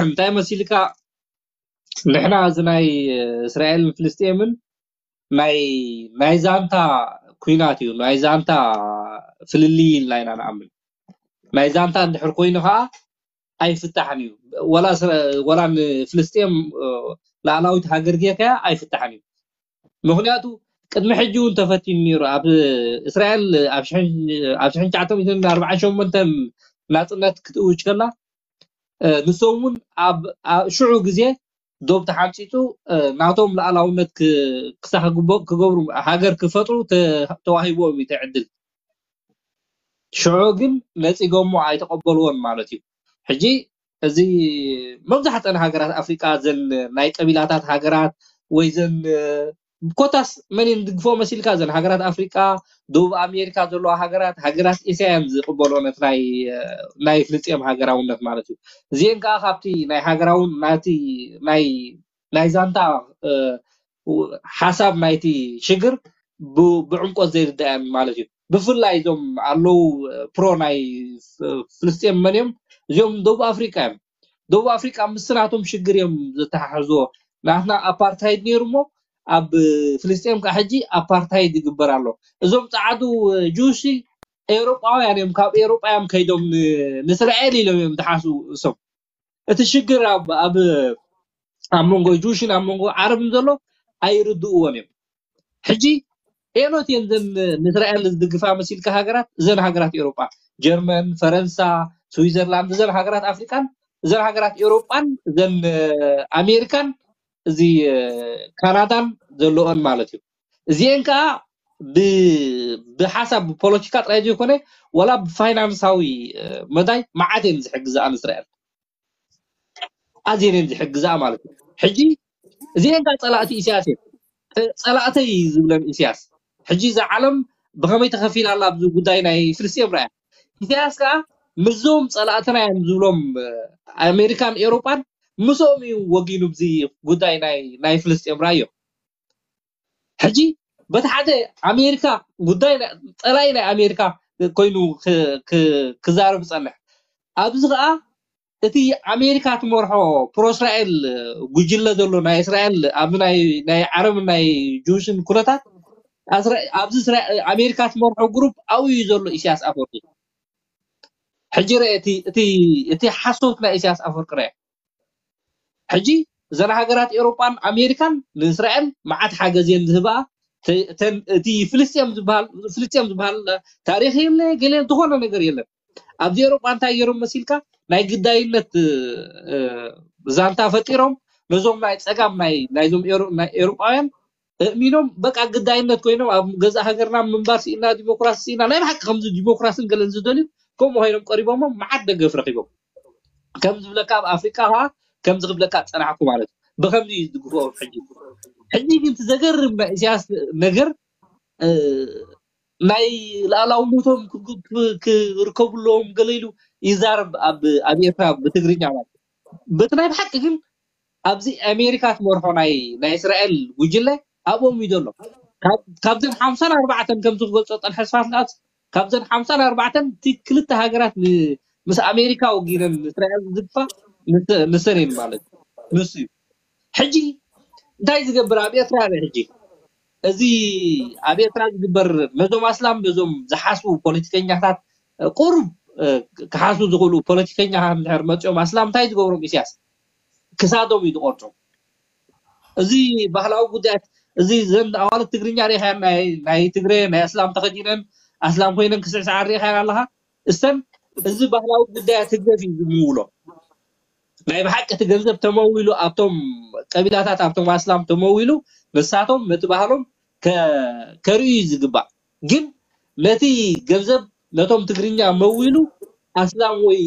እንታይ መሲልካ፣ ንሕና እዚ ናይ እስራኤልን ፍልስጤምን ናይ፣ ናይ ዛንታ ኲናት እዩ፣ ናይ ዛንታ ፍልልይ ኢልና ኢና ንኣምን። ናይ ዛንታ እንድሕር ኮይኑ ኸኣ ኣይፍታሕን እዩ። ወላ እስራ-፣ ወላ ንፍልስጤም፣ እ፣ ላዕላዊት ሃገር ጌርካያ ኣይፍታሕን እዩ። ምኽንያቱ ቅድሚ ሕጂ እውን ተፈቲኑ ነይሩ። ኣብ እስራኤል ኣብ ሽሕን፣ ኣብ ሽሕን ትሽዓተ ሚእትን ኣርባዓን ሸሞንተን ናጽነት ክትእውጅ ከላ፣ እ፣ ንሶም እውን ኣብ፣ ኣብ ሽዑ ግዜ ዶብ ተሓንጺጹ፣ እ፣ ናቶም ሉዓላውነት ክ-፣ ክሳኽ ግቦ-፣ ክገብሩ፣ ሃገር ክፈጥሩ ተ-፣ ተዋሂቦም እዩ እቲ ዕድል። ሽዑ ግን ነጺጎሞ ኣይተቐበልዎን ማለት እዩ። ሕጂ እዚ መብዛሕተን ሃገራት ኣፍሪቃ ዘን ናይ ቀቢላታት ሃገራት ወይ ዘን፣ እ፣ ኮታስ መን እየን ዝድግፎ መሲልካ? ዘን ሃገራት ኣፍሪቃ፣ ደቡብ ኣሜሪካ ዘለዋ ሃገራት፣ ሃገራት ኤስያ እየን ዝቕበልኦ ነቲ ናይ፣ እ፣ ናይ ፍልስጤም ሃገራውነት ማለት እዩ። እዚአን ከኣ ካብቲ ናይ ሃገራውን ናቲ ናይ፣ ናይ ዛንታ፣ እ፣ ሓሳብ ናይቲ ሽግር ብ-፣ ብዕምቆት ዘይርዳእን ማለት እዩ። ብፍላይ እዞም ኣለዉ፣ እ፣ ፕሮ ናይ ፍ-፣ ፍልስጤም መን እዮም? እዚኦም ደቡብ ኣፍሪቃ እዮም። ደቡብ ኣፍሪቃ ምስ ናቶም ሽግር እዮም ዘተሓሕዝዎ። ናትና ኣፓርታይድ ነይሩ እሞ ኣብ ፍልስጤም ከዓ ሕጂ ኣፓርታይድ ይግበር ኣሎ። እዞም ጸዓዱ ጁሲ ኤውሮጳውያን እዮም፣ ካብ ኤውሮጳ እዮም ከይዶም ን-፣ ንእስራኤል ኢሎም እዮም ዝሓስቡ እሶም። እቲ ሽግር ኣብ፣ ኣብ፣ ኣብ መንጎ ጁሽን ኣብ መንጎ ዓረብን ዘሎ ኣይርድእዎን እዮም። ሕጂ ኤኖት እየን ዘን ንእስራኤል ዝድግፋ መሲልካ ሃገራት፣ እዘን ሃገራት ኤውሮጳ፣ ጀርመን፣ ፈረንሳ፣ ስዊዘርላንድ፣ እዘን ሃገራት ኣፍሪቃን፣ እዘን ሃገራት ኤውሮጳን፣ እዘን፣ እ፣ ኣሜሪካን፣ እዚ፣ እ፣ ካናዳን ዘለኦን ማለት እዩ። እዚአን ከኣ ብ-፣ ብሓሳብ ብፖለቲካ ጥራይ ዘይኮነ፣ ዋላ ብፋይናንሳዊ፣ እ፣ መዳይ መዓት እየን ዝሕግዝኣ ንእስራኤል። ኣዝየን እየን ዝሕግዝኣ ማለት እዩ። ሕጂ እዚአን ከኣ ጸላእቲ ኢሳያስ እየን። እ፣ ጸላእተይ ዝብለን ኢሳያስ። ሕጂ እዛ ዓለም ብኸመይ ተኸፊላ ኣላ ኣብዚ ጉዳይ ናይ ፍልስጤም ርኣያ። ኢሳያስ ከኣ ምስዞም ጸላእትና እዮም ዝብሎም ኣሜሪካን ኤውሮጳን ምስኦም እዩ ወጊኑ። ብዚ ጉዳይ ናይ ናይ ፍልስጤም ራዮ ሕጂ በቲ ሓደ ኣሜሪካ ጉዳይ ጸላኢ ናይ ኣሜሪካ ኮይኑ ክዛረብ ጸንሕ። ኣብዚ ከዓ እቲ ኣሜሪካ ትመርሖ ፕሮእስራኤል ጉጅለ ዘሎ ናይ እስራኤል ኣብ ናይ ዓረብን ናይ ጁሽን ኩነታት ኣብዚ ኣሜሪካ ትመርሖ ግሩፕ ኣብኡ እዩ ዘሎ ኢሳያስ ኣፈወርቂ። ሕጂ ርአ እቲ ሓሶት ናይ ኢሳያስ ኣፈወርቂ ርአ። ሕጂ እዘን ሃገራት ኤውሮጳን ኣሜሪካን ንእስራኤል መዓት ሓገዝ እየን ዝህብኣ። እቲ ፍልስጤም ዝበሃል ታሪክ የለ ገለ ዝኾነ ነገር የለን። ኣብዚ ኤውሮጳ እንታይ ገይሮም መሲልካ ናይ ግዳይነት ዛንታ ፈጢሮም ነዞም ናይ ፀጋም ናይዞም ኤውሮጳውያን እእሚኖም በቃ ግዳይነት ኮይኖም ኣብ ገዛእ ሃገርና ምንባር ስኢና ዲሞክራሲ ስኢና ናይ ብሓቂ ከምዚ ዲሞክራሲን ገለን ዝደልዩ ከምኡ ኮይኖም ቀሪቦሞም መዓት ደገፍ ረኪቦም። ከም ዝብለካ ኣብ ኣፍሪቃ ከዓ ከምዚ ክብለካ ዝፀናሕኩ ማለት እዩ። ብከምዚ እዩ ዝድግፍኦም። ሕጂ ሕጂ ግን እቲ ዘገርም ናይ ኢሳያስ ነገር ናይ ላእላውነቶም ክርከቡ ኣለዎም ገለ ኢሉ ይዛረብ ኣብ ኤርትራ ብትግርኛ ማለት እዩ። በቲ ናይ ብሓቂ ግን ኣብዚ ኣሜሪካ ትመርሖ ናይ ናይ እስራኤል ጉጅለ ኣብኦም እዩ ዘሎ። ካብዘን ሓምሳን ኣርባዕተን ከምዚ ክገልፆ ፀንሐ ስፋት ንኣስ ካብዘን ሓምሳን ኣርባዕተን እቲ ክልተ ሃገራት ምስ ኣሜሪካ ወጊነን እስራኤል ዝግፋ ንሰን እየን ማለት ንሱ እዩ። ሕጂ እንታይ ዝገብር ኣብ ኤርትራ ርእ ሕጂ እዚ ኣብ ኤርትራ ዝግበር ነዞም ኣስላም ነዞም ዝሓስቡ ፖለቲከኛታት ቁሩብ ክሓስቡ ዝኽእሉ ፖለቲከኛታት እንድሕር መፂኦም ኣስላም እንታይ ዝገብሮም ኢሳያስ ክሳዶም እዩ ዝቆርፆም። እዚ ባህላዊ ጉዳያት እዚ ዘን ኣዋልድ ትግርኛ ሪኢኻየን ናይ ትግረ ናይ ኣስላም ተኸዲነን ኣስላም ኮይነን ክስዕስዓ ሪኢኻየን ኣለኻ። እሰን እዚ ባህላዊ ጉዳያት ህግደፍ እዩ ዝምውሎ። ናይ ብሓቂ እቲ ገንዘብ ተመዊሉ ኣብቶም ቀቢላታት ኣብቶም ኣስላም ተመዊሉ ንሳቶም ነቲ ባህሎም ከርእዩ እዩ ዝግባእ። ግን ነቲ ገንዘብ ነቶም ትግርኛ መዊሉ ኣስላም ወይ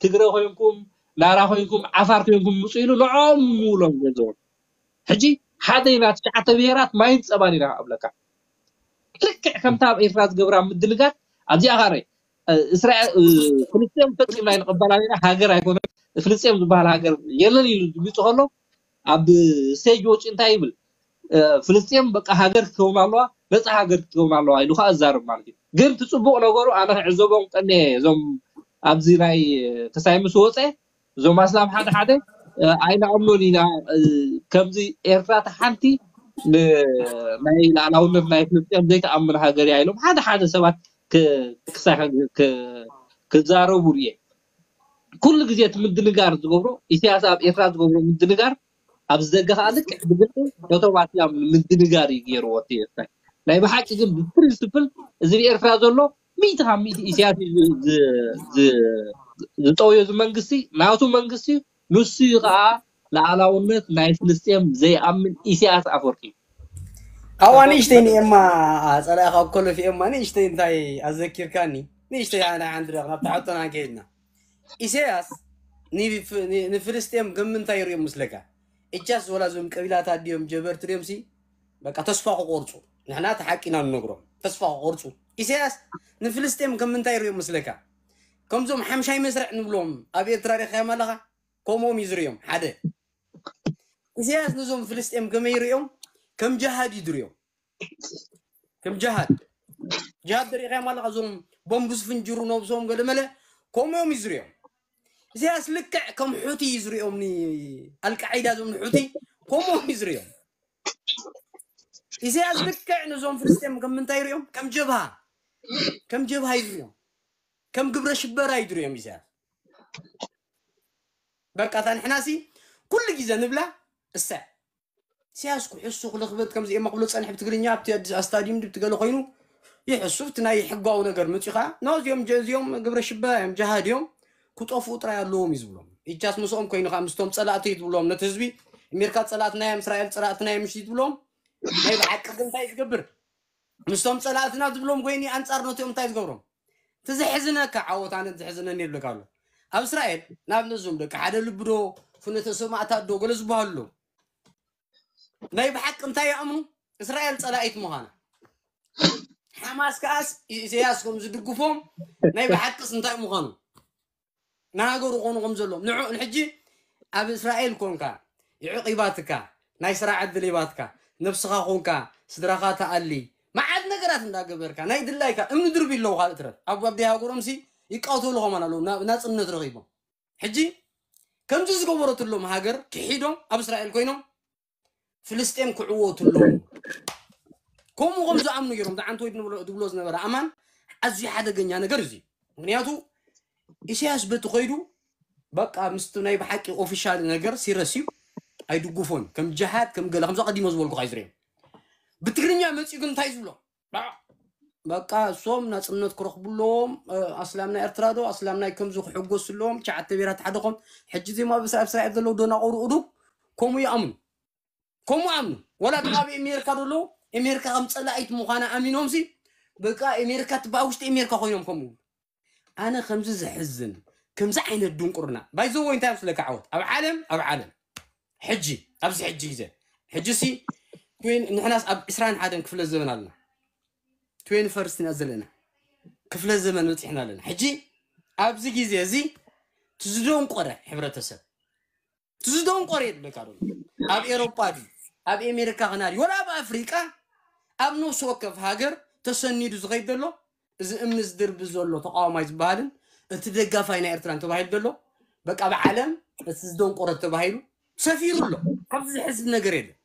ትግረ ኮይንኩም ናራ ኮይንኩም ዓፋር ኮይንኩም ምፁ ኢሉ ንዕኦም ምውሎም ገንዘቦም። ሕጂ ሓደ ኢና ትሽዓተ ብሄራት ማይን ፀባን ኢና ኣብለካ። ልክዕ ከምታ ኣብ ኤርትራ ዝገብራ ምድንጋር ኣብዚኣ ካረ እስራኤል ፍልስጤም ፈፂምና ኣይንቕበላን ኢና፣ ሃገር ኣይኮነን፣ ፍልስጤም ዝበሃል ሃገር የለን ኢሉ ድሚፁ ከሎ ኣብ ስቴጅ ወፂኡ እንታይ ይብል? ፍልስጤም በቃ ሃገር ክትከውን ኣለዋ፣ ነፃ ሃገር ክትከውን ኣለዋ ኢሉ ከዓ እዛርብ ማለት እዩ። ግን እቲ ፅቡቅ ነገሩ ኣነ ክዕዘቦም ቀኒየ እዞም ኣብዚ ናይ ተሳይ ምስ ወፀ እዞም ኣስላም ሓደ ሓደ ኣይንኣምኖን ኢና። ከምዚ ኤርትራ እቲ ሓንቲ ናይ ላዕላውነት ናይ ፍልስጤም ዘይተኣምን ሃገር እያ ኢሎም ሓደ ሓደ ሰባት ክሳይ ክዛረቡ ርየ። ኩሉ ግዜ እቲ ምድንጋር ዝገብሮ ኢሳያስ ኣብ ኤርትራ ዝገብሮ ምድንጋር ኣብዚ ደገ ከዓ ልክዕ ብግልፂ ነቶም ኣስላም ንምድንጋር እዩ ገይርዎ እቲ ኤርትራ። ናይ ብሓቂ ግን ብፕሪንስፕል እዚ ብኤርትራ ዘሎ ሚእቲ ካብ ሚእቲ ኢሳያስ እዩ ዝጠውዮ እዚ መንግስቲ ናቱ መንግስቲ እዩ። ንሱ እዩ ከዓ ላዕላውነት ናይ ፍልስጤም ዘይኣምን ኢሳያስ ኣፈወርቂ እዩ። ኣዋ ንእሽተይ ንኤማ ጸላኢኻ ኮለፍ ኤማ ንእሽተይ እንታይ ኣዘኪርካኒ ንእሽተይ ኣና ሓንድረኽ ናብታ ሕቶና ከይድና ኢሳያስ ንፍልስጤም ከም ምንታይ ይሪኦም ምስለካ እቻስ ወላ ዞም ቀቢላታት ድዮም ጀበርቲ ድዮም ሲ በቃ ተስፋ ክቆርፁ ንሕና ተሓቂና ንነግሮም ተስፋ ክቆርፁ ኢሳያስ ንፍልስጤም ከም ምንታይ ይሪኦም ምስለካ ከምዞም ሓምሻይ መስርዕ ንብሎም ኣብ ኤርትራ ሪኻዮም ኣለኻ ከምኦም እዩ ዝሪኦም ሓደ ኢሳያስ ነዞም ፍልስጤም ከመይ ይሪኦም ከም ጀሃድ እዩ ዝሪኦም ከም ጀሃድ ጀሃድ ተሪኢኻዮም ኣለኻ እዞም ቦምብ ዝፍንጅሩ ነብሶም ገለመለ ከምኦም እዩ ዝሪኦም ኢሳያስ ልክዕ ከም ሑቲ እዩ ዝሪኦም ኣልቃዒዳ ዞም ሑቲ ከምኦም እዩ ዝሪኦም ኢሳያስ ልክዕ ነዞም ፍልስጤም ከም ምንታይ ይሪኦም ከም ጀብሃ ከም ጀብሃ እዩ ዝሪኦም ከም ግብረ ሽበራ እዩ ዝሪኦም ኢሳያስ በቃ እታ ንሕናሲ ኩሉ ግዜ ንብላ እሰ ኢሳያስ ክሕሱ ክልኽበት ከምዚ እየማ ክብሎ ፀንሕ ብትግርኛ ኣብቲ ኣዲስ ኣስታዲዩም ድብቲ ገለ ኮይኑ ይሕሱ እቲ ናይ ሕጋዊ ነገር መፂኡ ከዓ ኖ እዚኦም እዚኦም ግብረ ሽበራ እዮም ጀሃድ እዮም ክጠፍኡ ጥራይ ኣለዎም እዩ ዝብሎም ኢቻስ ምስኦም ኮይኑ ከዓ ምስቶም ፀላእቲ እዩ ትብሎም ነቲ ህዝቢ ኣሜሪካ ፀላእትና እዮም እስራኤል ፀላእትና እዮም ምሽ ትብሎም ናይ ብሓቂ ግን እንታይ እዩ ዝገብር ምስቶም ፀላእትና ዝብሎም ኮይኑ ኣንፃር ነቲኦም እንታይ ዝገብሮም እቲ ዘሕዝነካ ዓወት ኣነ ዘሕዝነኒ ይብለካ ኣሎ ኣብ እስራኤል ንኣብነት ዞም ደቂ ሓደ ልቢ ዶ ፍኖተ ሰማእታት ዶ ገለ ዝበሃሉ ኣለዉ ናይ ብሓቂ እንታይ ይኣምኑ እስራኤል ፀላኢት ምዃና ሓማስ ከዓስ ኢሳያስ ከም ዝድግፎም ናይ ብሓቅስ እንታይ ምዃኑ ንሃገሩ ኮኑ ከም ዘለዎም ንዑ ንሕጂ ኣብ እስራኤል ኮንካ ይዕቕ ይባትካ ናይ ስራሕ ዕድል ይባትካ ነብስኻ ኮንካ ስድራኻ ተኣሊ መዓት ነገራት እንዳገበርካ ናይ ድላይካ እምኒ ድርቢ ኣለዉ ካልእ ትረፍ ኣብ ኣብደይ ሃገሮምሲ ይቃተሉ ኸማን ኣለዉ ናጽነት ረኺቦም ሕጂ ከምዚ ዝገበረትሎም ሃገር ክሒዶም ኣብ እስራኤል ኮይኖም ፍልስጤም ክዕወቱ ኣለዎም። ከምኡ ከም ዝኣምኑ ገይሮም ዝዓንተ ወይ ዝብሎ ዝነበረ ኣማን ኣዝዩ ሓደገኛ ነገር እዚ ምክንያቱ ኢሳያስ በቲ ከይዱ በቃ ምስቲ ናይ ብሓቂ ኦፊሻል ነገር ሲረስ እዩ ኣይድጉፎን ከም ጅሃድ ከም ገለ ከምዚ ቀዲሞ ዝበልኩ ካይዝርዮም ብትግርኛ መፅኡ ግን እንታይ ዝብሎ በቃ እሶም ናፅነት ክረኽቡ ኣለዎም ኣስላም ናይ ኤርትራ ዶ ኣስላም ናይ ከምዚ ክሕጎሱ ኣለዎም ቻዓተ ብሄራት ሓደ ኮም ሕጂ ዜማ ኣብ እስራኤል ዘለዉ ደናቆሩ እዱብ ከምኡ ይኣምኑ ከምኡ ኣምኑ ወላ ኣብ ኣሜሪካ ደለዉ ኣሜሪካ ከም ፀላኢት ምዃና ኣሚኖም ሲ በቃ ኣሜሪካ ትበሃል ውሽጢ ኣሜሪካ ኮይኖም ከምኡ ኣነ ከምዚ ዘሕዝን ከምዚ ዓይነት ድንቁርና ባይዘዎ እንታይ ምስለካ ዓወት ኣብ ዓለም ኣብ ዓለም ሕጂ ኣብዚ ሕጂ ግዜ ሕጂ ሲ ንሕናስ ኣብ ዕስራን ሓደን ክፍለ ዘበን ኣለና ትዌን ፈርስት ኢና ዘለና ክፍለ ዘመን በፂሕና ኣለና ሕጂ ኣብዚ ግዜ እዚ ትዝደንቆረ ሕብረተሰብ ትዝደንቆረ የብለካ ዶ ኣብ ኤሮጳ ድዩ ኣብ ኤሜሪካ ክና ድዩ ወላ ኣብ ኣፍሪቃ ኣብ ነፍሲ ወከፍ ሃገር ተሰኒዱ ዝኸይድ ዘሎ እዚ እምኒ ዝድርቢ ዘሎ ተቃዋማይ ዝበሃልን እቲ ደጋፋይ ናይ ኤርትራ እንተባሂሉ ዘሎ በቃ ብዓለም እቲ ዝደንቆረ ተባሂሉ ሰፊሩ ኣሎ ካብዚ ዝሕዝብ ነገር የለን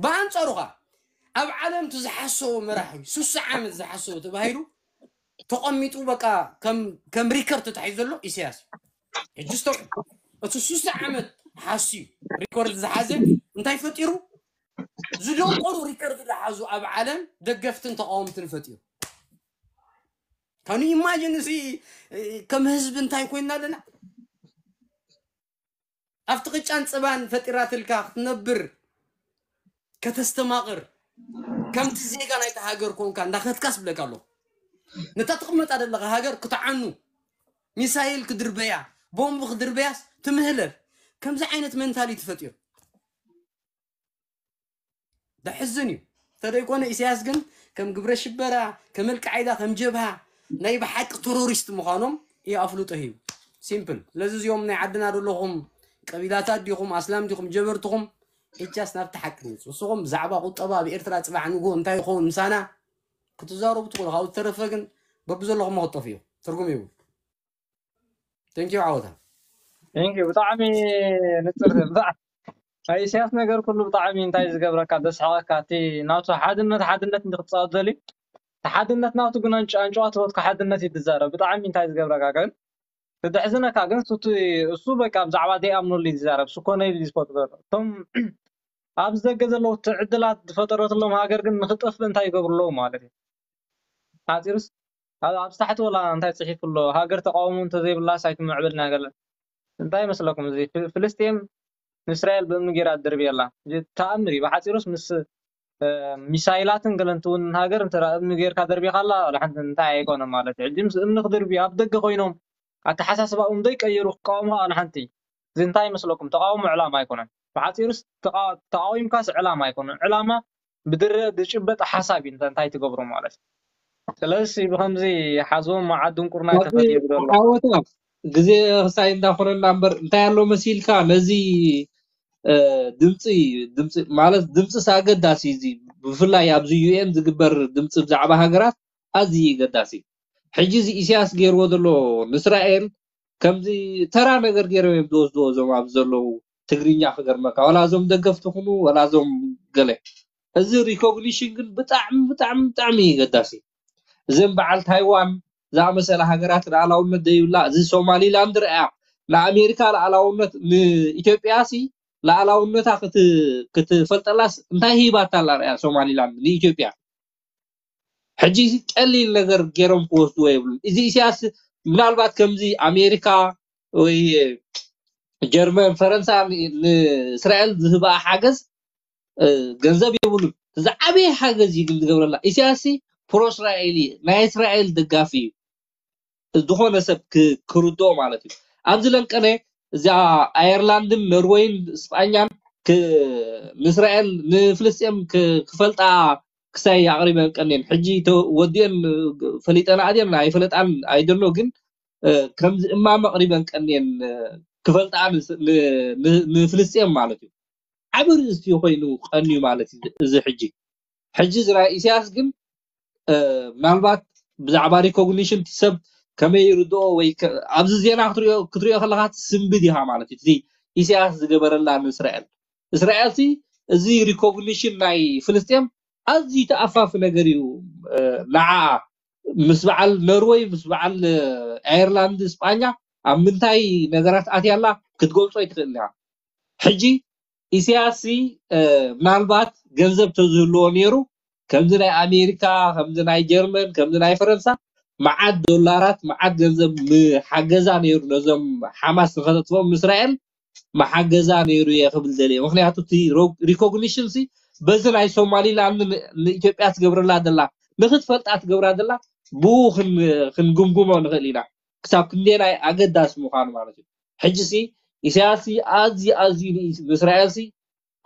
ብኣንጻሩ ኸዓ ኣብ ዓለም እቲ ዝሓሰቦ መራሒ ሱሳ ዓመት ዝሓሰቦ ተባሂሉ ተቐሚጡ በቃ ከም ሪከርድ ተታሒዙ ዘሎ ኢሳያስ እዩ ሕጂ ስተውዕል እቲ ሱሳ ዓመት ሓስዩ ሪኮርድ ዝሓዘ እንታይ ፈጢሩ ዝደንቆሩ ሪከርድ ዝሓዙ ኣብ ዓለም ደገፍትን ተቃወምትን ፈጢሩ ካኑ ኢማጂን እዚ ከም ህዝቢ እንታይ ኮይና ኣለና ኣብቲ ቅጫን ፀባን ፈጢራትልካ ክትነብር ከተስተማቕር ከምቲ ዜጋ ናይቲ ሃገር ኮንካ እንዳኸትካስ ብለካ ኣለኹ ነታ ትቕመጣ ዘለኻ ሃገር ክትዓኑ ሚሳይል ክድርበያ ቦምብ ክድርበያስ ትምህለል ከምዚ ዓይነት መንታሊቲ ፈጢሩ ደሕዝን እዩ ተደይኮነ ኢሳያስ ግን ከም ግብረ ሽበራ ከም ኣልቃዒዳ ከም ጀብሃ ናይ ብሓቂ ቴሮሪስት ምዃኖም እዩ ኣፍልጦ ሂቡ ሲምፕል ስለዚ እዚኦም ናይ ዓድና ዘለኹም ቀቢላታት ዲኹም ኣስላም ዲኹም ጀበርትኹም እጃስ ናብቲ ሓቂ ንውፅ ንስኹም ብዛዕባ ቁጠባ ኣብ ኤርትራ ፅባሕ ንግሆ እንታይ ይኸውን ምሳና ክትዛረቡ ትኽእሉ ካብኡ ዝተረፈ ግን በብዘለኹም ክጠፍ እዩ ትርጉም ይብሉ Thank you ዓወታ Thank you ብጣዕሚ ንፅር ናይ ኢሳያስ ነገር ኩሉ ብጣዕሚ እንታይ ዝገብረካ ደስሓቀካ እቲ ናቱ ሓድነት ሓድነት እንዲ ክትፃወት ዘልዩ እቲ ሓድነት ናቱ ግን ኣንጭዋ ትወትካ ሓድነት እዩ ትዛረብ ብጣዕሚ እንታይ ዝገብረካ ግን ትድሕዝነካ ግን ሱቲ እሱ በቃ ብዛዕባ ዘይኣምነሉ እዩ ዝዛረብ ሱኮነ ኢሉ ዝፈጥሮ እቶም ኣብዚ ደገ ዘለዉ እቲ ዕድላት ዝፈጠረትሎም ሃገር ግን ንክጠፍእ እንታይ ይገብሩ ኣለዉ ማለት እዩ ሓፂሩስ ኣብ ታሕቲ ወላ እንታይ ፅሒፉ ኣሎ ሃገር ተቃውሞ እንተዘይብላስ ኣይትምዕብልን ሃገር እንታይ ይመስለኩም እዚ ፍልስጤም ንእስራኤል ብእምኒ ገይራ ትድርብየላ ተኣምር እዩ ብሓፂሩስ ምስ ሚሳይላትን ገለንትውን ሃገር እንተ እምኒ ገይርካ ደርቢኻላ ሓንቲ እንታይ ኣይኮነ ማለት እዩ ሕጂ ምስ እምኒ ክድርብዩ ኣብ ደገ ኮይኖም ኣተሓሳስባኦም ዘይቀየሩ ክቃወሙ ከኣሉ ሓንቲ እዚ እንታይ ይመስለኩም ተቃውሞ ዕላማ ኣይኮነን ብሓፂሩስ ተቃዊምካስ ዕላማ ኣይኮነን ዕላማ ብድረ ዝጭበጥ ሓሳብ እዩ እንታይ ትገብሮ ማለት እዩ ስለዚ ብከምዚ ሓዞም መዓት ድንቁርና ተፈጢሩ ዘሎ ዓወታ ግዜ ክሳይ እንዳኮነና እምበር እንታይ ኣሎ መሲልካ ነዚ ድምፂ ድምፂ ማለት ድምፂ ኣገዳሲ እዚ ብፍላይ ኣብዚ ዩኤን ዝግበር ድምፂ ብዛዕባ ሃገራት ኣዝዩ ኣገዳሲ ሕጂ እዚ ኢሳያስ ገይርዎ ዘሎ ንእስራኤል ከምዚ ተራ ነገር ገይሮም እዮም ዝወስድዎ እዞም ኣብዚ ዘለዉ ትግርኛ ክገርመካ ዋላ እዞም ደገፍቲ ኩኑ ዋላ እዞም ገለ እዚ recognition ግን ብጣዕሚ ብጣዕሚ ብጣዕሚ እዩ ኣገዳሲ እዘን በዓል ታይዋን ዝኣመሰላ ሃገራት ልኣላውነት ዘይብላ እዚ ሶማሊላንድ ረኣያ ንኣሜሪካ ልኣላውነት ንኢትዮጵያ ሲ ልኣላውነታ ክትፈልጠላስ እንታይ ሂባታ ኣላ ረኣያ ሶማሊላንድ ንኢትዮጵያ ሕጂ ቀሊል ነገር ገይሮም ክወስድዎ የብሉን እዚ ኢሳያስ ምናልባት ከምዚ ኣሜሪካ ወይ ጀርመን ፈረንሳ ንእስራኤል ዝህበኣ ሓገዝ ገንዘብ የብሉን ዝዓበየ ሓገዝ እዩ ግን ዝገብረላ ኢሳያስ ፕሮ እስራኤል እዩ ናይ እስራኤል ደጋፊ እዩ ዝኾነ ሰብ ክርድኦ ማለት እዩ ኣብዚ ለንቀነ እዚኣ ኣየርላንድን ኖርወይን ስጳኛን ንእስራኤል ንፍልስጤም ክፈልጣ ክሳይ ኣቕሪበን ቀንየን ሕጂ ወዲአን ፈሊጠን ኣድየን ኣይፈለጣን ኣይደኖ ግን ከምዚ እማመ ኣቕሪበን ቀንየን ክፈልጣ ንፍልስጤም ማለት እዩ። ዓቢ ርእስቲ ኮይኑ ቀንዩ ማለት እዩ። እዚ ሕጂ ሕጂ እዚ ናይ ኢሳያስ ግን ምናልባት ብዛዕባ ሪኮግኒሽን ሰብ ከመይ ይርድኦ ወይ ኣብዚ ዜና ክትሪኦ ከለካ ትስንብድ ኢኻ ማለት እዩ። እቲ ኢሳያስ ዝገበረላ ንእስራኤል እስራኤል ሲ እዚ ሪኮግኒሽን ናይ ፍልስጤም ኣዝዩ ተኣፋፊ ነገር እዩ። ንዓ ምስ በዓል ኖርወይ ምስ በዓል ኣየርላንድ ስጳኛ ኣብ ምንታይ ነገራት ኣትያላ ክትገልጾ ኣይትኽእል ኢኻ። ሕጂ ኢሳያስ ምናልባት ገንዘብ ተዝህልዎ ነይሩ ከምዚ ናይ ኣሜሪካ ከምዚ ናይ ጀርመን ከምዚ ናይ ፈረንሳ መዓት ዶላራት መዓት ገንዘብ ምሓገዛ ነይሩ ነዞም ሓማስ ንኸተጥፍኦም ንእስራኤል መሓገዛ ነይሩ እየ ክብል ደልየ። ምክንያቱ እቲ ሪኮግኒሽን ሲ በዚ ናይ ሶማሊላንድ ንኢትዮጵያ ትገብረላ ደላ ንክትፈልጣ ትገብራ ደላ ብኡ ክንግምግሞ ንኽእል ኢና። ክሳብ ክንደናይ ኣገዳሲ ምዃኑ ማለት እዩ። ሕጂ ሲ ኢሳያስ ሲ ኣዝዩ ኣዝዩ ንእስራኤል ሲ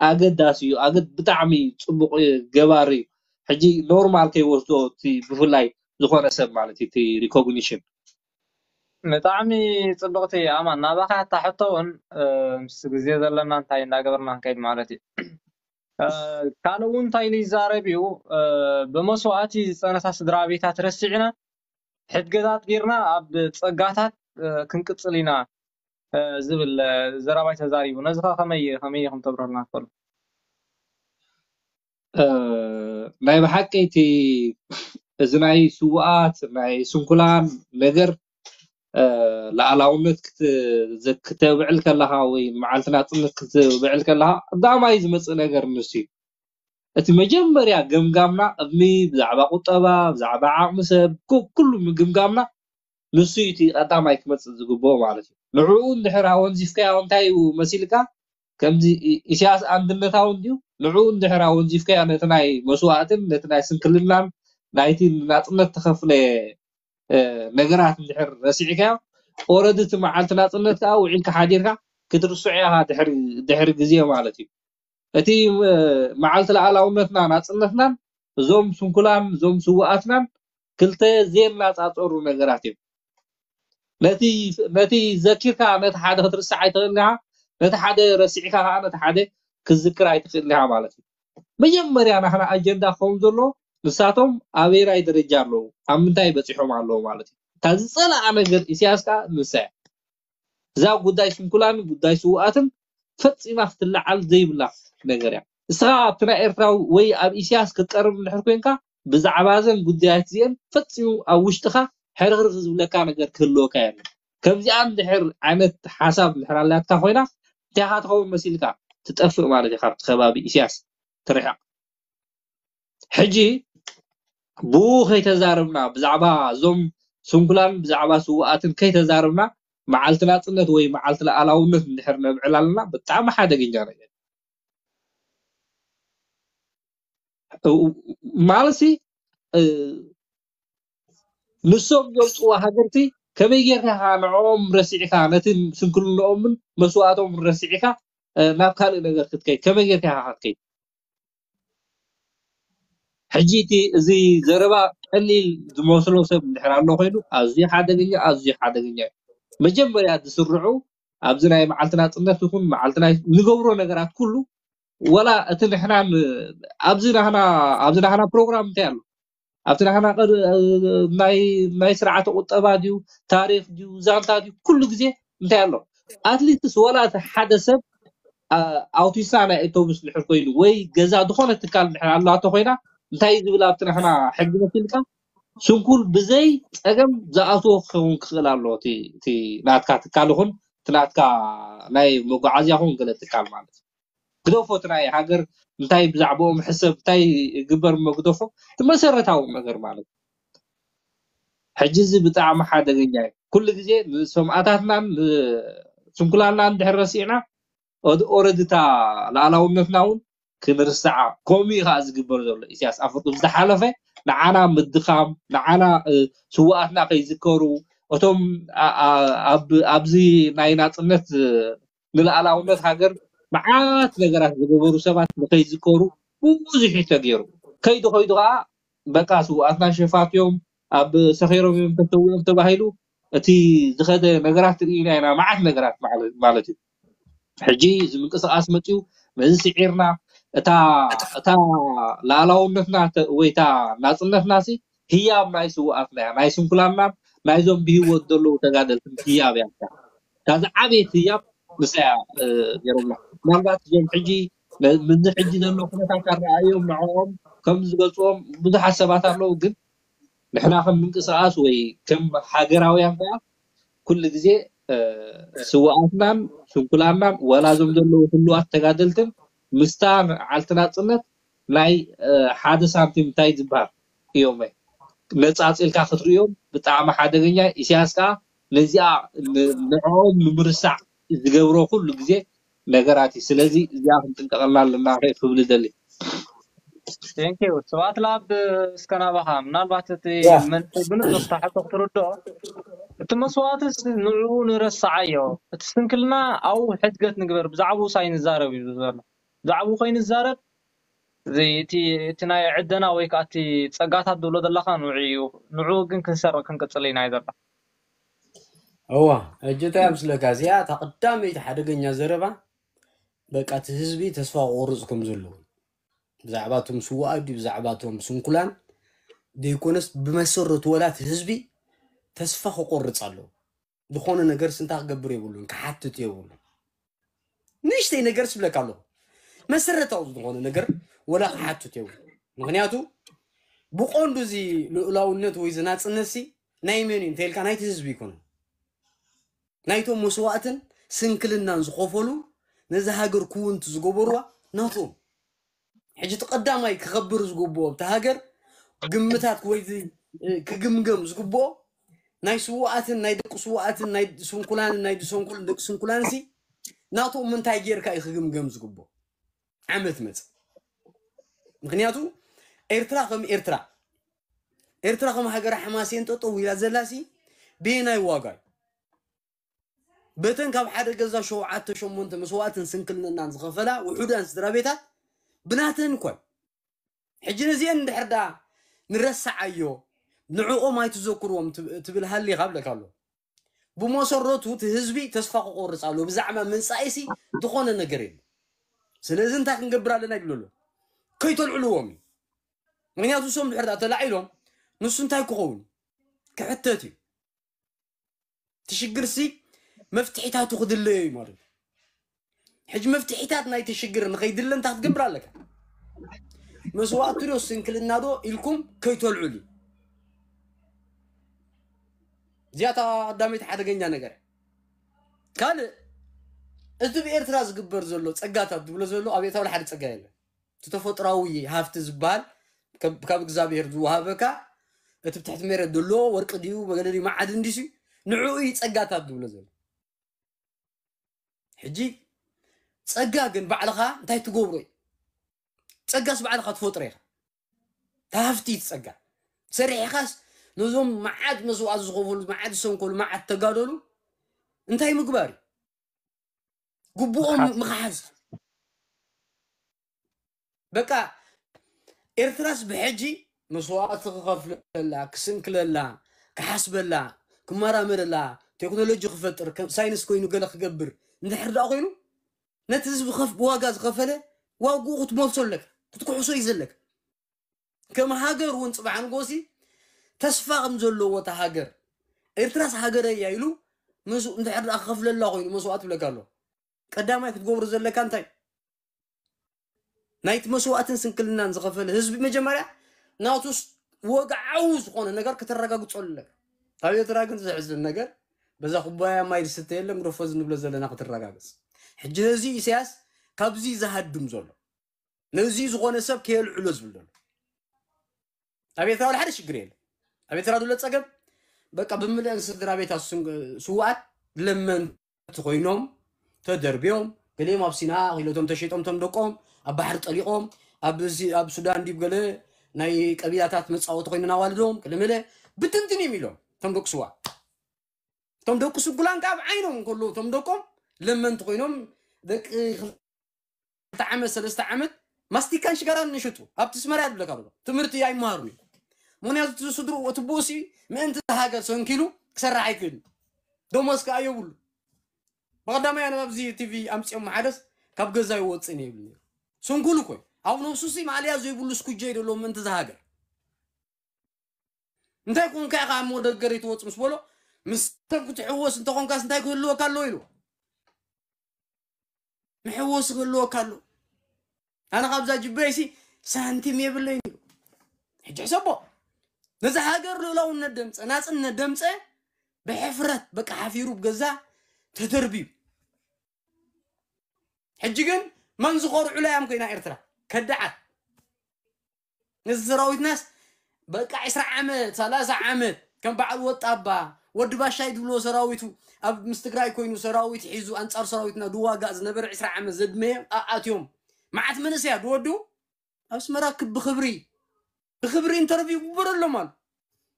ኣገዳሲ እዩ። ኣገድ ብጣዕሚ ጽቡቕ ገባሪ እዩ። ሕጂ ኖርማል ከይወስዶ እቲ ብፍላይ ዝኾነ ሰብ ማለት እዩ እቲ ሪኮግኒሽን ብጣዕሚ ጽብቕቲ ኣማን ናባኻ እታ ሕቶ እውን ምስ ግዜ ዘለና እንታይ እንዳገበርና ንከይድ ማለት እዩ። ካልእ እውን እንታይ ኢሉ ይዛረብ እዩ፣ ብመስዋእቲ ዝጸነታ ስድራ ቤታት ረሲዕና ሕድገታት ጌርና ኣብ ጸጋታት ክንቅጽል ኢና ዝብል ዘረባይ ተዛሪቡ። ነዚ ከ ከመይ ከመይ ኢኹም ተብረሩልና ትኽእሉ? ናይ ብሓቂ እቲ እዚ ናይ ስውኣት ናይ ስንኩላን ነገር ላኣላውነት ክተብዕል ከለኻ ወይ መዓልቲ ናፅነት ክትብዕል ከለኻ ቀዳማይ ዝመፅእ ነገር ንሱ እዩ። እቲ መጀመርያ ገምጋምና ቅድሚ ብዛዕባ ቁጠባ ብዛዕባ ዓቕሚ ሰብ ኩሉ ምግምጋምና ንሱ እዩ እቲ ቀዳማይ ክመፅእ ዝግብኦ ማለት እዩ። ንዕኡ እንድሕር ኣወንዚፍካዮ እንታይ እዩ መሲልካ ከምዚ ኢሳያስ ኣንድነታዊ እንድዩ ንዕኡ እንድሕር ኣወንዚፍካዮ ነቲ ናይ መስዋእትን ነቲ ናይ ስንክልናን ናይቲ ናፅነት ተኸፍለ ነገራት እንድሕር ረሲዕካዮ ኦረዲ እቲ መዓልቲ ናፅነት ከዓ ውዒልካ ሓዲርካ ክትርስዖ ኢኻ ድሕሪ ግዜ ማለት እዩ። እቲ መዓልቲ ላኣላውነትና ናፅነትናን እዞም ስንኩላን እዞም ስውኣትናን ክልተ ዘየነፃፀሩ ነገራት እዮም። ነቲ ዘኪርካ ነቲ ሓደ ክትርስዕ ኣይትኽእልን ኢኻ፣ ነቲ ሓደ ረሲዕካ ከዓ ነቲ ሓደ ክትዝክር ኣይትኽእልን ኢኻ ማለት እዩ። መጀመርያ ናትና ኣጀንዳ ክኸውን ዘሎ ንሳቶም ኣበየናይ ደረጃ ኣለዉ፣ ኣብ ምንታይ በፂሖም ኣለዉ ማለት እዩ። እታ ዝፀለኣ ነገር ኢሳያስ ከዓ ንሳ እያ። እዛ ጉዳይ ስንኩላን ጉዳይ ስውኣትን ፈፂማ ክትለዓል ዘይብላ ነገር እያ። እስኻ ኣብቲ ናይ ኤርትራዊ ወይ ኣብ ኢሳያስ ክትቀርብ እንድሕር ኮንካ ብዛዕባ እዘን ጉዳያት እዚአን ፈፂሙ ኣብ ውሽጥኻ ሕርኽርኽ ዝብለካ ነገር ክህልወካ የለን። ከምዚኣ እንድሕር ዓይነት ሓሳብ እንድሕር ኣላትካ ኮይና እንታይ ኢኻ ትኸውን መሲልካ ትጠፍእ ማለት እዩ። ካብቲ ከባቢ ኢሳያስ ትርሕቕ። ሕጂ ብኡ ከይተዛረብና ብዛዕባ እዞም ስንኩላን ብዛዕባ ስውኣትን ከይተዛረብና መዓልቲ ናፅነት ወይ መዓልቲ ላኣላውነት እንድሕር ነብዕል ኣለና ብጣዕሚ ሓደገኛ ነገር ማለትሲ ንሶም ዘውፅዋ ሃገርቲ ከመይ ጌርካ ኢኻ ንዕኦም ረሲዕካ ነቲ ስንክልንኦምን መስዋእቶም ረሲዕካ ናብ ካልእ ነገር ክትከይድ ከመይ ጌርካ ኢኻ ክትከይድ? ሕጂ እቲ እዚ ዘረባ ቀሊል ዝመስሎ ሰብ እንድሕር ኣሎ ኮይኑ ኣዝዩ ሓደገኛ ኣዝዩ ሓደገኛ እዩ። መጀመርያ ዝስርዑ ኣብዚ ናይ መዓልቲ ናፅነት ይኹን መዓልቲ ናይ ንገብሮ ነገራት ኩሉ ወላ እቲ ንሕና ኣብዚ ናህና ኣብዚ ናህና ፕሮግራም እንታይ ኣሎ ኣብቲ ናህና ናይ ስርዓተ ቁጠባ ድዩ ታሪክ ድዩ ዛንታ ድዩ ኩሉ ግዜ እንታይ ኣሎ ኣትሊስትስ ወላ እቲ ሓደ ሰብ ኣውቲስታ ናይ ኣውቶቡስ ድሕር ኮይኑ ወይ ገዛ ዝኾነ ትካል ድሕር ኣላቶ ኮይና እንታይ ዝብል ኣብቲ ናህና ሕጊ መሲልካ ስንኩል ብዘይ ፀገም ዝኣትዎ ክኸውን ክኽእል ኣሎ እቲ ናትካ ትካል ይኹን እቲ ናትካ ናይ መጓዓዝያ ኹን ገለ ትካል ማለት ግደፎ እቲ ናይ ሃገር እንታይ ብዛዕባኦም ሕሰብ እንታይ ግበር እሞ ግደፎ እቲ መሰረታዊ ነገር ማለት ሕጂ እዚ ብጣዕሚ ሓደገኛ እዩ። ኩሉ ግዜ ንሰማእታትናን ስንኩላንናን እንድሕር ረሲዕና ኦረድታ ላኣላውነትና እውን ክንርስዓ ከምኡ እዩ ከዓ ዝግበር ዘሎ ኢሳያስ ኣፈወርቂ ዝሓለፈ ንዓና ምድኻም ንዓና ስዋኣትና ከይዝከሩ እቶም ኣብዚ ናይ ናፅነት ንልኣላውነት ሃገር መዓት ነገራት ዝገበሩ ሰባት ንከይዝከሩ ብዙሕ እዩ ተገይሩ ከይዱ ከይዱ ከዓ በቃ ስውኣትና ሸፋት እዮም ኣብ ሰኺሮም እዮም ተሰዊኦም ተባሂሉ እቲ ዝኸደ ነገራት ርኢና ኢና፣ መዓት ነገራት ማለት ማለት እዩ። ሕጂ እዚ ምንቅስቃስ መፅዩ፣ ነዚ ስዒርና እታ እታ ላዕላውነትና ተ- ወይ እታ ናፅነትና ሲ ህያብ ናይ ስውኣትና እያ፣ ናይ ስንኩላናን ናይዞም ብህይወት ዘለዉ ተጋደልትን ህያብ እያ። እታ ዝዓበየት ህያብ ንሳ እያ ነይሮምና። ምናልባት እዞም ሕጂ ምዚ ሕጂ ዘሎ ኩነታት ኣረኣዮም ንዕኦም ከም ዝገልፅዎም ብዙሓት ሰባት ኣለዉ፣ ግን ንሕና ከም ምንቅስቃስ ወይ ከም ሃገራውያን ከዓ ኩሉ ግዜ ስውኣትናን ስንኩላናን ወላ እዞም ዘለዉ ህሉዋት ተጋደልትን ምስታ ዓልቲ ናፅነት ናይ ሓደ ሳንቲም እንታይ ዝበሃል እዮም ነፃፅልካ ክትርእዮም ብጣዕሚ ሓደገኛ። ኢሳያስ ከዓ ነዚኣ ንዕኦም ንምርሳዕ ዝገብሮ ኩሉ ግዜ ነገራት እዩ። ስለዚ እዚኣ ክንጥንቀቐላ ኣለና ክብል ደሊ። ቴንኪዩ ስብኣት ላብ እስከ ናባኻ ምናልባት እቲ መልሲ ብንፁር ታሕቶ ክትርድኦ እቲ መስዋእትስ ንዕኡ ንረስዓዮ እቲ ስንክልና ኣብኡ ሕድገት ንግበር ብዛዕባኡ ሳይ ንዛረብ እዩ ዘሎ ብዛዕባኡ ከይንዛረብ እቲ ናይ ዕደና ወይ ከዓ እቲ ፀጋታት ዝብሎ ዘለካ ንዑ እዩ ንዑ ግን ክንሰርቕ ክንቅፅል ኢና እዩ ዘሎ እዋ እጅታ ምስለካ እዚኣ እታ ቀዳመይቲ ሓደገኛ ዘረባ በቃ እቲ ህዝቢ ተስፋ ክቆርፅ ከም ዘለዎ ብዛዕባ እቶም ስዋኣት ድዩ ብዛዕባ እቶም ስንኩላን ዘይኮነስ ብመሰረቱ ወላ እቲ ህዝቢ ተስፋ ክቆርፅ ኣለዎ ዝኾነ ነገር ስንታ ክገብር የብሉን ክሓትት የብሉ ንእሽተይ ነገር ስብለካ ኣለኹ መሰረታዊ ዝኾነ ነገር ወላ ክሓትት የብሉ ምክንያቱ ብቆንዱ እዚ ልኡላውነት ወይ ዝናፅነት ሲ ናይ መን እዩ እንተልካ ናይቲ ህዝቢ ይኮነ ናይቶም መስዋእትን ስንክልናን ዝኸፈሉ ነዚ ሃገር ክውንቲ ዝገበርዋ ናቶም ሕጂ እቲ ቀዳማይ ክኸብር ዝግብኦ ኣብቲ ሃገር ግምታት ወይ ክግምገም ዝግብኦ ናይ ስውኣትን ናይ ደቂ ስውኣትን ናይ ስንኩላንን ናይ ድሰንኩልን ደቂ ስንኩላን ሲ ናቶም ምንታይ ጌርካ እዩ ክግምገም ዝግብኦ ዓመት መፅ ምክንያቱ ኤርትራ ከም ኤርትራ ኤርትራ ከም ሃገር ሓማሴን ጠጠው ኢላ ዘላ ሲ ብየናይ ዋጋ እዩ በተን ካብ ሓደ ገዛ ሸውዓተ ሸሞንተ መስዋእትን ስንክልንናን ዝኸፈላ ውሑዳን ስድራ ቤታት ብናተን እኳ ሕጂ ነዚአን እንድሕር ዳ ንረስዓዮ ንዕኦም ኣይትዘክርዎም ትብል ሃሊኻ ብለካ ኣሎ ብመሰረቱ እቲ ህዝቢ ተስፋ ክቆርፅ ኣሎ ብዛዕባ መፃኢሲ ዝኾነ ነገር የለ ስለዚ እንታይ ክንገብር ኣለና ይብል ኣሎ ከይተልዕልዎም እዩ ምክንያቱ እሶም ድሕር ዳ ተላዒሎም ንሱ እንታይ ክኸውን ክሕተት እዩ እቲ ሽግር ሲ መፍትሒታቱ ክድለዮ እዩ ማለት ሕጂ መፍትሒታት ናይቲ ሽግር ንኸይድለ እንታይ ክትገብር ኣለካ መስዋእቲ ዶ ስንክልና ዶ ኢልኩም ከይተልዑሉ እዚኣታ ቀዳመይቲ ሓደገኛ ነገር ካልእ እዚ ብኤርትራ ዝግበር ዘሎ ፀጋታት ዝብሎ ዘሎ ኣብ ኤታውል ሓደ ፀጋ የለን እቲ ተፈጥራዊ ሃፍቲ ዝበሃል ካብ እግዚኣብሔር ዝወሃበካ እቲ ብትሕቲ ሜረት ዘሎ ወርቂ ድዩ በገለ ድዩ መዓድን ድዩ ንዕኡ እዩ ፀጋታት ዝብሎ ዘሎ ሕጂ ፀጋ ግን ባዕልኻ እንታይ ትገብሮ እዩ ፀጋስ ባዕልኻ ትፈጥሮ ኢኻ ታሃፍቲ እቲ ፀጋ ሰሪሕኻስ ነዞም መዓት መስዋዕት ዝኸፈሉ መዓት ዝሰንከሉ መዓት ተጋደሉ እንታይ ምግባር እዩ ግቡኦም ምኽሓዝ በቃ ኤርትራስ ብሕጂ መስዋዕቲ ክኸፍለላ ክስንክለላ ክሓስበላ ክመራመረላ ቴክኖሎጂ ክፈጥር ሳይንስ ኮይኑ ገለ ክገብር እንድሕር ደኣ ኮይኑ ነቲ ህዝቢ ብዋጋ ዝኸፈለ ዋግኡ ክትመልሶ ኣለካ ክትክሕሶ እዩ ዘለካ ከም ሃገር እውን ፅባሕ ንጎሲ ተስፋ ከም ዘለዎ እታ ሃገር ኤርትራስ ሃገረ እያ ኢሉ እንድሕር ደኣ ክኸፍለላ ኮይኑ መስዋዕት ትብለካ ኣሎ ቀዳማይ ክትገብሩ ዘለካ እንታይ ናይቲ መስዋዕትን ስንክልናን ዝኸፈለ ህዝቢ መጀመርያ ናቱስ ወግዓዊ ዝኾነ ነገር ክትረጋግፀሉ ኣለካ ኣብ ኤርትራ ግን ዘሕዝን ነገር በዛ ኩባያ ማይ ዝስተ የለን ግደፎ ዝንብሎ ዘለና ክትረጋግፅ ሕጂ ነዚ ኢሳያስ ካብዚ ዝሃድም ዘሎ ነዚ ዝኾነ ሰብ ከየልዕሎ ዝብል ዘሎ ኣብ ኤርትራ ሓደ ሽግር የለ ኣብ ኤርትራ ዘሎ ፀገም በቃ ብምልአን ስድራ ቤታት ስውኣት ለመንቲ ኮይኖም ተደርብዮም ገሊኦም ኣብ ሲና ክኢሎቶም ተሸይጦም ቶም ደቆም ኣብ ባሕሪ ጠሊቆም ኣብ ሱዳን ዲብ ገለ ናይ ቀቢላታት መፃወቲ ኮይነን ኣዋልዶም ገለመለ ብትንትን እዮም ኢሎም ቶም ደቂ ስዋ እቶም ደቂ ስጉላን ከዓ ኣብ ዓይኖም እንከለዉ እቶም ደቆም ለመንቲ ኮይኖም ደቂ ክልተ ዓመት ሰለስተ ዓመት ማስቲካን ሽጋራን ንሽጡ ኣብቲ ስመራ ያድብለካ ብሎ ትምህርቲ ኣይመሃሩን እዩ ምክንያቱ እቲ ስድርኡ እቲ ብኡሲ ምእንቲ ሃገር ሰንኪሉ ክሰርሕ ኣይክእልን። ደሞዝ ከኣ የብሉ። ብቐዳማይ ኣነ ኣብዚ ቲቪ ኣምጺኦም ሓደስ ካብ ገዛ ይወጽእ እየ ይብል ነይሩ። ስንኩል እኮ እዩ። ኣብ ነብሱ ሲ ማእለያ ዘይብሉ ስኩጀ እዩ ደሎ ምእንቲ ዝሃገር። እንታይ ኮንካ ኢኻ እሞ ደገር ይትወጽ ምስ በሎ፣ ምስ ተም ክትሕወስ እንተኾንካስ እንታይ ክህልወካ ኣለዎ ኢሉ። መሕወሲ ክህልወካ ኣሎ። ኣነ ካብዛ ጅበይሲ ሳንቲም የብለይን ኢሉ። ሕጂ ሕሰቦ፣ ነዚ ሃገር ልኡላውነት ደምፀ፣ ናፅነት ደምፀ፣ ብሕፍረት በቃ ሓፊሩ ብገዛ ተደርብዩ። ሕጂ ግን መን ዝኮርዑላ እዮም ኮይና ኤርትራ ከዳዓት። ነዚ ሰራዊትናስ በቃ ዕስራ ዓመት ሰላሳ ዓመት ከም በዓል ወጣባ ወዲ ባሻይ ዝብልዎ ሰራዊቱ ኣብ ምስ ትግራይ ኮይኑ ሰራዊት ሒዙ ኣንጻር ሰራዊትና ድዋጋእ ዝነበረ ዕስራ ዓመት ዘድመየ ኣኣትዮም መዓት መንእሰያ ድወዱ ኣብ ኣስመራ ክብ ብክብሪ ብክብሪ ኢንተርቪው ይግበረሎም ኣሉ።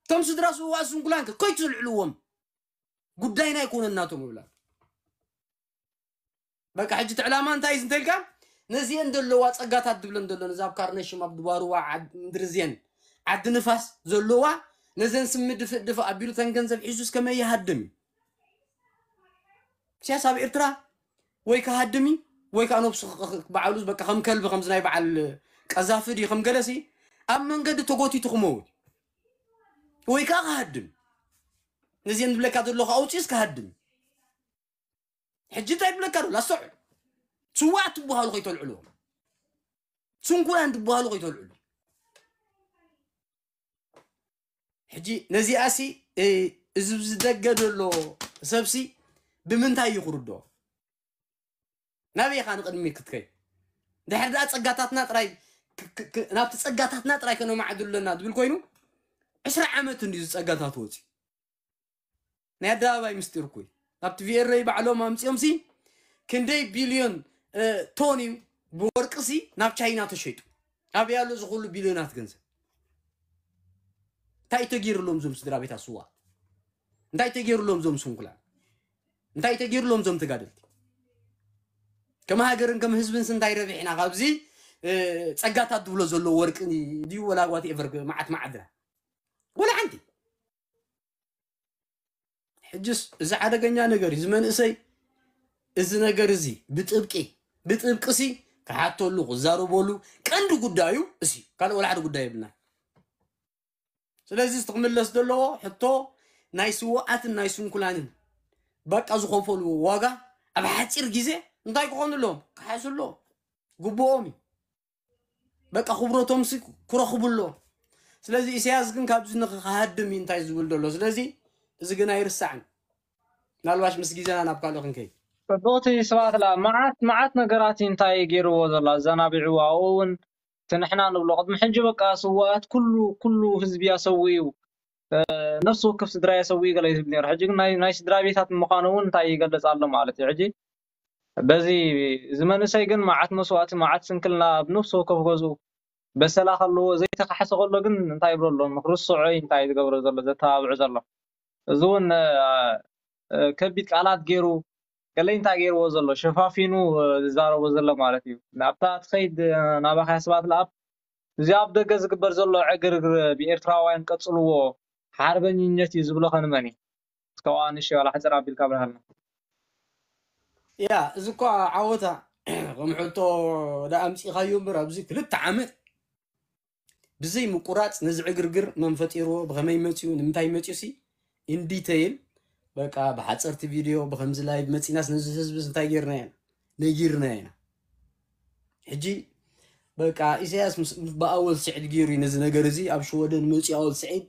እቶም ስድራ ስውኣት ስንኩላን ከ ከይቱ ዝልዕልዎም ጉዳይና ኣይኮነን ናቶም ይብላ። በቃ ሕጂ እቲ ዕላማ እንታይ እዩ እንተልካ ነዚአን ዘለዋ ጸጋታት ድብለን ዘሎ ነዚ ኣብ ካርነሽም ኣብ ድባርዋ ዓድ ምድሪ እዚአን ዓዲ ንፋስ ዘለዋ ነዘን ስሚ ድፍእ ድፍእ ኣቢሉ ተን ገንዘብ ሒዙ እስከመይ ይሃድም እዩ። ኢሳያስ ኣብ ኤርትራ ወይ ክሃድም እዩ ወይ ከዓ ነብሱ ክ- ክ- በዓሉ በቃ ከም ከልቢ ከምዚ ናይ በዓል ቀዛፊ ድዩ ከም ገለሲ ኣብ መንገዲ ተጎቲቱ ክመውት ወይ ከዓ ክሃድም ነዚአን ዝብለካ ዘለኹ ኣውፅኡስ ክሃድም እዩ። ሕጂ እንታይ ይብለካ ኣሎ ኣስተውዕል። ስዋኣት ትበሃሉ ከይተልዕልዎም ስንኩላን ትበሃሉ ከይተልዕሉ ሕጂ ነዚኣሲ እ፣ እዚ ዝደገ ዘሎ ሰብሲ ብምንታይ እዩ ክርድኦ? ናበይ ኢኻ ንቕድሚት ክትከይ? ድሕር ደኣ ጸጋታትና ጥራይ ክ- ክ- ክ- ናብቲ ጸጋታትና ጥራይ ከነማዕድሉ ኣለና ዝብል ኮይኑ ዕስራ ዓመት እንድዩ ዝጸጋታት ወፂ ናይ ኣደባባይ ምስጢር እኮ እዩ። ናብቲ ቪኤርኤ ባዕሎም ኣምፂኦም ሲ ክንደይ ቢልዮን እ፣ ቶን እዩ ብወርቂ ሲ ናብ ቻይና ተሸይጡ። ኣበይ ኣሎ እዚ ኩሉ ቢልዮናት ገንዘብ? እንታይ ተገይርሎም እዞም ስድራ ቤት ኣስዋ? እንታይ ተገይርሎም እዞም ስንኩላን? እንታይ ተገይርሎም እዞም ተጋደልቲ? ከም ሃገርን ከም ህዝብንስ እንታይ ረቢሕና ካብዚ እ፣ ጸጋታት ዝብሎ ዘሎ ወርቂ ድዩ ወላ ዋት ኤቨር መዓት መዓድና ወላ ሓንቲ ሕጅስ እዚ ሓደገኛ ነገር እዩ። እዚ መንእሰይ እዚ ነገር እዚ ብጥብቂ ብጥብቂ ሲ ክሓተሉ ክዛረበሉ ቀንዲ ጉዳዩ እዚ ካልእ ወላ ሓደ ጉዳይ የብልና። ስለዚ እቲ ክምለስ ዘለዎ ሕቶ ናይ ስውኣትን ናይ ስንኩላንን በቃ ዝኸፈልዎ ዋጋ ኣብ ሓፂር ግዜ እንታይ ክኾኑ ኣለዎም ክሓሱ ኣለዎም ግብኦም እዩ። በቃ ክብረቶም ሲ ክረኽቡ ኣለዎም። ስለዚ ኢሳያስ ግን ካብዚ ንክሃድም እዩ እንታይ ዝብል ዘሎ። ስለዚ እዚ ግን ኣይርሳዕን። ምናልባሽ ምስ ግዜና ናብ ካልእ ክንከይድ። ጽቡቕቲ ስብኣት ላ መዓት መዓት ነገራት እዩ እንታይ ገይርዎ ዘሎ ኣዘናቢዕዎ ኣብኡ እውን እቲ ንሕና ንብሎ ቅድሚ ሕጂ በቃ ስዋኣት ኩሉ ኩሉ ህዝቢ ኣሰዊኡ ነፍሲ ወከፍ ስድራ የሰዊኡ ገለ ይብል ነይሩ ሕጂ ግን ናይ ናይ ስድራ ቤታት ምዃኑ እውን እንታይ ይገልጽ ኣሎ ማለት እዩ ሕጂ በዚ እዚ መንእሰይ ግን መዓት መስዋእቲ መዓት ስንክልና ኣብ ነፍሲ ወከፍ ገዝኡ በሰላ ከለዎ ዘይተካሕሰ ከሎ ግን እንታይ ይብሎ ኣሎ ንክርስዖ እዩ እንታይ ዝገብሮ ዘሎ ዘተባብዑ ዘሎ እዚ እውን ከቢድ ቃላት ገይሩ ገለይ እንታይ ገይርዎ ዘሎ ሸፋፊኑ ዝዛረቦ ዘሎ ማለት እዩ ናብታ ትኸይድ ናባኻ ስባት ለኣብ እዚ ኣብ ደገ ዝግበር ዘሎ ዕግርግር ብኤርትራውያን ቀጽልዎ ሓርበኝነት እዩ ዝብሎ ከንመን እዩ እስከ ንሽ ዋላ ሕፅር ኣቢልካ ብርሃልና ያ እዚ እኳ ዓወታ ከም ሕቶ ዳ ኣምፂኻዮ እምበር ኣብዚ ክልተ ዓመት ብዘይ ምቁራፅ ነዚ ዕግርግር መን ፈጢርዎ ብኸመይ መፅኡ ንምንታይ መፅኡ ሲ ኢንዲተይል በቃ ብሓፀርቲ ቪድዮ ብከምዚ ላይቭ መፂናስ ነዚ ህዝብስ እንታይ ጌርና ኢና ነጊርና ኢና ሕጂ በቃ ኢሳያስ ምስ ብኣወል ስዒድ ገይሩ እዩ ነዚ ነገር እዚ ኣብ ሽወደን መፂኡ ኣወል ስዒድ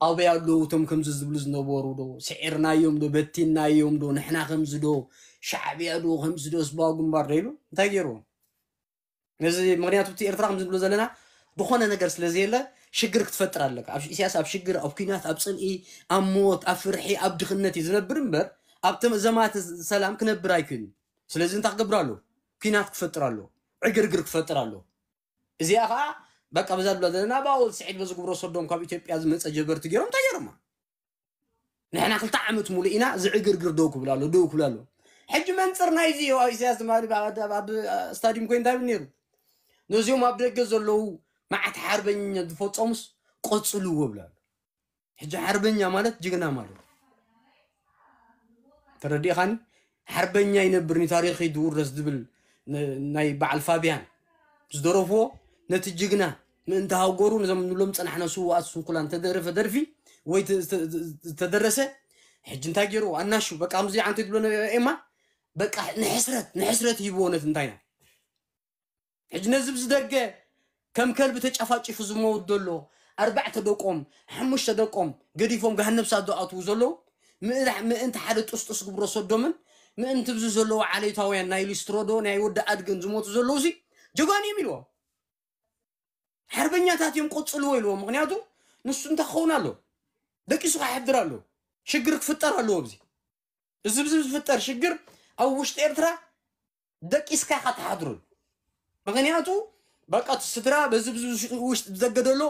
ኣበይ ኣለዉ እቶም ከምዚ ዝብሉ ዝነበሩ ዶ ስዒርናዮም ዶ በቲንናዮም ዶ ንሕና ከምዚ ዶ ሻዕብያ ዶ ከምዚ ዶ ህዝባዊ ግንባር ዶ ኢሉ እንታይ ገይርዎም ነዚ ምክንያቱ እቲ ኤርትራ ከም ዝብሎ ዘለና ዝኾነ ነገር ስለ ዘየለ ሽግር ክትፈጥር ኣለካ ኣብ ኢሳያስ ኣብ ሽግር ኣብ ኩናት ኣብ ፅልኢ ኣብ ሞት ኣብ ፍርሒ ኣብ ድኽነት እዩ ዝነብር እምበር ኣብ ዘማት ሰላም ክነብር ኣይክእልን ስለዚ እንታይ ክገብር ኣለዎ ኩናት ክፈጥር ኣለዎ ዕግርግር ክፈጥር ኣለዎ እዚኣ ከዓ በቃ በዛ ዝብላ ዘለና ብኣወል ስዒድ በዚ ግብረ ሰዶም ካብ ኢትዮጵያ ዝመፀ ጀበርቲ ገይሮም እንታይ ገይሮማ ንሕና ክልተ ዓመት ሙሉእ ኢና ዝዕግርግር ደው ክብል ኣሎ ደው ክብል ኣሎ ሕጂ መንፅር ናይዚ እዩ ኣብ ኢሳያስ ድማ ኣብ ስታዲየም ኮይኑ እንታይ ነይሩ ነዚኦም ኣብ ደገ ዘለዉ መዓት ሓርበኛ ዝፈፀሙስ ቆፅልዎ ብላ ኣሎ ሕጂ ሓርበኛ ማለት ጅግና ማለት ተረዲእኻኒ? ሓርበኛ ይነብር ንታሪኽ ይድውረስ ዝብል ን- ናይ በዓል ፋብያን ዝደረፍዎ፣ ነቲ ጅግና ምእንቲ ሃገሩ ነዞም ንብሎም ጸናሕና ስውኣት ስንኩላን ተደረፈ ደርፊ ወይ ተ- ተ- ዝተደረሰ፣ ሕጂ እንታይ ገይርዎ ኣናሹ በቃ ከምዚ ዓንተ ትብሎ ነበረ ኤማ፣ በቃ ንሕስረት ንሕስረት ሂብዎ ነቲ እንታይና ሕጂ ነዚ ብዝደገ ከም ከልቢ ተጨፋጭፉ ዝመውት ዘሎ፣ ኣርባዕተ ደቆም ሓሙሽተ ደቆም ገዲፎም ገሃነብ ሳት ዝኣትዉ ዘለዉ፣ ምእንቲ ሓደ ጥስጡስ ግብረ ሰዶምን ምእንቲ ብዚ ዘለዉ ዓሌታውያን ናይ ሊስትሮዶ ናይ ወዲ ኣድግን ዝሞቱ ዘለዉ ሲ ጀጋኑ እዮም ኢልዎም። ሓርበኛታት እዮም ቀጽልዎ ኢልዎም። ምክንያቱ ንሱ እንታይ ክኸውን ኣሎ? ደቂሱ ክሓድር ኣሎ። ሽግር ክፍጠር ኣለዎ ኣብዚ። እዚ ብዚ ዝፍጠር ሽግር ኣብ ውሽጢ ኤርትራ ደቂስካ ኢኻ ትሓድሩን። ምክንያቱ በቃ እቲ ስድራ በዚ ብዚ ውሽጢ ብዘገደሎ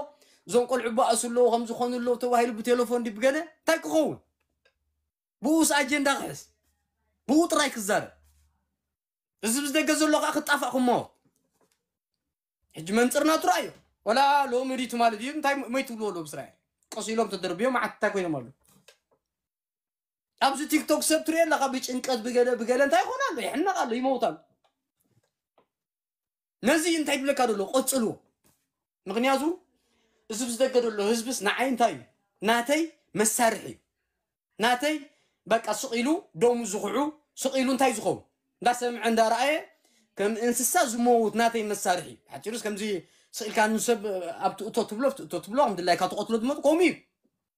እዞም ቆልዑ በኣሱ ኣለዎ ከም ዝኾኑ ኣለዎ ተባሂሉ ብቴሌፎን ድዩ ብገለ እንታይ ክኸውን? ብኡስ ኣጀንዳ ክሕዝ፣ ብኡ ጥራይ ክዛረብ። እዚ ብዝደገ ዘሎ ከዓ ክጣፋእ ክመወት። ሕጂ መንፅርና ትረኣዮ። ወላ ሎሚ ድዩ ትማሊ ድዩ እንታይ መይ ትብልዎ ኣሎ ብስራኤል ቀስ ኢሎም ተደርብዮም መዓት እንታይ ኮይኖም ኣሎ። ኣብዚ ቲክቶክ ሰብ ትሪኦ ኣለካ ብጭንቀት ብገለ ብገለ እንታይ ይኾን ኣሎ ይሕነቕ ኣሎ ይመውት ኣሎ። ነዚ እንታይ ይብለካ ዘሎ ቀፅልዎ። ምክንያቱ እዚ ብዝደገ ዘሎ ህዝብስ ንዓይ እንታይ እዩ ናተይ መሳርሒ እዩ። ናተይ በቃ ስቕ ኢሉ ደሙ ዝኽዑ ስቕ ኢሉ እንታይ ዝኸውን እንዳሰምዐ እንዳረኣየ ከም እንስሳ ዝመውት ናተይ መሳርሒ እዩ። ሓፂሩስ ከምዚ ስቕ ኢልካ ንሰብ ኣብ ትእቶ ትብሎ ትእቶ ትብሎ ከም ድላይካ ትቐትሎ ዝመጡ ከምኡ እዩ።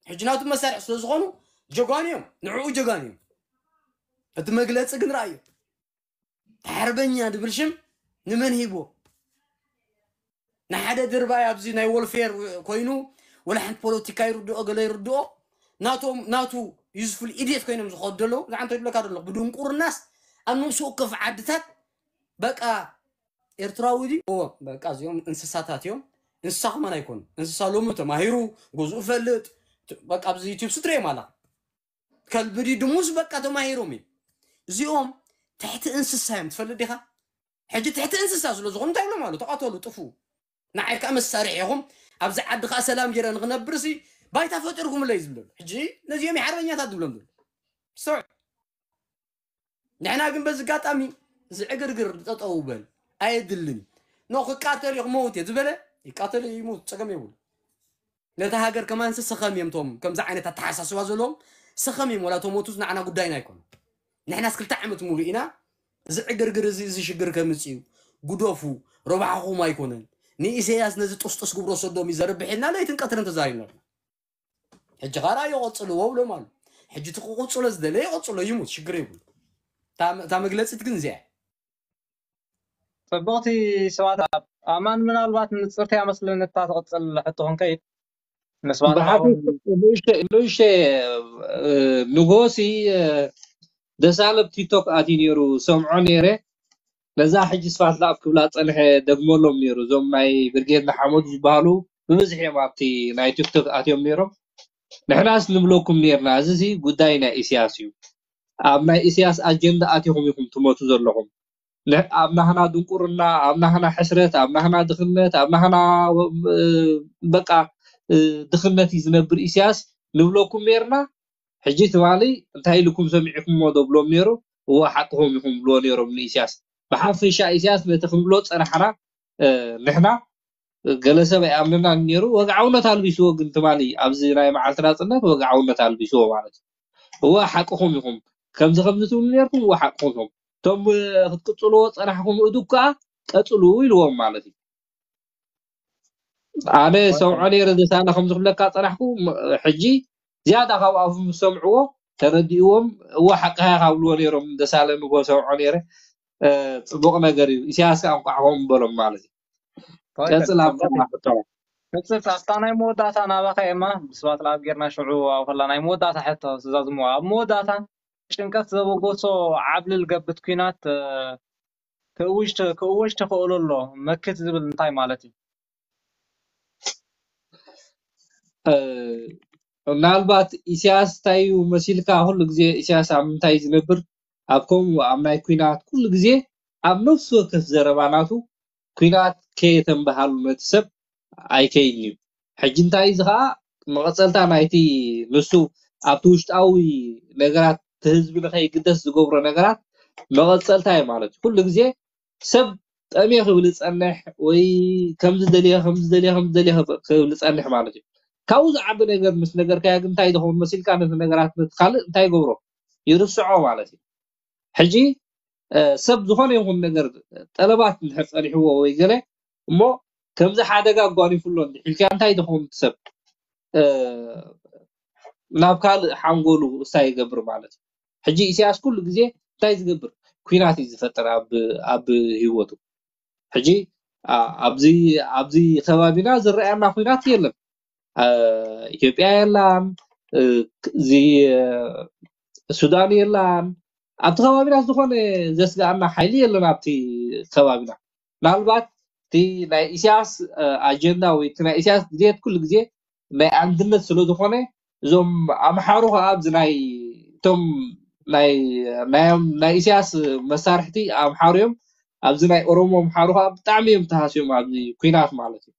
ሕጂ ናቱ መሳርሒ ስለ ዝኾኑ ጀጋኑ እዮም። ንዕኡ ጀጋኑ እዮም። እቲ መግለፂ ግን ረኣዮ። ሓርበኛ ድብል ሽም ንመን ሂቦ? ንሓደ ድርባይ ኣብዚ ናይ ወልፌር ኮይኑ ወላ ሓንቲ ፖለቲካ ይርድኦ ገለ ይርድኦ ናቶም ናቱ ዩዝፉል ኢድየት ኮይኖም ዝኸዱ ዘለዉ ዝዓንተ ይብለካ ዘለኹ ብድንቁርናስ ኣብ ነብሲ ወከፍ ዓድታት በቃ ኤርትራዊ ድዩ? እዎ በቃ እዚኦም እንስሳታት እዮም። እንስሳ ከማን ኣይኮኑ። እንስሳ ሎሚ ተማሂሩ ገዝኡ ፈልጥ በቃ ኣብዚ ዩቲዩብ ስትሪኦም ኣላ ከልቢ ድዩ ድሙስ በቃ ተማሂሮም እዩ። እዚኦም ትሕቲ እንስሳ እዮም ትፈልጥ ዲኻ? ሕጂ ትሕቲ እንስሳ ስለ ዝኾኑ እንታይ ይብሎም ኣለዉ? ተቐተሉ፣ ጥፉ። ንዓይ ከዓ መሳርሒ ኢኹም። ኣብዚ ዓዲ ከዓ ሰላም ጌረ ንኽነብር ሲ ባይታ ፈጢርኩምለይ ዝብለሉ። ሕጂ ነዚኦም ሓርበኛታት ዝብሎም ዘለዉ። ሶ ንሕና ግን በዚ ኣጋጣሚ እዚ ዕግርግር ጠጠው በል ኣየድልን። ኖ ክቃተል እዩ ክመውት እየ ዝበለ ይቃተል ይሙት ፀገም የብሉ። ነቲ ሃገር ከማንሲ ሰኸም እዮም ቶም ከምዚ ዓይነት ኣተሓሳስባ ዘለዎም ሰኸም እዮም ወላ ተሞቱስ ንዓና ጉዳይና ኣይኮኑ። ንሕናስ ክልተ ዓመት ሙሉ ኢና እዚ ዕግርግር እዚ እዚ ሽግር ከምፅ እዩ ግደፉ ረብሓኹም ኣይኮነን ንኢሰያስ ነዚ ጥስጥስ ግብረ ሰዶም እዩ ዘርብሕ ኢልና ለይትን ቀትርን ተዛሪብና ኣለና። ሕጂ ኻራ ይቐፅልዎ ብሎም ኣሎ። ሕጂ እቲ ክቕፅሎ ዝደለ ይቐፅሎ ይሙት ሽግር የብሉ። እታ መግለፂት ግን እዚኣ ፅቡቕቲ ስብሓት ኣብ ኣማን ምናልባት ንፅርቲ ኣመስልን እታ ትቕፅል ሕቶ ክንከይድ ንስባት ብሓቂ ንእሽተ ንእሽተ ንጎሲ ደሳለ ኣብ ቲክቶክ ኣትዩ ነይሩ ሰምዖ ነይረ ነዛ ሕጂ ስፋት ላብ ክብላ ፀንሐ ደግመሎም ነይሩ እዞም ናይ ብርጌድ ንሓመዱ ዝበሃሉ ብብዝሒ እዮም ኣብቲ ናይ ቲክቶክ ኣትዮም ነይሮም ንሕናስ ንብለኩም ነይርና እዚ ሲ ጉዳይ ናይ ኢስያስ እዩ ኣብ ናይ ኢስያስ ኣጀንዳ ኣቲኹም ኢኹም ትመቱ ዘለኹም ኣብ ናህና ድንቁርና ኣብ ናህና ሕስረት ኣብ ናህና ድኽነት ኣብ ናህና በቃ ድኽነት እዩ ዝነብር ኢስያስ ንብለኩም ነይርና ሕጂ ትማሊ እንታይ ኢልኩም ሰሚዕኩሞ ዶ ብሎም ነይሩ እወ ሓቅኹም ኢኹም ብልዎ ነይሮም ንኢስያስ ብሓፈሻ ኢስያስ ነቲ ክንብሎ ዝፀናሕና ንሕና ገለ ሰብ ኣይኣምነናን ነይሩ ወግዓውነት ኣልቢስዎ ግን ትማሊ ኣብዚ ናይ መዓልቲ ናፅነት ወግዓውነት ኣልቢስዎ ማለት እዩ እወ ሓቅኹም ኢኹም ከምዚ ከምዚ ትብሉ ነይርኩም እወ ሓቅኹም ኢኹም እቶም ክትቅፅልዎ ዝፀናሕኩም እዱ ከዓ ቀፅሉ ኢልዎም ማለት እዩ ኣነ ሰምዖ ነይረ ዘሳነ ከምዚ ክብለካ ፀናሕኩ ሕጂ ዝያዳ ካብ ኣፉ ምስ ሰምዕዎ ተረዲእዎም እወ ሓቅኻ ኢኻ ብልዎ ነይሮም ደሳለ ንጎ ሰምዖ ነይረ ፅቡቕ ነገር እዩ ኢሳያስ ከዓ እንቋዕ ከምኡ በሎም ማለት እዩ ቀፅል ኣብታ ሕቶ ሕፅት ኣብታ ናይ መወዳእታ ናባኻ ኤማ ብስባት ለኣብ ጌርና ሽዑ ኣብኸላ ናይ መወዳእታ ሕቶ ትእዛዝሞ ኣብ መወዳእታ ጭንቀት ዘበገሶ ዓብልል ገብት ኲናት ክእውጅ ክእወጅ ተኽእሎ ኣሎ መክት ዝብል እንታይ ማለት እዩ ምናልባት ኢሳያስ እንታይ እዩ መሲልካ ኩሉ ግዜ ኢሳያስ ኣብ ምንታይ ዝነብር ኣብ ከምኡ ኣብ ናይ ኲናት ኩሉ ግዜ ኣብ ነፍሲ ወከፍ ዘረባ ናቱ ኲናት ከየተንበሃሉ ነቲ ሰብ ኣይከይድን እዩ ሕጂ እንታይ እዚ ከዓ መቐፀልታ ናይቲ ንሱ ኣብቲ ውሽጣዊ ነገራት እቲ ህዝቢ ንኸይግደስ ዝገብሮ ነገራት መቐፀልታ እዩ ማለት እዩ። ኩሉ ግዜ ሰብ ጠምየ ክብል ዝፀንሕ ወይ ከምዚ ደልየ ከምዚ ደልየ ከምዚ ደልየ ክብል ዝፀንሕ ማለት እዩ። ካብኡ ዝዓቢ ነገር ምስ ነገርካዮ ግን እንታይ ዝኸውን መሲልካ ነቲ ነገራት ነቲ ካልእ እንታይ ይገብሮ ይርስዖ ማለት እዩ። ሕጂ ሰብ ዝኾነ ይኹን ነገር ጠለባት እንድሕር ፀኒሕዎ ወይ ገለ እሞ ከምዚ ሓደጋ ኣጓኒፉ ኣሎ እንድሒልካ እንታይ ዝኸውን ሰብ ናብ ካልእ ሓንጎሉ እሳ ይገብር ማለት እዩ። ሕጂ ኢሳያስ ኩሉ ግዜ እንታይ ዝገብር ኩናት እዩ ዝፈጥር ኣብ ኣብ ህይወቱ። ሕጂ ኣብዚ ኣብዚ ከባቢና ዝረኣየና ኩናት የለን። ኢትዮጵያ የላን፣ እዚ ሱዳን የላን። ኣብቲ ከባቢና ዝኾነ ዘስግኣና ሓይሊ የለን ኣብቲ ከባቢና። ምናልባት እቲ ናይ ኢሳያስ ኣጀንዳ ወይ እቲ ናይ ኢሳያስ ድሌት ኩሉ ግዜ ናይ ኣንድነት ስለ ዝኾነ እዞም ኣምሓሩ ከዓ ኣብዚ ናይ እቶም ናይ ናይ ናይ ኢሳያስ መሳርሕቲ ኣምሓሩ እዮም። ኣብዚ ናይ ኦሮሞ ኣምሓሩ ከዓ ብጣዕሚ እዮም ተሃስዮም ኣብዚ ኩናት ማለት እዩ።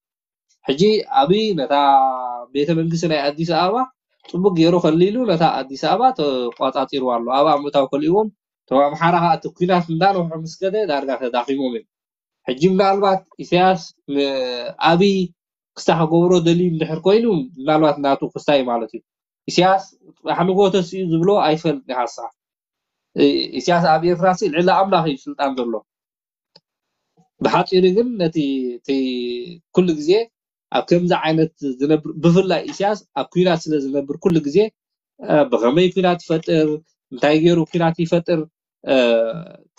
ሕጂ ኣብይ ነታ ቤተ መንግስቲ ናይ ኣዲስ ኣበባ ፅቡቅ ገይሩ ከሊሉ ነታ ኣዲስ ኣበባ ተቋፃፂርዋ ኣሎ። ኣብኣ ምእታው ከሊእዎም እቶም ኣምሓራ ከዓ እቲ ኩናት እንዳነውሑ ምስ ከደ ዳርጋ ተዳኺሞም እዮም። ሕጂ ምናልባት ኢሳያስ ንኣብይ ክስታ ክገብሮ ደልዩ እንድሕር ኮይኑ ምናልባት ናቱ ክስታ እዩ ማለት እዩ። ኢሳያስ ፅባሕ ንግሆ ተስኡ ዝብሎ ኣይፈልጥ ኢኻ ንስኻ። ኢሳያስ ኣብ ኤርትራ ሲ ልዕሊ ኣምላኽ እዩ ስልጣን ዘሎ። ብሓፂሩ ግን ነቲ እቲ ኩሉ ግዜ ኣብ ከምዚ ዓይነት ዝነብር ብፍላይ ኢሳያስ ኣብ ኩናት ስለ ዝነብር ኩሉ ግዜ ብኸመይ ኩናት ይፈጥር እንታይ ገይሩ ኩናት ይፈጥር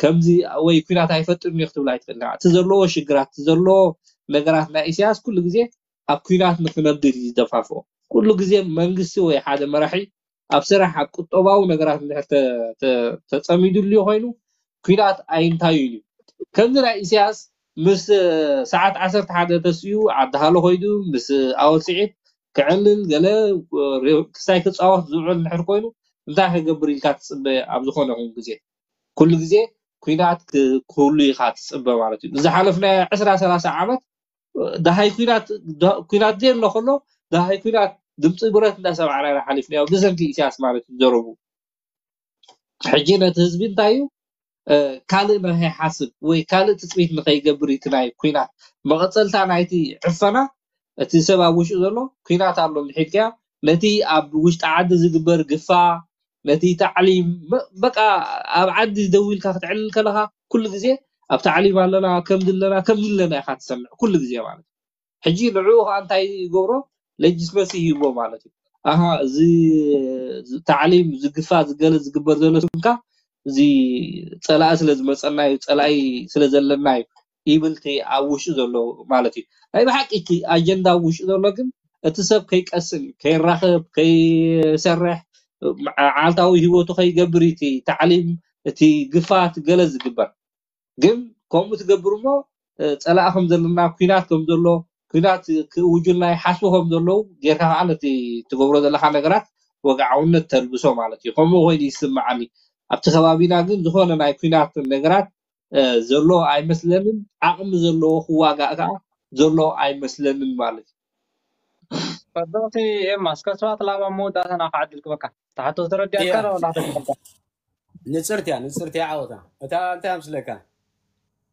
ከምዚ ወይ ኩናት ኣይፈጥርን እዩ ክትብል ኣይትኽእልን። እቲ ዘለዎ ሽግራት እቲ ዘለዎ ነገራት ናይ ኢሳያስ ኩሉ ግዜ ኣብ ኩናት ንክነብር እዩ ዝደፋፍኦ። ኩሉ ግዜ መንግስቲ ወይ ሓደ መራሒ ኣብ ስራሕ ኣብ ቁጠባዊ ነገራት እንድሕር ተጸሚዱሉ ኮይኑ ኩናት ኣይንታዩን እዩ። ከምዚ ናይ ኢሳያስ ምስ ሰዓት ዓሰርተ ሓደ ተስኡ ዓዲ ሃሎ ኮይዱ ምስ ኣወል ስዒድ ክዕልል ገለ ክስታይ ክፃወት ዝውዕል እንድሕር ኮይኑ እንታይ ክገብር ኢልካ ትፅበ ኣብ ዝኾነ ይኹን ግዜ ኩሉ ግዜ ኩናት ክህሉ ኢኻ ትፅበ ማለት እዩ። ዝሓለፍናዮ ዕስራ ሰላሳ ዓመት ደሃይ ኩናት ኩናት ዘየሎ ከሎ ደሃይ ኩናት ድምፂ ብረት እንዳሰማዕና ኢና ሓሊፍናዮ ብሰንኪ ኢሳያስ ማለት እዩ ዘረቡ። ሕጂ ነቲ ህዝቢ እንታይ እዩ ካልእ ንኸይሓስብ ወይ ካልእ ትፅቢት ንኸይገብር እቲ ናይ ኩናት መቐፀልታ ናይቲ ዕፈና እቲ ሰብ ኣብ ውሽጡ ዘሎ ኩናት ኣሎ እንድሒልካዮ ነቲ ኣብ ውሽጢ ዓዲ ዝግበር ግፋ ነቲ ታዕሊም በቃ ኣብ ዓዲ ደው ኢልካ ክትዕልል ከለኻ ኩሉ ግዜ ኣብ ታዕሊም ኣለና ከምዚ ኣለና ከምዚ ኣለና ኢኻ ትሰምዕ ኩሉ ግዜ ማለት እዩ። ሕጂ ንዕኡ ከዓ እንታይ ይገብሮ ሌጂትመሲ ይህቦ ማለት እዩ። ኣሃ እዚ ታዕሊም ዝግፋ ዝገለ ዝግበር ዘሎ ስምካ እዚ ፀላኢ ስለ ዝመፀና እዩ ፀላኢ ስለ ዘለና እዩ ይብል እቲ ኣብ ውሽጡ ዘሎ ማለት እዩ። ናይ ብሓቂ እቲ ኣጀንዳ ኣብ ውሽጡ ዘሎ ግን እቲ ሰብ ከይቀስን ከይራኸብ ከይሰርሕ ዓልታዊ ህይወቱ ከይገብር እቲ ታዕሊም እቲ ግፋት ገለ ዝግበር ግን ከምኡ ትገብር እሞ ፀላኢ ከም ዘለና ኩናት ከም ዘሎ ኩናት ክእውጁልና ይሓስቡ ከም ዘለዉ ጌርካ ከዓ ነቲ ትገብሮ ዘለካ ነገራት ወግዓውነት ተልብሶ ማለት እዩ። ከምኡ ኮይኑ ይስምዓኒ። ኣብቲ ከባቢና ግን ዝኾነ ናይ ኩናት ነገራት ዘሎ ኣይመስለንን። ዓቕሚ ዘለዎ ክዋጋእ ከዓ ዘሎ ኣይመስለንን ማለት እዩ። ፈዶሲ ኤማ እስከ ሰባት ላባ መወዳእታና ክዓድል ክበካ ተሓቶ ተረዲኣካ ዶ ላተካ ንፅርትያ ንፅርትያ ዓወታ እታ እንታይ ምስለካ